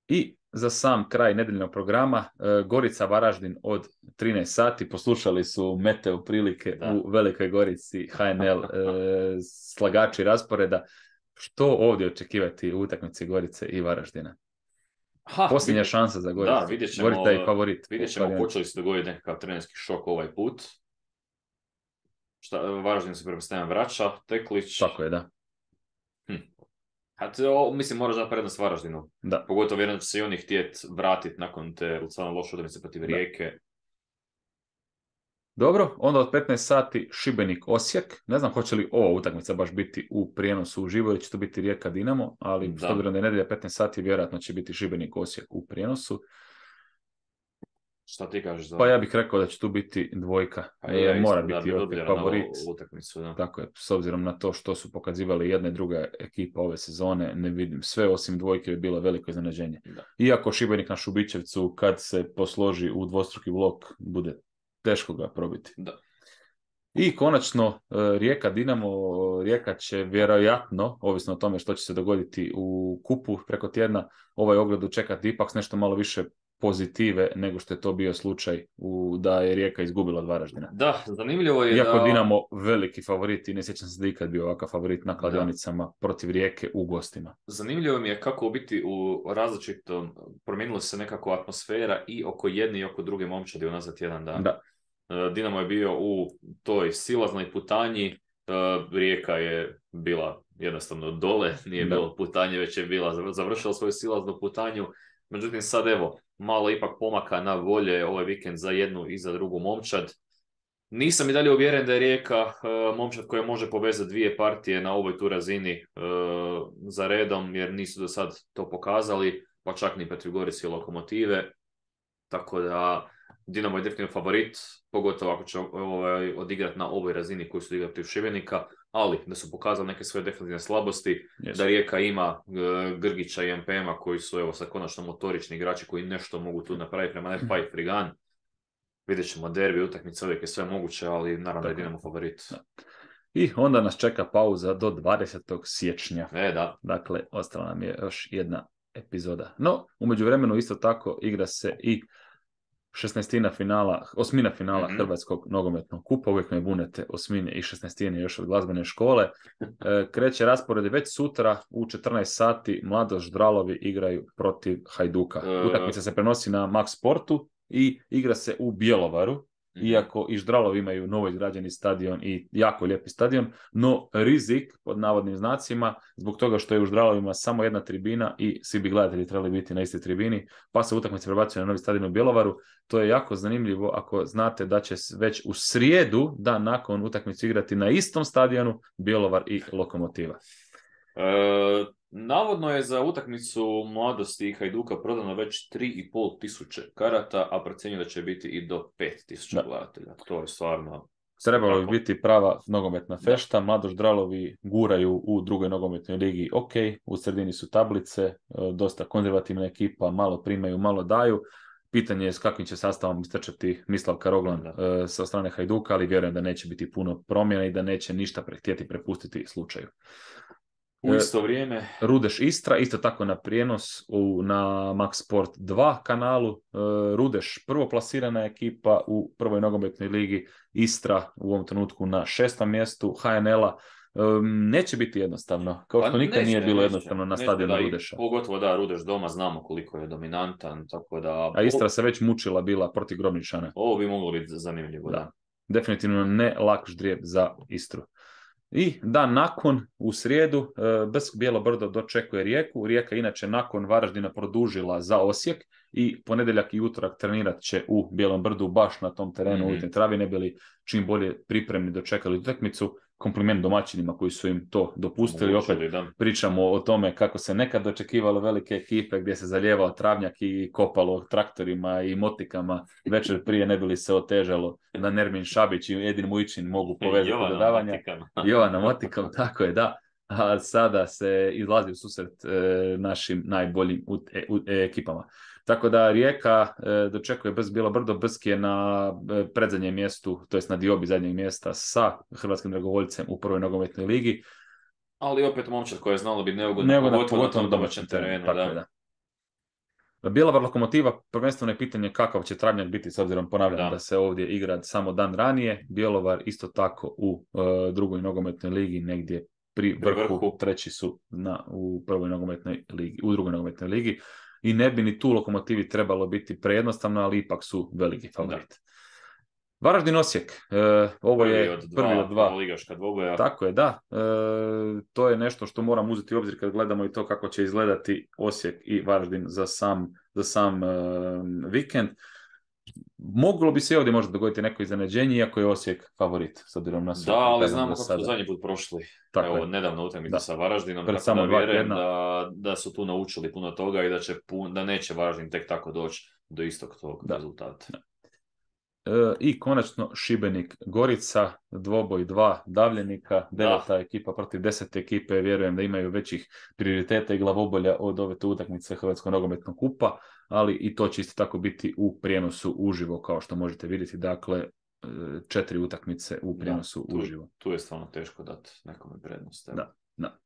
i za sam kraj nedeljnog programa Gorica Varaždin od 13 sati. Poslušali su meteo prilike u Velikoj Gorici, HNL, slagači rasporeda. Što ovdje očekivati u utakmici Gorice i Varaždina? Posljednja šansa za Goricu. Da, Gorica je favorit. Vidjet ćemo, počeli se dogoditi nekakav trenerski šok ovaj put. Varaždin se pretpostavljam vraća, Teklić. Tako je, da. Mislim, moraš dati prednost Varaždinu. Da. Pogotovo vjerujem da će se i oni htjeti vratiti nakon te stvarno loše utakmice protiv Rijeke. Dobro, onda od 15 sati Šibenik Osijek. Ne znam hoće li ova utakmica baš biti u prijenosu uživo ili će to biti Rijeka Dinamo, ali s obzirom da je nedjelja 15 sati, vjerojatno će biti Šibenik Osijek u prijenosu. Šta ti kažeš za... Pa ja bih rekao da će tu biti dvojka. Mora biti favorit. Utakmicu, da. Tako je, s obzirom na to što su pokazivali jedna i druga ekipa ove sezone, ne vidim. Sve osim dvojke je bilo veliko iznenađenje. Iako Šibenik na Šubićevcu, kad se posloži u dvostruki blok, bude teško ga probiti. Da. I konačno Rijeka Dinamo. Rijeka će vjerojatno, ovisno o tome što će se dogoditi u kupu preko tjedna, ovaj ogled čekati ipak s nešto malo više pozitive nego što je to bio slučaj da je Rijeka izgubila od Varaždina. Da, zanimljivo je iako Dinamo veliki favorit i ne sjećam se da ikad bio ovakav favorit na kladionicama protiv Rijeke u gostima. Zanimljivo mi je kako biti u različitom, promijenila se nekako atmosfera i oko jedne i oko druge momčadi unazad jedan dan. Da. Dinamo je bio u toj silaznoj putanji, Rijeka je bila jednostavno dole, nije bilo putanje, već je bila završila svoju silaznu putanju. Međutim, sad evo, malo ipak pomaka na bolje ovaj vikend za jednu i za drugu momčad. Nisam i dalje uvjeren da je Rijeka momčad koja može povezati dvije partije na ovoj tu razini za redom, jer nisu do sad to pokazali, pa čak ni protiv Gorice i Lokomotive. Tako da Dinamo je definitivno favorit, pogotovo ako će odigrati na ovoj razini koju su odigrati protiv Šibenika, ali da su pokazali neke svoje definitivne slabosti, da Rijeka ima Grgića i MPM-a koji su evo sad konačno motorični igrači koji nešto mogu tu napraviti prema Nepa i Frigan. Vidjet ćemo derbi, utakmice, uvijek je sve moguće, ali naravno da je Dinamo favorit. Da. I onda nas čeka pauza do 20. siječnja. Da. Dakle, ostala nam je još jedna epizoda. No, u međuvremenu isto tako igra se i 16. finala, 8. finala Hrvatskog nogometnog kupa. Uvijek me bunete 8. i 16. još od glazbene škole. Kreće raspored već sutra u 14 sati. Mladost Ždralovi igraju protiv Hajduka. Utakmica se prenosi na Max Sportu i igra se u Bjelovaru. Iako i Ždralovi imaju novo izgrađeni stadion i jako lijepi stadion, no rizik, pod navodnim znacima, zbog toga što je u Ždralovima samo jedna tribina i svi bi gledatelji trebali biti na istoj tribini, pa se utakmice prebacuje na novi stadion u Bjelovaru. To je jako zanimljivo ako znate da će već u srijedu, dan nakon utakmice, igrati na istom stadionu Bjelovar i Lokomotiva. Navodno je za utakmicu Mladosti i Hajduka prodano već 3.500 karata, a procjenjuje da će biti i do 5.000 gledatelja. To je stvarno... Trebalo bi biti prava nogometna fešta. Mladost Ždralovi guraju u drugoj nogometnoj ligi. Ok, u sredini su tablice, dosta konzervativna ekipa, malo primaju, malo daju. Pitanje je s kakvim će sastavom istrčati Mislav Karoglan sa strane Hajduka, ali vjerujem da neće biti puno promjena i da neće ništa htjeti prepustiti slučaju. U isto vrijeme Rudeš Istra, isto tako na prijenos na Max Sport 2 kanalu. Rudeš prvoplasirana ekipa u prvoj nogometnoj ligi, Istra u ovom trenutku na 6. mjestu HNL-a. Neće biti jednostavno, kao što nikad nije bilo jednostavno na stadionu Rudeša. Pogotovo da, Rudeš doma znamo koliko je dominantan, tako da... A Istra se već mučila bila protiv Grobničana. Ovo bi moglo biti zanimljivo, da. Definitivno ne lak ždrijeb za Istru. I dan nakon, u srijedu, BSK Bijelo Brdo dočekuje Rijeku. Rijeka inače nakon Varaždina produžila za Osijek i ponedjeljak i utorak trenirat će u Bijelom Brdu baš na tom terenu u travi, ne bili čim bolje pripremni dočekali utakmicu. Kompliment domaćinima koji su im to dopustili. Opet pričamo o tome kako se nekad dočekivalo velike ekipe gdje se zalijevao travnjak i kopalo traktorima i motikama večer prije, ne bi li se otežalo da Nermin Šabić i Edin Mujičin mogu povezati dodavanja. Jovana motikom, tako je, da. A sada se izlazi u susret našim najboljim ekipama. Tako da Rijeka dočekuje BSK Bijelo Brdo. BSK je na predzadnjem mjestu, to jest na diobi zadnjeg mjesta sa Hrvatskim dragovoljcem u prvoj nogometnoj ligi. Ali opet momčad koja je znala biti neugodna, pogotovo na domaćem terenu. Da. Bjelovar Lokomotiva, prvenstveno je pitanje kakav će travnjak biti, s obzirom, ponavljam, da se ovdje igra samo dan ranije. Bjelovar isto tako u drugoj nogometnoj ligi, negdje pri vrhu. Treći su u prvoj nogometnoj ligi, u drugoj nogometnoj ligi. I ne bi ni tu Lokomotivi trebalo biti prejednostavno, ali ipak su veliki favorit. Varaždin Osijek, ovo je prvi od dva ligaška dvoboja. Tako je, da. To je nešto što moram uzeti u obzir kad gledamo i to kako će izgledati Osijek i Varaždin za sam vikend. Moglo bi se ovdje možda dogoditi neko iznenađenje, iako je Osijek favorit, s obzirom na sve. Da, ali znamo kako su zadnji put prošli. Tako evo, nedavno utakmica sa Varaždinom, tako da vjerujem da su tu naučili puno toga i da neće Varaždin tek tako doći do istog tog rezultata. I konačno Šibenik Gorica, dvoboj 2 davljenika, 9. ekipa protiv 10. ekipe, vjerujem da imaju većih prioriteta i glavobolja od ove utakmice Hrvatskog nogometnog kupa, ali i to će isto tako biti u prijenosu uživo, kao što možete vidjeti, dakle 4 utakmice u prijenosu uživo. Tu je stvarno teško dati nekome prednost. Da.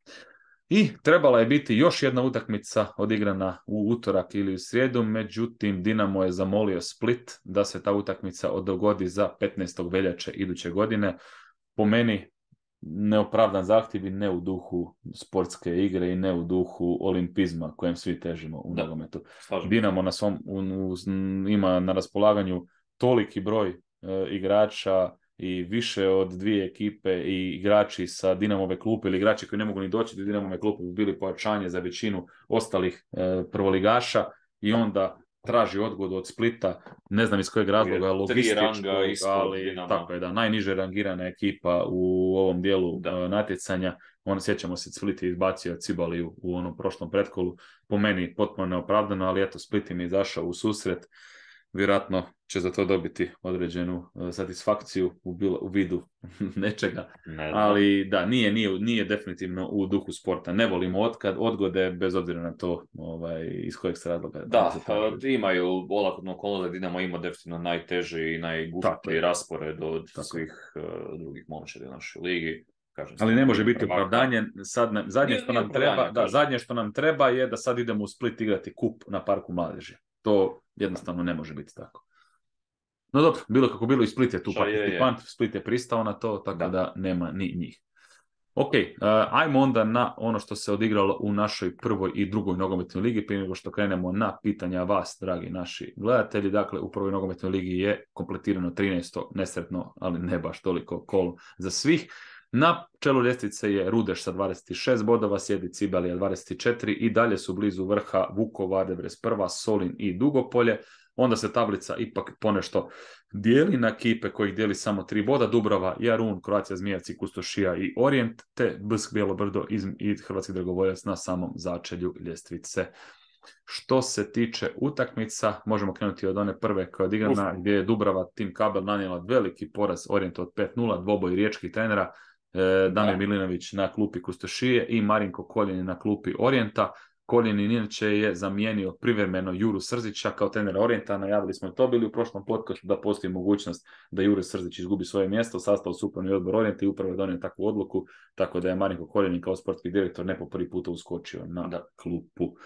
I trebala je biti još jedna utakmica odigrana u utorak ili u srijedu, međutim Dinamo je zamolio Split da se ta utakmica dogodi za 15. veljače iduće godine. Po meni neopravdan zahtjev i ne u duhu sportske igre i ne u duhu olimpizma kojem svi težimo u nogometu. Dinamo ima na raspolaganju toliki broj igrača i više od 2 ekipe i igrači sa Dinamove klupe ili igrači koji ne mogu ni doći do Dinamove klupe bi bili pojačanje za većinu ostalih prvoligaša i onda traži odgodu od Splita, ne znam iz kojeg razloga, logističkog, ali tako je, da, najniže rangirana ekipa u ovom dijelu natjecanja. Sjećamo se, Split je izbacio Cibaliju u onom prošlom pretkolu, po meni potpuno neopravdano, ali eto, Split im je izašao u susret. Vjerojatno će za to dobiti određenu satisfakciju u vidu nečega. Ali da, nije definitivno u duhu sporta. Ne volimo odgode, bez obzira na to iz kojeg se razloga. Da, imaju olakotnu okolnost da Dinamo ima definitivno najteži i najgušći raspored od svih drugih momčadi u našoj ligi. Ali ne može biti opravdanje. Zadnje što nam treba je da sad idemo u Split igrati kup na Parku mladeži. To jednostavno ne može biti tako. No dobro, bilo kako bilo, i Split je tu participant, Split je pristao na to, tako da nema ni njih. Ok, ajmo onda na ono što se odigralo u našoj prvoj i drugoj nogometnoj ligi, prije nego što krenemo na pitanja vas, dragi naši gledatelji. Dakle, u prvoj nogometnoj ligi je kompletirano 13. nesretno, ali ne baš toliko kolo za svih. Na čelu ljestvice je Rudeš sa 26 bodova, slijedi Cibalija 24 i dalje su blizu vrha Vukovar 91, Solin i Dugopolje. Onda se tablica ipak ponešto dijeli na ekipe kojih dijeli samo 3 boda, Dubrava, Jarun, Croatia Zmijevci, Kustošija i Orient, te BSK Bijelo Brdo i Hrvatski dragovoljac na samom začelju ljestvice. Što se tiče utakmica, možemo krenuti od one prve koja je odigrana, gdje je Dubrava Tim Kabel nanijela veliki poraz Orijentu od 5-0, dvoboj riječkih trenera, Damir Milinović na klupi Kustošije i Marinko Koljenin na klupi Orijenta. Koljenin inače je zamijenio privremeno Juru Srzića kao trenera Orijenta. Najavili smo to bili u prošlom podcastu da postoji mogućnost da Jure Srzić izgubi svoje mjesto u sastavu upravni odbor Orijenta i upravo je donio takvu odluku, tako da je Marinko Koljenin kao sportski direktor ne po prvi puta uskočio na klupu.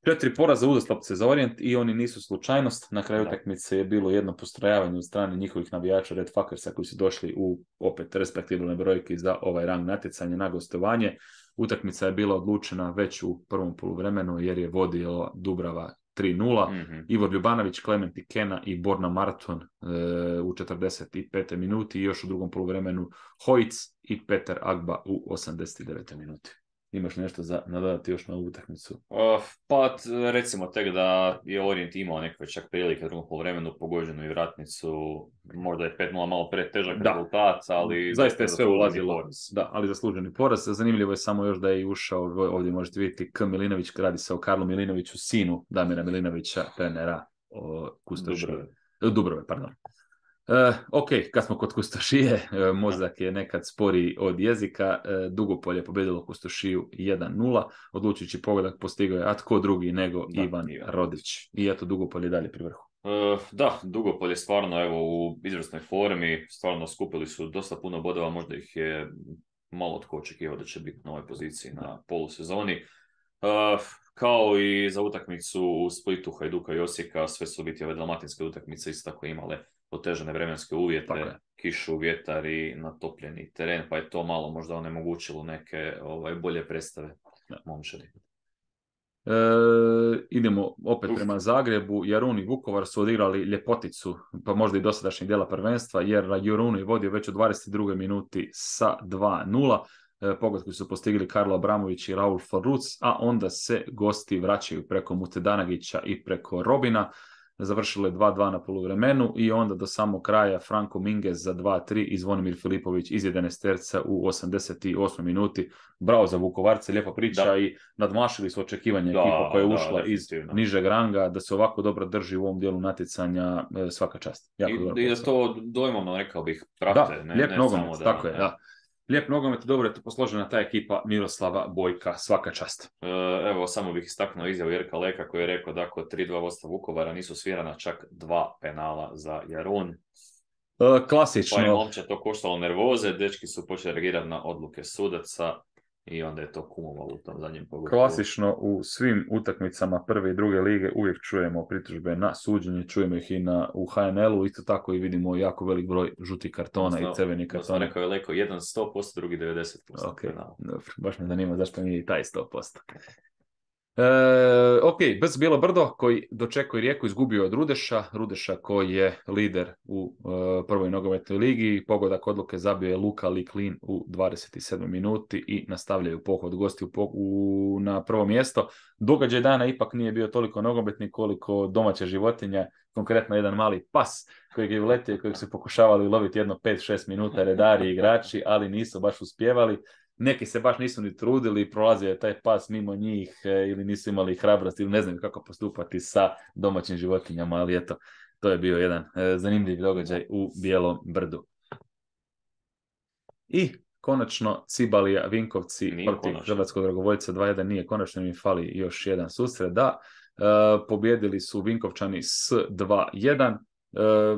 4 poraza uzastopce za Orient i oni nisu slučajnost. Na kraju utakmice je bilo jedno postrojavanje od strane njihovih navijača Red Fuckersa koji su došli u opet respektibilne brojke za ovaj rang natjecanja na gostovanje. Utakmica je bila odlučena već u prvom poluvremenu jer je vodio Dubrava 3-0. Ivor Ljubanović, Klement Ikena i Borna Marton u 45. minuti i još u drugom poluvremenu Hojc i Petar Agba u 89. minuti. Imaš nešto za nadodati još na ovu utakmicu? Pa recimo tek da je Orient imao neke čak prilike u drugom poluvremenu, pogođenu i vratnicu, možda je 5-0 malo pretežak rezultat, ali zaista je sve ulazilo. Da, ali zasluženi poraz. Zanimljivo je samo još da je ušao, ovdje možete vidjeti K. Milinović, radi se o Karlu Milinoviću, sinu Damira Milinovića, trenera Dubrove, pardon. Ok, kad smo kod Kustošije, mozak je nekad sporiji od jezika. Dugopolje je pobjedilo Kustošiju 1-0, odlučujući pogodak postigao je, a tko drugi nego Ivan Rodić. I eto, Dugopolje dalje pri vrhu. Da, Dugopolje stvarno evo u izvrsnoj formi, stvarno skupili su dosta puno bodova, možda ih je malo tko očekivao da će biti na ovoj poziciji na polusezoni. Kao i za utakmicu u Splitu, Hajduka i Osijeka, sve su biti ove dalmatinske utakmice isto tako imale otežane vremenske uvjete, kišu, vjetar i natopljeni teren, pa je to malo možda onemogućilo neke bolje predstave momčadi. Idemo opet prema Zagrebu. Jarun i Vukovar su odigrali ljepoticu, pa možda i dosadašnjeg dijela prvenstva, jer Jarun je vodio već u 22. minuti sa 2-0. Pogodku su postigli Karlo Abramović i Raul Forruc, a onda se gosti vraćaju preko Mutedanagića i preko Robina. Završilo je 2-2 na poluvremenu i onda do samog kraja Franko Minguez za 2-3 i Zvonimir Filipović iz 11 terca u 88. minuti. Bravo za Vukovarce, lijepa priča i nadmašili su očekivanja ekipa koja je ušla iz nižeg ranga, da se ovako dobro drži u ovom dijelu natjecanja, svaka čast. I da to dojmovno, rekao bih, prate. Lijep nogomet, tako je, da. Lijep nogomet, dobro je to posložena ta ekipa Miroslava Bojka, svaka čast. Evo, samo bih istaknuo izjavu Jerka Leka koji je rekao da kod 3-2 vodstva Vukovara nisu svirana čak 2 penala za Jarun. Klasično. Pa je momče to koštalo nervoze, dečki su počeli reagirati na odluke sudaca i onda je to kumovalo u tom zadnjem pogledu. Klasično u svim utakmicama prve i druge lige uvijek čujemo pritužbe na suđenje, čujemo ih i u HNL-u, isto tako i vidimo jako velik broj žutih kartona i crvenih kartona. Rekao je Leko, jedan 100%, drugi 90%. Ok, dobro, baš me zanima zašto nije i taj 100%. Ok, Brz Bilo Brdo koji dočekuje Rijeku, izgubio od Rudeša koji je lider u prvoj nogometnoj ligi. Pogodak odluke zabio je Luka Liklin u 27. minuti i nastavljaju pohod gosti na prvo mjesto. Događaj dana ipak nije bio toliko nogometni koliko domaća životinja, konkretno jedan mali pas kojeg je uletio i kojeg su pokušavali loviti jedno 5-6 minuta redari i igrači, ali nisu baš uspjevali. Neki se baš nisu ni trudili, prolazio je taj pas mimo njih ili nisu imali hrabrost ili ne znaju kako postupati sa domaćim životinjama, ali eto, to je bio jedan zanimljiv događaj u Bijelom Brdu. I konačno Cibalija Vinkovci protiv Hrvatskog dragovoljca 2-1, nije konačno, mi fali još jedan susret, da. Pobjedili su Vinkovčani s 2-1.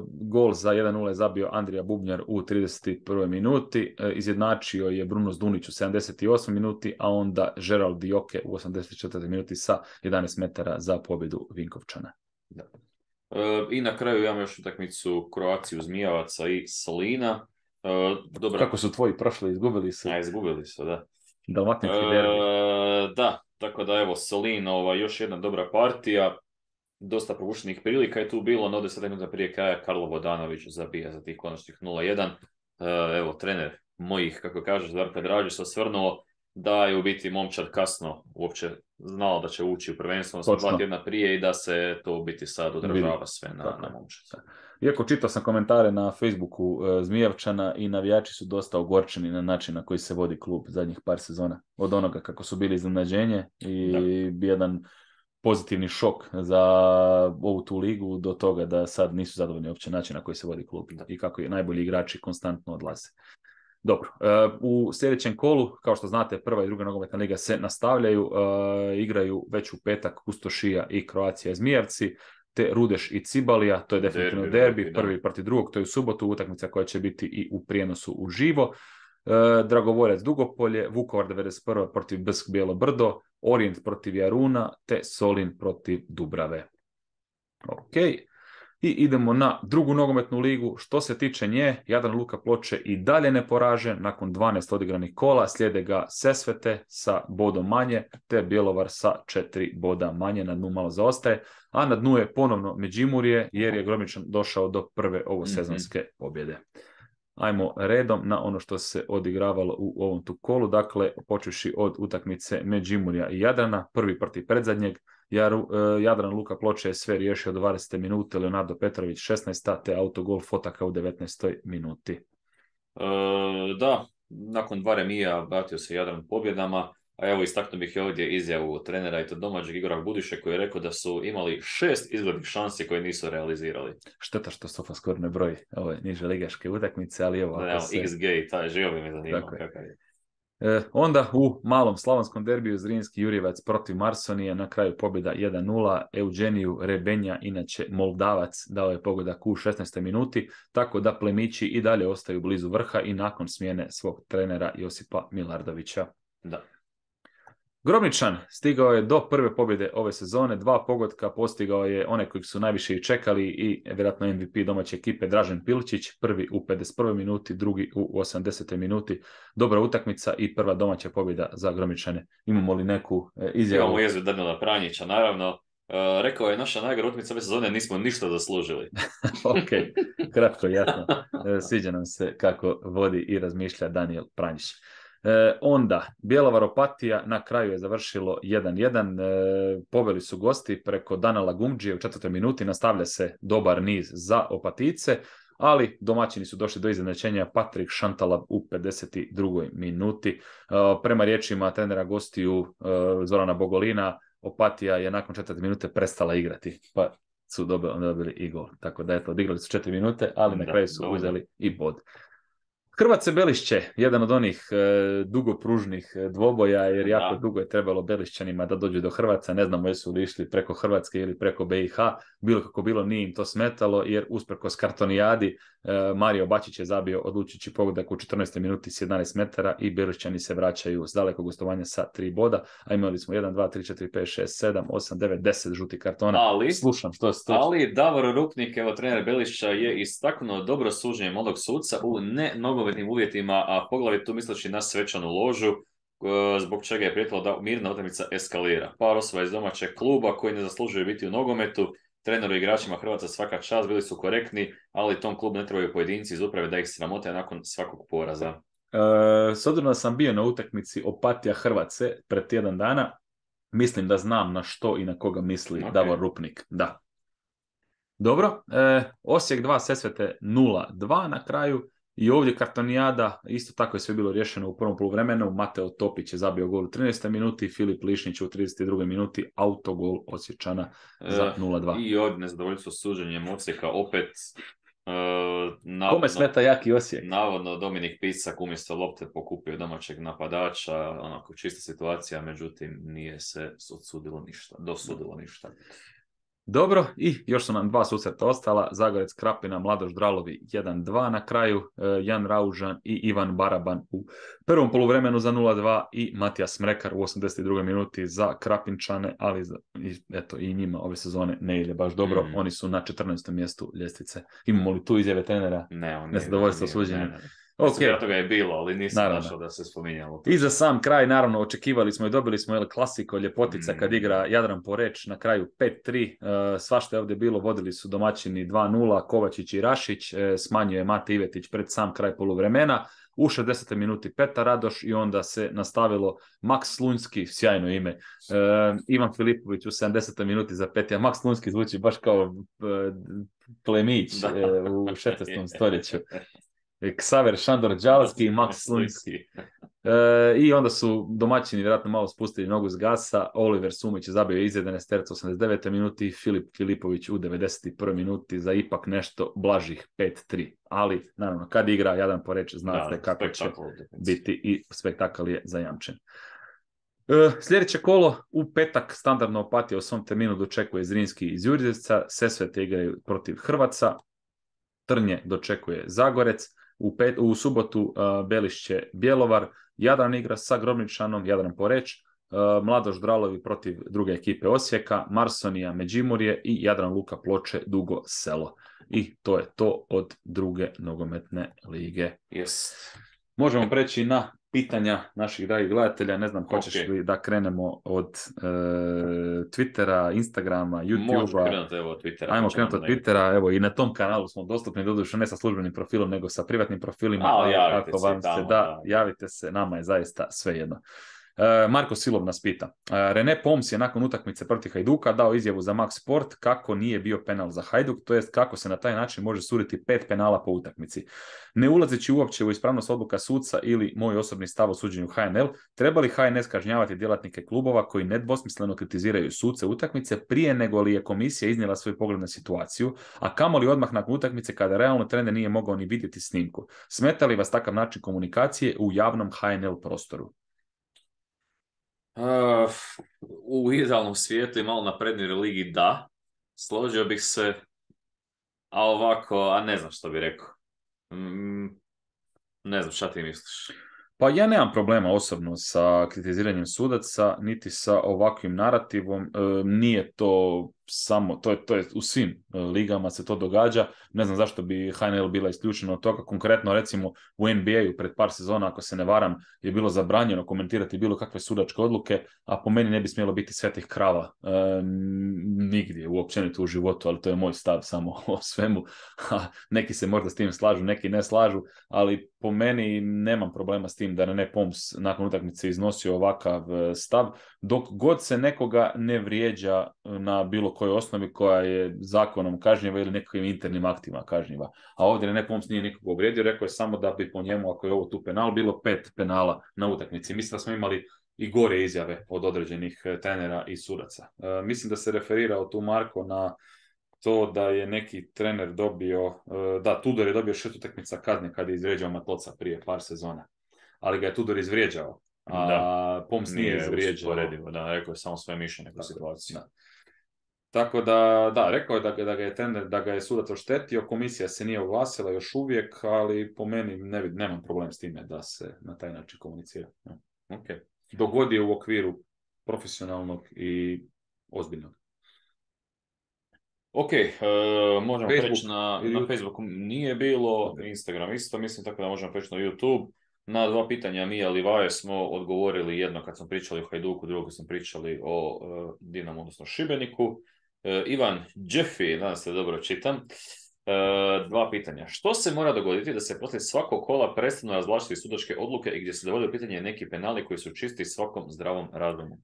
Gol za 1-0 je zabio Andrija Bubnjar u 31. minuti, izjednačio je Bruno Zdunić u 78. minuti, a onda Gerald Dioke u 84. minuti sa 11 metara za pobjedu Vinkovčana. Da. I na kraju imamo još utakmicu Kroaciju Zmijavaca i Solina. Kako su tvoji prošli, izgubili su? Izgubili su, da. Dalmatinski derbi. Da, tako da evo Solin, još jedna dobra partija. Dosta propuštenih prilika je tu bilo, no 10 minuta prije kraja Karlo Vodanović zabija za tih konačnih 0-1. Evo, trener mojih, kako kažeš, Darko Dražić se osvrnuo da je u biti momčad kasno uopće znao da će ući u prvenstvo, 2 tjedna prije i da se to u biti sad odražava sve na momčad. Iako čitao sam komentare na Facebooku Zmijavčana i navijači su dosta ogorčeni na način na koji se vodi klub zadnjih par sezona. Od onoga kako su bili iznenađenje i jedan pozitivni šok za ovu tu ligu do toga da sad nisu zadovoljni uopće način na koji se vodi klub i kako je najbolji igrači konstantno odlaze. Dobro, u sljedećem kolu, kao što znate, prva i druga nogometna liga se nastavljaju, igraju već u petak Kustošija i Kroacija Zmijavci, te Rudeš i Cibalija, to je definitivno derbi, prvi protiv drugog, to je u subotu, utakmica koja će biti i u prijenosu uživo. Dragovoljac Dugopolje, Vukovar 91. protiv Brsk Bijelo Brdo, Orijent protiv Jaruna, te Solin protiv Dubrave. Ok. I idemo na drugu nogometnu ligu. Što se tiče nje, Jadran Luka Ploče i dalje neporažen nakon 12 odigranih kola. Slijede ga Sesvete sa bodom manje, te Bjelovar sa 4 boda manje. Na dnu malo zaostaje. A na dnu je ponovno Međimurje, jer je Gromničan došao do prve ovosezonske pobjede. Ajmo redom na ono što se odigravalo u ovom tu kolu. Dakle, počevši od utakmice Međimurja i Jadrana, prvi protiv predzadnjeg. Jadran Luka Ploče je sve riješio do 20. minute, Leonardo Petrović 16. te autogol Fotaka u 19. minuti. Da, nakon 2 remija vratio se Jadran pobjedama, a evo istaknuo bih i ovdje izjavu trenera i to domaćeg Igora Budiše koji je rekao da su imali 6 izglednih šansi koje nisu realizirali. Šteta što Sofa skoro ne broji ove niže ligaške utakmice, ali evo... Da, se... XG, taj živo bi me zanimao kakav je. Onda u malom slavonskom derbiju Zrinski Jurjevac protiv Marsonije, na kraju pobjeda 1-0, Eugeniju Rebenja, inače Moldavac, dao je pogodak u 16. minuti, tako da plemići i dalje ostaju blizu vrha i nakon smjene svog trenera Josipa Milardovića. Da. Gromničan stigao je do prve pobjede ove sezone, 2 pogotka, postigao je one koji su najviše i čekali i vjerojatno MVP domaće ekipe Dražen Pilčić, prvi u 51. minuti, drugi u 80. minuti. Dobra utakmica i prva domaća pobjeda za Gromničane. Imamo li neku izjavu? Imamo izjavu Danila Pranjića, naravno. Rekao je naša najgora utakmica ove sezone, nismo ništa zaslužili. Ok, kratko, jasno. Sviđa nam se kako vodi i razmišlja Daniel Pranjić. Onda, Bjelovar Opatija na kraju je završilo 1-1, poveli su gosti preko Danala Gumđije u 4. minuti, nastavlja se dobar niz za Opatice, ali domaćini su došli do iznenađenja, Patrik Šantalab u 52. minuti. Prema riječima trenera gostiju Zorana Bogolina, Opatija je nakon 4. minute prestala igrati, pa su dobili i gol. Tako da eto, odigrali su 4 minute, ali na kraju su uzeli i bod. Hrvatce Belišće, jedan od onih dugopružnih dvoboja, jer jako dugo je trebalo Belišćanima da dođu do Hrvatska, ne znamo jesu li išli preko Hrvatske ili preko BiH, bilo kako bilo nije im to smetalo, jer usprkos kartonijadi Mario Bačić je zabio odlučujući pogodak u 14. minuti s 11 metara i Belišćani se vraćaju s dalekog gostovanja sa 3 boda, a imali smo 1, 2, 3, 4, 5, 6, 7, 8, 9, 10 žuti kartona. Slušam, što je to? Ali Davor Rupnik, evo trener Belišća, je istaknuo dobro suđenje mladog suca u nogometnim uvjetima, a poglavito tu misleći na svečanu ložu, zbog čega je prijetilo da mirna utakmica eskalira. Par osoba iz domaćeg kluba koji ne zaslužuju biti u nogometu, treneru i igračima Hrvatska svaka čast, bili su korektni, ali tom klubu ne trebaju pojedinci iz uprave da ih sramote nakon svakog poraza. S obzirom da sam bio na utakmici Opatija Hrvatske pred tjedan dana, mislim da znam na što i na koga misli Davor Rupnik. Da. Dobro, Osijek 2, Sesvete 0-2 na kraju. I ovdje kartonijada, isto tako je sve bilo rješeno u prvom poluvremenu. Mateo Topić je zabio gol u 13. minuti, Filip Lišnić u 32. minuti, autogol Osječana za 0-2. I ovdje nezadovoljstvo suđenjem Osijeka opet. Kome smeta jaki Osijek? Navodno Dominik Pisak umjesto lopte pokupio domaćeg napadača, onako čista situacija, međutim nije se dosudilo ništa. Dobro, i još su nam 2 susreta ostala, Zagorec Krapina, Mladoš Dralovi 1-2 na kraju, Jan Raužan i Ivan Baraban u prvom poluvremenu za 0-2 i Matijas Mrekar u 82. minuti za Krapinčane, ali eto i njima ove sezone ne ide baš dobro, oni su na 14. mjestu ljestvice. Imamo li tu izjave trenera? Ne, zadovoljstvo suđenja. Okay. Toga je bilo, ali nisam našao da se spominjalo. I za sam kraj, naravno, očekivali smo i dobili smo klasiko, ljepotica kad igra Jadran Poreč na kraju 5-3. Svašta je ovdje bilo, vodili su domaćini 2-0, Kovačić i Rašić, smanjuje Mate Ivetić pred sam kraj poluvremena. U 60. minuti Petar Radoš i onda se nastavilo Maks Slunjski, sjajno ime, Ivan Filipović u 70. minuti za 5. Maks Slunjski zvuči baš kao plemić u 16. stoljeću. Ksaver Šandor Đalski i Maks Slunjski. I onda su domaćini vjerojatno malo spustili nogu s gasa. Oliver Sumić je zabio izjedene sterca 89. minuti, Filip Filipović u 91. minuti za ipak nešto blažih 5-3. Ali, naravno, kad igra Jadran Poreč, znate kako će biti i spektakl je zajamčen. Sljedeće kolo u petak standardno Opatija u svom terminu dočekuje Zrinski iz Jurjevca, Sesvete igraju protiv Hrvatska, Trnje dočekuje Zagorec, U subotu Belišće Bjelovar, Jadran igra sa Grobničanom, Jadran Poreć, Mladoš Dralovi protiv druge ekipe Osijeka, Marsonija Međimurje i Jadran Luka Ploče Dugo Selo. I to je to od druge nogometne lige. Yes. Možemo preći na pitanja naših dragih gledatelja. Ne znam, hoćeš li da krenemo od Twittera, Instagrama, YouTubea? Možemo krenuti od Twittera. Ajmo krenuti od Twittera. Evo, i na tom kanalu smo dostupni, doduše ne sa službenim profilom, nego sa privatnim profilima. Ako vam se da, javite se, nama je zaista svejedno. Marko Silov nas pita. René Poms je nakon utakmice protiv Hajduka dao izjavu za Max Sport kako nije bio penal za Hajduk, to jest kako se na taj način može suditi 5 penala po utakmici. Ne ulazeći uopće u ispravnost odluka suca ili moj osobni stav o suđenju HNL, treba li HNS kažnjavati djelatnike klubova koji nedvosmisleno kritiziraju suce utakmice prije nego li je komisija iznijela svoj pogled na situaciju, a kamoli odmah nakon utakmice kada realno trener nije mogao ni vidjeti snimku. Smeta li vas takav način komunikacije u javnom HNL prostoru? U idealnom svijetu i malo naprednoj ligi da, složio bih se, a ovako, ne znam što bih rekao. Ne znam, šta ti misliš? Pa ja nemam problema osobno sa kritiziranjem sudaca, niti sa ovakvim narativom. Nije to samo, to je u svim ligama se to događa. Ne znam zašto bi HNL bila isključena od toga. Konkretno recimo u NBA-u pred par sezona, ako se ne varam, je bilo zabranjeno komentirati bilo kakve sudačke odluke, a po meni ne bi smjelo biti svetih krava nigdje, uopćenito u životu, ali to je moj stav samo o svemu. Neki se možda s tim slažu, neki ne slažu, ali po meni nemam problema s tim da René Poms nakon utakmice iznosio ovakav stav, dok god se nekoga ne vrijeđa na bilo kojoj osnovi koja je zakonom kažnjiva ili nekakvim internim aktima kažnjiva. A ovdje René Poms nije nikoga uvrijedio, rekao je samo da bi po njemu, ako je ovo tu penal, bilo 5 penala na utakmici. Mislim da smo imali i gore izjave od određenih trenera i sudaca. Mislim da se referirao tu Marko na to da je neki trener dobio, Tudor je dobio 6 utakmica kazne kad je izvrijeđao Matloca prije par sezona. Ali ga je Tudor izvrijeđao, a Poms nije izvrijeđao. Da, rekao je samo svoje mišljenje u situaciji. Da. Tako da, rekao je da ga je trener, da ga je sudac oštetio, komisija se nije oglasila još uvijek, ali po meni nemam problem s time da se na taj način komunicira. Okay. Dogod je u okviru profesionalnog i ozbiljnog. Ok, možemo preći na Facebooku, nije bilo, Instagram isto, mislim, tako da možemo preći na YouTube. Na 2 pitanja Mija Livaje smo odgovorili, jedno kad smo pričali o Hajduku, drugo kad smo pričali o Dinamu, odnosno Šibeniku. Ivan Jeffy, nadam se da dobro čitam. 2 pitanja. Što se mora dogoditi da se poslije svakog kola prestanu razvlačiti sudačke odluke i gdje se dovode u pitanje neki penali koji su čisti svakom zdravom razumu?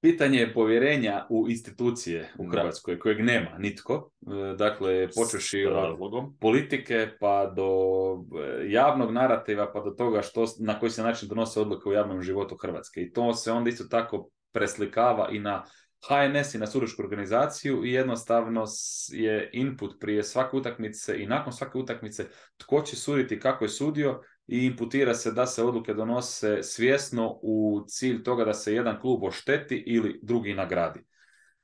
Pitanje je povjerenja u institucije u Hrvatskoj, kojeg nema nitko. Dakle, počeši od politike pa do javnog narativa, pa do toga na koji se način donose odluke u javnom životu Hrvatske. I to se onda isto tako preslikava i na HNS i na sudačku organizaciju i jednostavno je input prije svake utakmice i nakon svake utakmice tko će suditi, kako je sudio, i imputira se da se odluke donose svjesno u cilj toga da se jedan klub ošteti ili drugi nagradi.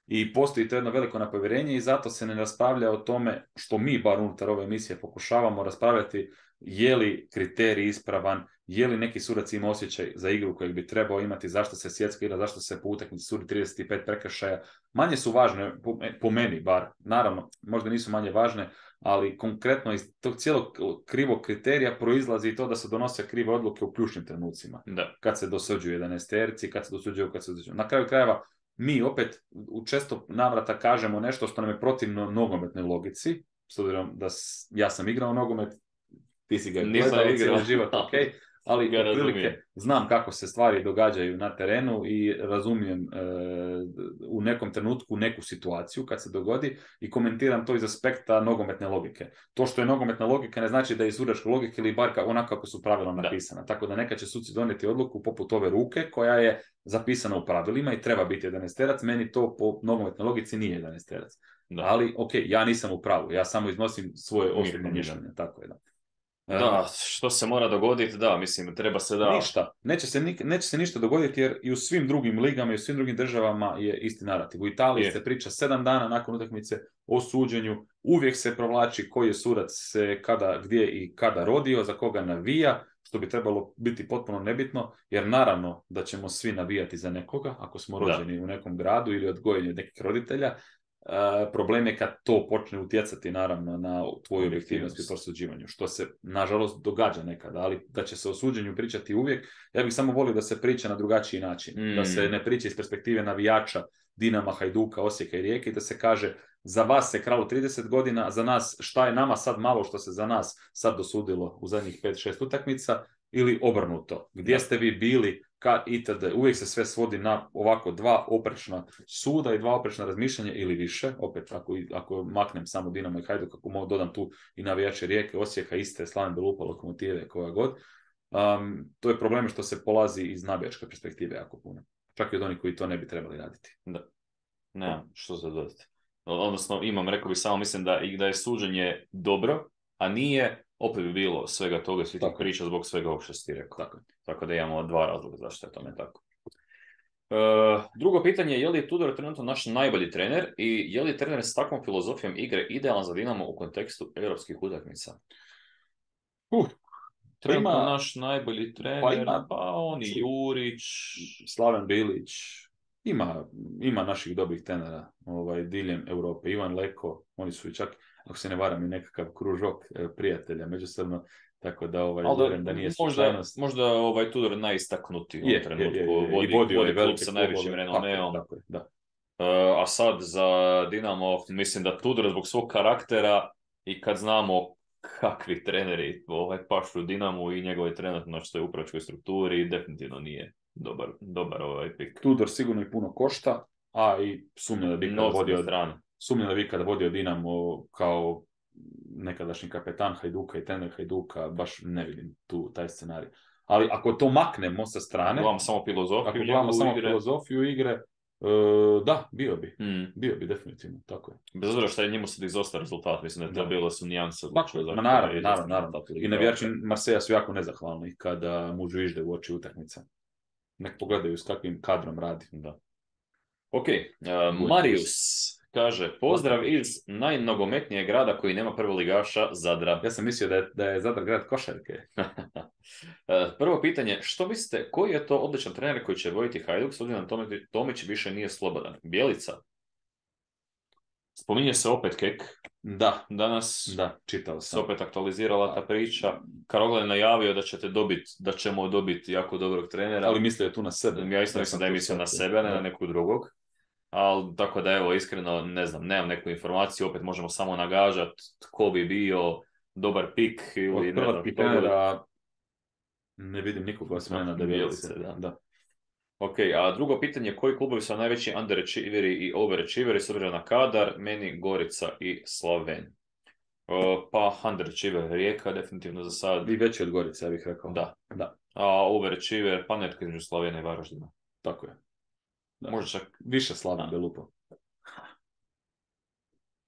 I postoji to jedno veliko nepovjerenje i zato se ne raspravlja o tome, što mi bar unutar ove emisije pokušavamo raspravljati, je li kriterij ispravan, je li neki sudac ima osjećaj za igru kojeg bi trebao imati, zašto se svjetska igra, zašto se po utakmici sudi 35 prekršaja. Manje su važne, po meni bar, naravno, možda nisu manje važne, ali konkretno iz tog cijelog krivog kriterija proizlazi i to da se donose krive odluke u ključnim trenucima. Da. Kad se dosuđuju 11-terci, kad se dosuđuju. Na kraju krajeva, mi opet u često navrata kažemo nešto što nam je protivno nogometnoj logici, s obzirom da ja sam igrao nogomet, ti si ga gledao cijeli život, ok, ali otprilike znam kako se stvari događaju na terenu i razumijem u nekom trenutku neku situaciju kad se dogodi i komentiram to iz aspekta nogometne logike. To što je nogometna logika ne znači da je sudačka logika ili bar onako kako su pravila napisana. Da. Tako da nekad će suci donijeti odluku poput ove ruke koja je zapisana u pravilima i treba biti 11-terac, meni to po nogometnoj logici nije 11-terac. Ali ok, ja nisam u pravu, ja samo iznosim svoje osobno mišljenje, tako je da. Da, što se mora dogoditi, da, mislim, treba se da... Ništa. Neće se ništa dogoditi jer i u svim drugim ligama i u svim drugim državama je isti narativ. U Italiji se priča 7 dana nakon utakmice o suđenju. Uvijek se provlači koji je sudac se kada, gdje i kada rodio, za koga navija, što bi trebalo biti potpuno nebitno, jer naravno da ćemo svi navijati za nekoga, ako smo rođeni u nekom gradu ili odgojeni od nekih roditelja. Problem je kad to počne utjecati naravno na tvoju objektivnost i prosuđivanju, što se nažalost događa nekada, ali da će se o suđenju pričati uvijek. Ja bih samo volio da se priča na drugačiji način, da se ne priča iz perspektive navijača Dinama, Hajduka, Osijeka i Rijeke, da se kaže za vas se kralo 30 godina, za nas šta je nama sad malo što se za nas sad dosudilo u zadnjih 5-6 utakmica, ili obrnuto. Gdje ste vi bili itd. Uvijek se sve svodi na ovako 2 oprečna suda i 2 oprečna razmišljanja ili više. Opet, ako maknem samo Dinamo i Hajduk, ako dodam tu i navijače Rijeke, Osijeka, Istre, Slaven Belupa, Lokomotive, koja god. To je problem što se polazi iz navijačke perspektive jako puno. Čak i od onih koji to ne bi trebali raditi. Da. Ne, što se dodati. Odnosno, rekao bi samo, mislim da je suđenje dobro, a nije, opet bi bilo svega toga, svi tih priča zbog svega ovog što si ti rekao. Tako da imamo 2 razloga zašto je tome tako. Drugo pitanje je, je li Tudor trenutno naš najbolji trener i je li trener s takvom filozofijom igre idealan za Dinamo u kontekstu europskih utakmica? Trenutno naš najbolji trener, pa on i Jurić, Slaven Bilić, ima naših dobrih trenera diljem Europe. Ivan Leko, oni su i čak, ako se ne varam, i nekakav kružok prijatelja međusobno, tako da da nije slučajnost. Možda Tudor najistaknutiji u ovom trenutku. Vodi klub sa najvećim renomeom. Tako je, da. A sad za Dinamo, mislim da Tudor zbog svog karaktera i kad znamo kakvi treneri pašu Dinamo i njegove trenutno što je u upravčkoj strukturi, definitivno nije dobar pik. Tudor sigurno i puno košta, a i sumnja da bi kada vodio Dinamo kao nekadašnji kapetan Hajduka i trener Hajduka, baš ne vidim taj scenarij. Ali ako to maknemo sa strane, gledamo samo filozofiju igre, da, bio bi definitivno, tako je. Bez obzira što je njemu sad izostao rezultat, mislim da je to bilo su nijanse. Naravno. I navijači Marseja su jako nezahvalni kada mu žvižde u oči utakmica. Nek pogledaju s kakvim kadrom radi. Da. Ok, Marius kaže, pozdrav iz najnogometnijeg grada koji nema prvoligaša, Zadra. Ja sam mislio da je Zadar grad košarke. Prvo pitanje, što mislite, koji je to odličan trener koji će voditi Hajduk, s obzirom da Tomić više nije slobodan? Bjelica? Spominje se opet Kek. Da. Danas čitao sam. Se opet aktualizirala ta priča. Karogla je najavio da ćemo dobiti jako dobrog trenera. Ali mislio je tu na sebe. Ja isto mislim da je mislio na sebe, a ne na nekog drugog. Ali tako da evo, iskreno, ne znam, nemam neku informaciju, opet možemo samo nagađati tko bi bio dobar pik. Od prvog trenera ne vidim nikoga osmena da Bjelice. Da. Ok, a drugo pitanje, koji klubovi su najveći underachieveri i overachieveri s obzirom na kadar? Meni Gorica i Slaven. Pa underachiever Rijeka definitivno za sad. I veći od Gorice, ja bih rekao. Da. A overachiever, pa netko između Slavena i Varaždina. Tako je. Da. Možda čak više Slaven Belupa.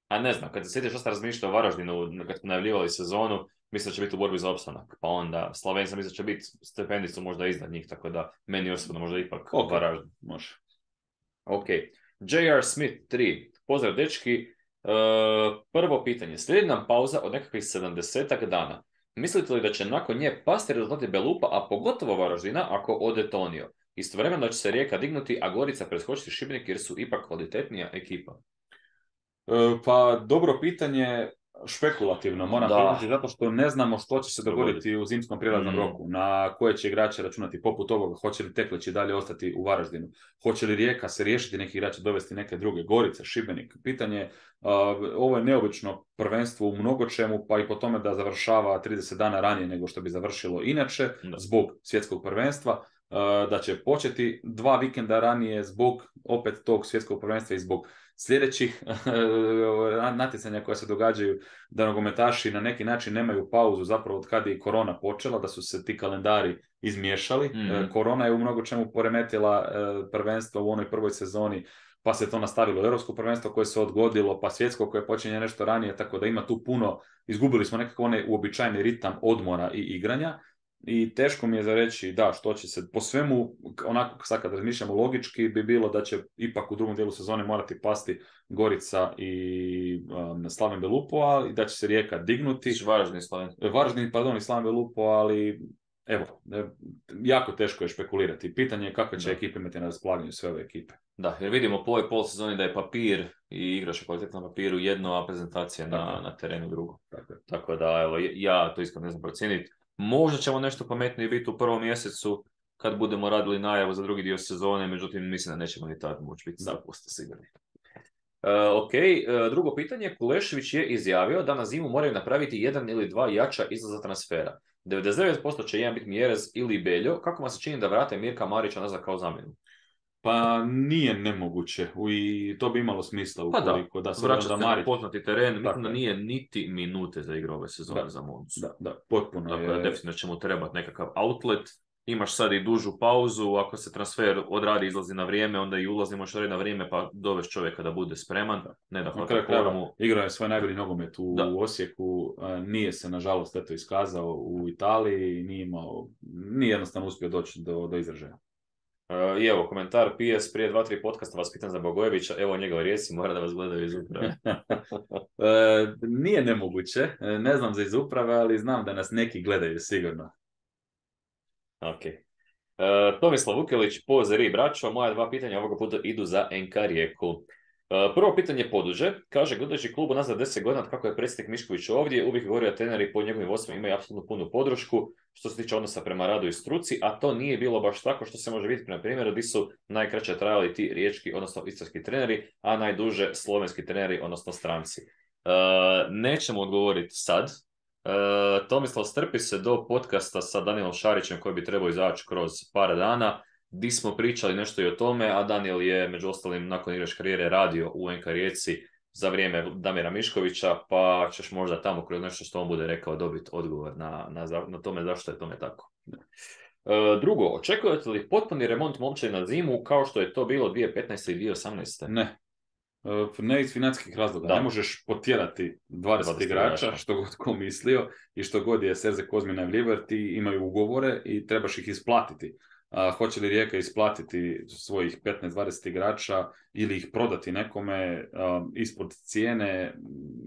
A ne znam, kad se sjetiš što ste razmišljali o Varaždinu, kad ste najavljivali sezonu, mislim da će biti u borbi za opstanak. Pa onda Slaven sam mislim da će biti stepenicu možda iznad njih, tako da meni osobno možda ipak Varaždin. Može. Ok. J.R. Smith 3. Pozdrav dečki. Prvo pitanje. Slijedi nam pauza od nekakvih 70 dana. Mislite li da će nakon nje pasti rezultati Belupa, a pogotovo Varaždina, ako ode Tonio? Istovremeno da će se Rijeka dignuti, a Gorica preskočiti Šibenik jer su ipak kvalitetnija ekipa. Pa dobro pitanje, špekulativno moram priznati, zato što ne znamo što će se dogoditi u zimskom prijelaznom roku, na koje će igrače računati poput ovoga, hoće li Teklić i dalje ostati u Varaždinu, hoće li Rijeka se riješiti neki igrače, dovesti neke druge, Gorica, Šibenik. Pitanje, ovo je neobično prvenstvo u mnogočemu, pa i po tome da završava 30 dana ranije nego što bi završilo inače, zbog svjetskog prvenstva, da će početi 2 vikenda ranije zbog opet tog svjetskog prvenstva i zbog sljedećih natjecanja koja se događaju, da nogometaši na neki način nemaju pauzu zapravo od kada je korona počela, da su se ti kalendari izmiješali. Korona je u mnogo čemu poremetila prvenstvo u onoj prvoj sezoni pa se to nastavilo europsko prvenstvo koje se odgodilo, pa svjetsko koje počinje nešto ranije, tako da ima tu puno, izgubili smo nekako onaj uobičajeni ritam odmora i igranja. I teško mi je za reći, da, što će se, po svemu, onako sad kad razmišljamo logički, bi bilo da će ipak u drugom dijelu sezone morati pasti Gorica i Slaven Belupo, ali da će se Rijeka dignuti. Varaždin i Slaven Belupo, ali evo, jako teško je špekulirati. Pitanje je kako će ekipe imati na raspolaganju sve ove ekipe. Da, jer vidimo po ovoj polsezoni da je papir i igraš kvalitetno na papiru jedno, a prezentacija na terenu drugo. Tako da, evo, ja to iskreno ne znam procijeniti. Možda ćemo nešto pametnije biti u prvom mjesecu kad budemo radili najavu za drugi dio sezone, međutim mislim da nećemo ni tad moći biti 100% sigurni. Drugo pitanje, Kulešević je izjavio da na zimu moraju napraviti 1 ili 2 jača izlaza transfera. 99% će jedan biti Mjerez ili Beljo. Kako vam se čini da vrate Mirka Marića nazad kao zamjenu? Pa nije nemoguće i to bi imalo smisla ukoliko da se vraća na poznati teren. Mislim da nije niti minute za igru ove sezone za Moncu. Da, potpuno. Dakle, definitivno će mu trebati nekakav outlet. Imaš sad i dužu pauzu, ako se transfer odradi, izlazi na vrijeme, onda i ulazi možeš na vrijeme, pa doveš čovjeka da bude spreman. Ne da hvata formu. Igrao je svoj najbolji nogomet u Osijeku, nije se nažalost eto iskazao u Italiji, nije jednostavno uspio doći do izražaja. I evo, komentar PS prije 2-3 podcasta vas pitan za Bogojevića, evo njegov rijeci, mora da vas gledaju iz uprave. Nije nemoguće, ne znam za iz uprave, ali znam da nas neki gledaju sigurno. Ok. Tomislav Vukelić, Pozeri braćo, moja 2 pitanja ovoga puta idu za NK Rijeku. Prvo pitanje Poduže, kaže, gledajući klubu nazad 10 godina kako je predsjednik Mišković ovdje, uvijek govori da treneri pod njegovim vodstvom imaju apsolutno punu podršku što se tiče odnosa prema radu i struci, a to nije bilo baš tako što se može vidjeti na primjeru gdje su najkraće trajali ti riječki, odnosno istarski treneri, a najduže slovenski treneri, odnosno stranci. Nećemo odgovoriti sad. Tomislav, strpi se do podcasta sa Danielom Šarićem koji bi trebao izaći kroz par dana, di smo pričali nešto i o tome, a Daniel je među ostalim nakon igračke karijere radio u NK Rijeci za vrijeme Damira Miškovića, pa ćeš možda tamo kroz nešto što on bude rekao dobiti odgovor na tome zašto je tome tako. Drugo, očekujete li potpuni remont momčadi na zimu kao što je to bilo 2015. i 2018. Ne iz financijskih razloga. Ne možeš potjerati 20 igrača, što god ko mislio i što god je Serze Kozmi najavljivao, ti imaju ugovore i trebaš ih isplatiti. Hoće li Rijeka isplatiti svojih 15-20 igrača ili ih prodati nekome ispod cijene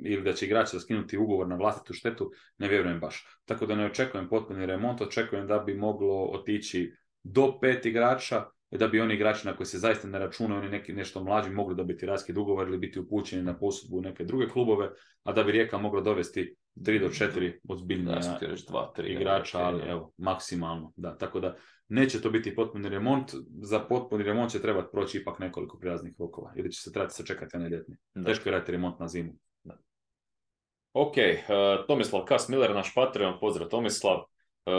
ili da će igrači skinuti ugovor na vlastitu štetu, ne vjerujem baš. Tako da ne očekujem potpuni remont, očekujem da bi moglo otići do 5 igrača, da bi oni igrači na koji se zaista ne računaju, oni nešto mlađi mogli dobiti raskid ugovor ili biti upućeni na posudbu u neke druge klubove, a da bi Rijeka mogla dovesti 3 do 4 ozbiljnija igrača, ali evo, maksimalno. Da, tako da neće to biti potpuni remont, za potpuni remont će trebati proći ipak nekoliko prijaznih rokova, ili će se trebati sačekati na ljetni. Teško je raditi remont na zimu. Da. Ok, Tomislav Kas Miller, naš Patreon, pozdrav Tomislav.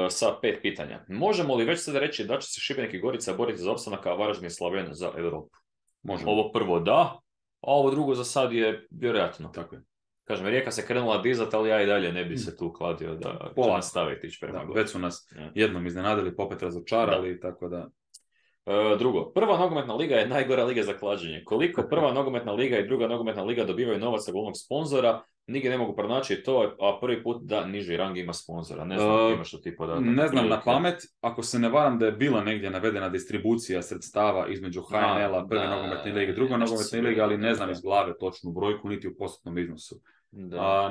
Sa 5 pitanja. Možemo li već sada reći da će se Šibenik i Gorica boriti za opstanak, a Varaždin i Slaven za Europu? Možemo. Ovo prvo da, a ovo drugo za sad je vjerojatno. Tako je. Kažem, Rijeka se krenula dizati, ali ja i dalje ne bi se tu kladio da će nastaviti ići prema gore. Već su nas jednom iznenadili, popet razočarali, tako da... Drugo, prva nogometna liga je najgora liga za klađenje. Koliko prva nogometna liga i druga nogometna liga dobivaju novac za glavnog sponzora, nigdje ne mogu pronaći to, a prvi put da niži rang ima sponzora. Ne znam, imaš to ti podatak. Ne znam na pamet, ako se ne varam da je bila negdje navedena distribucija sredstava između HNL-a, prve nogometne lige i druge nogometne lige, ali ne znam iz glave točnu brojku, niti u postotnom iznosu.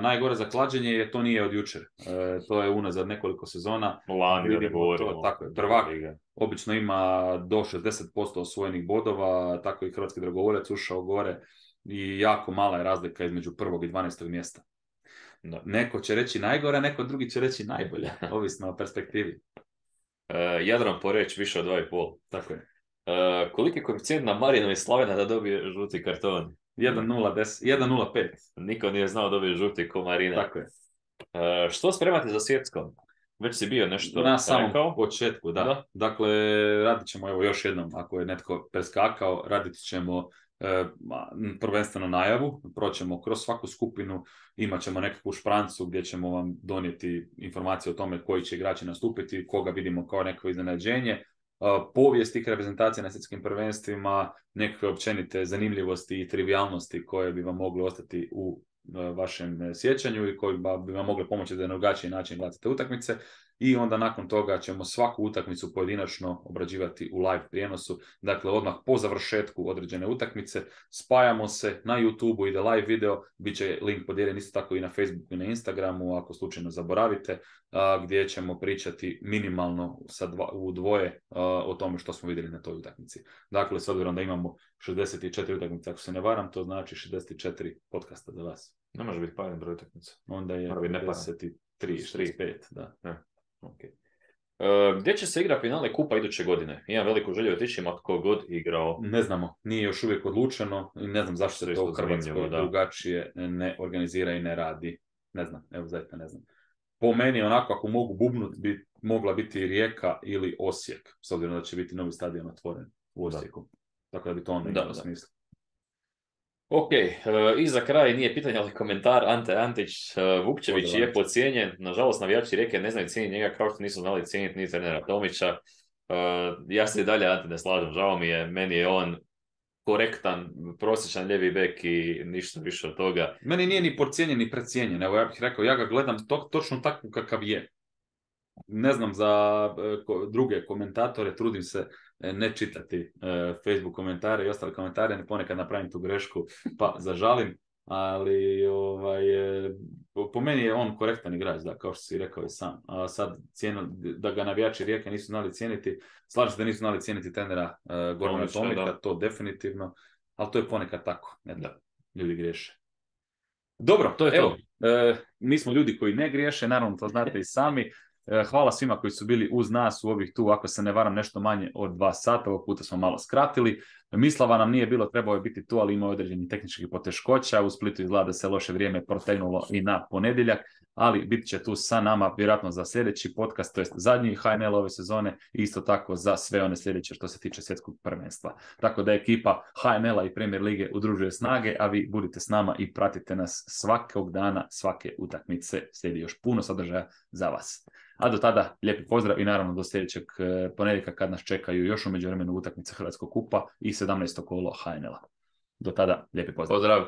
Najgore za klađenje je to nije od jučer. To je unazad nekoliko sezona. Tako je, prvak obično ima do 60% osvojenih bodova, tako i Hrvatski dragovoljac ušao gore i jako mala je razlika između 1. i 12. mjesta. Da. Neko će reći najgore, neko drugi će reći najbolje, ovisno o perspektivi. Jadran Poreć više od 2,5. Tako je. Koliki je koeficijent na Marinu i Slavena da dobije žuti karton? 1,05. Niko nije znao dobije žuti ko Marina. Tako je. Što spremate za svjetskom? Već si bio nešto na samom početku, da. Dakle, radit ćemo, evo još jednom, ako je netko preskakao, radit ćemo prvenstveno najavu, proćemo kroz svaku skupinu, imat ćemo nekakvu šprancu gdje ćemo vam donijeti informacije o tome koji će igrači nastupiti, koga vidimo kao neko iznenađenje, povijest tih reprezentacija na svjetskim prvenstvima, nekakve općenite zanimljivosti i trivialnosti koje bi vam mogle ostati u vašem sjećanju i koji bi vam mogle pomoći da na drugačiji način gledate utakmice. I onda nakon toga ćemo svaku utakmicu pojedinačno obrađivati u live prijenosu. Dakle, odmah po završetku određene utakmice spajamo se na YouTube-u, ide live video, bit će link podijeljen isto tako i na Facebooku i na Instagramu, ako slučajno zaboravite, gdje ćemo pričati minimalno u dvoje o tome što smo vidjeli na toj utakmici. Dakle, s obzirom da imamo 64 utakmice, ako se ne varam, to znači 64 podcasta za vas. Ne može biti paran broj utakmica. Onda je 53, 65, da. Okay. Gdje će se igra finale kupa iduće godine? Imam veliku želju otići, ima tko god igrao. Ne znamo, nije još uvijek odlučeno i ne znam zašto se to u Hrvatskoj drugačije ne organizira i ne radi. Ne znam, evo zaista ne znam. Po meni onako ako mogu bubnut bi mogla biti Rijeka ili Osijek, s obzirom da će biti novi stadion otvoren u Osijeku. Tako da bi to onda imalo smisla. Ok, i za kraj nije pitanje, ali komentar Ante Antić, Vukčević je podcijenjen, nažalost navijači Rijeke ne znaju cijeniti njega kao što nisu znali cijeniti ni trenera Tomića. Ja se i dalje Ante ne slažem, žao mi je, meni je on korektan, prosječan lijevi bek i ništa više od toga. Meni nije ni podcijenjen ni precijenjen, evo ja bih rekao, ja ga gledam točno takvu kakav je. Ne znam za druge komentatore, trudim se ne čitati Facebook komentare i ostale komentare, ponekad napravim tu grešku pa zažalim, ali po meni je on korektan igrač, da, kao što si rekao i sam. A sad da ga navijači Rijeke nisu znali cijeniti, slažem se da nisu znali cijeniti trenera Gorana Tomika, to definitivno, ali to je ponekad tako, da ljudi griješe. Dobro, to je evo, mi smo ljudi koji ne griješe, naravno to znate i sami. Hvala svima koji su bili uz nas u ovih tu, ako se ne varam, nešto manje od 2 sata, ovog puta smo malo skratili. Mislava nam nije bilo, trebao je biti tu, ali ima određenih tehničkih poteškoća. U Splitu izgleda da se loše vrijeme protegnulo i na ponedjeljak, ali bit će tu sa nama vjerojatno za sljedeći podcast, to jest zadnji HNL ove sezone i isto tako za sve one sljedeće što se tiče svjetskog prvenstva. Tako da ekipa HNL-a i Premier Lige udružuje snage, a vi budite s nama i pratite nas svakog dana, svake utakmice. Slijedi još puno sadržaja za vas. A do tada lijepi pozdrav i naravno do sljedećeg ponedjeljka kad nas čekaju još u međuvremenu utakmice Hrvatskog kupa i 17. kolo HNL-a. Do tada lijepi pozdrav. Pozdrav.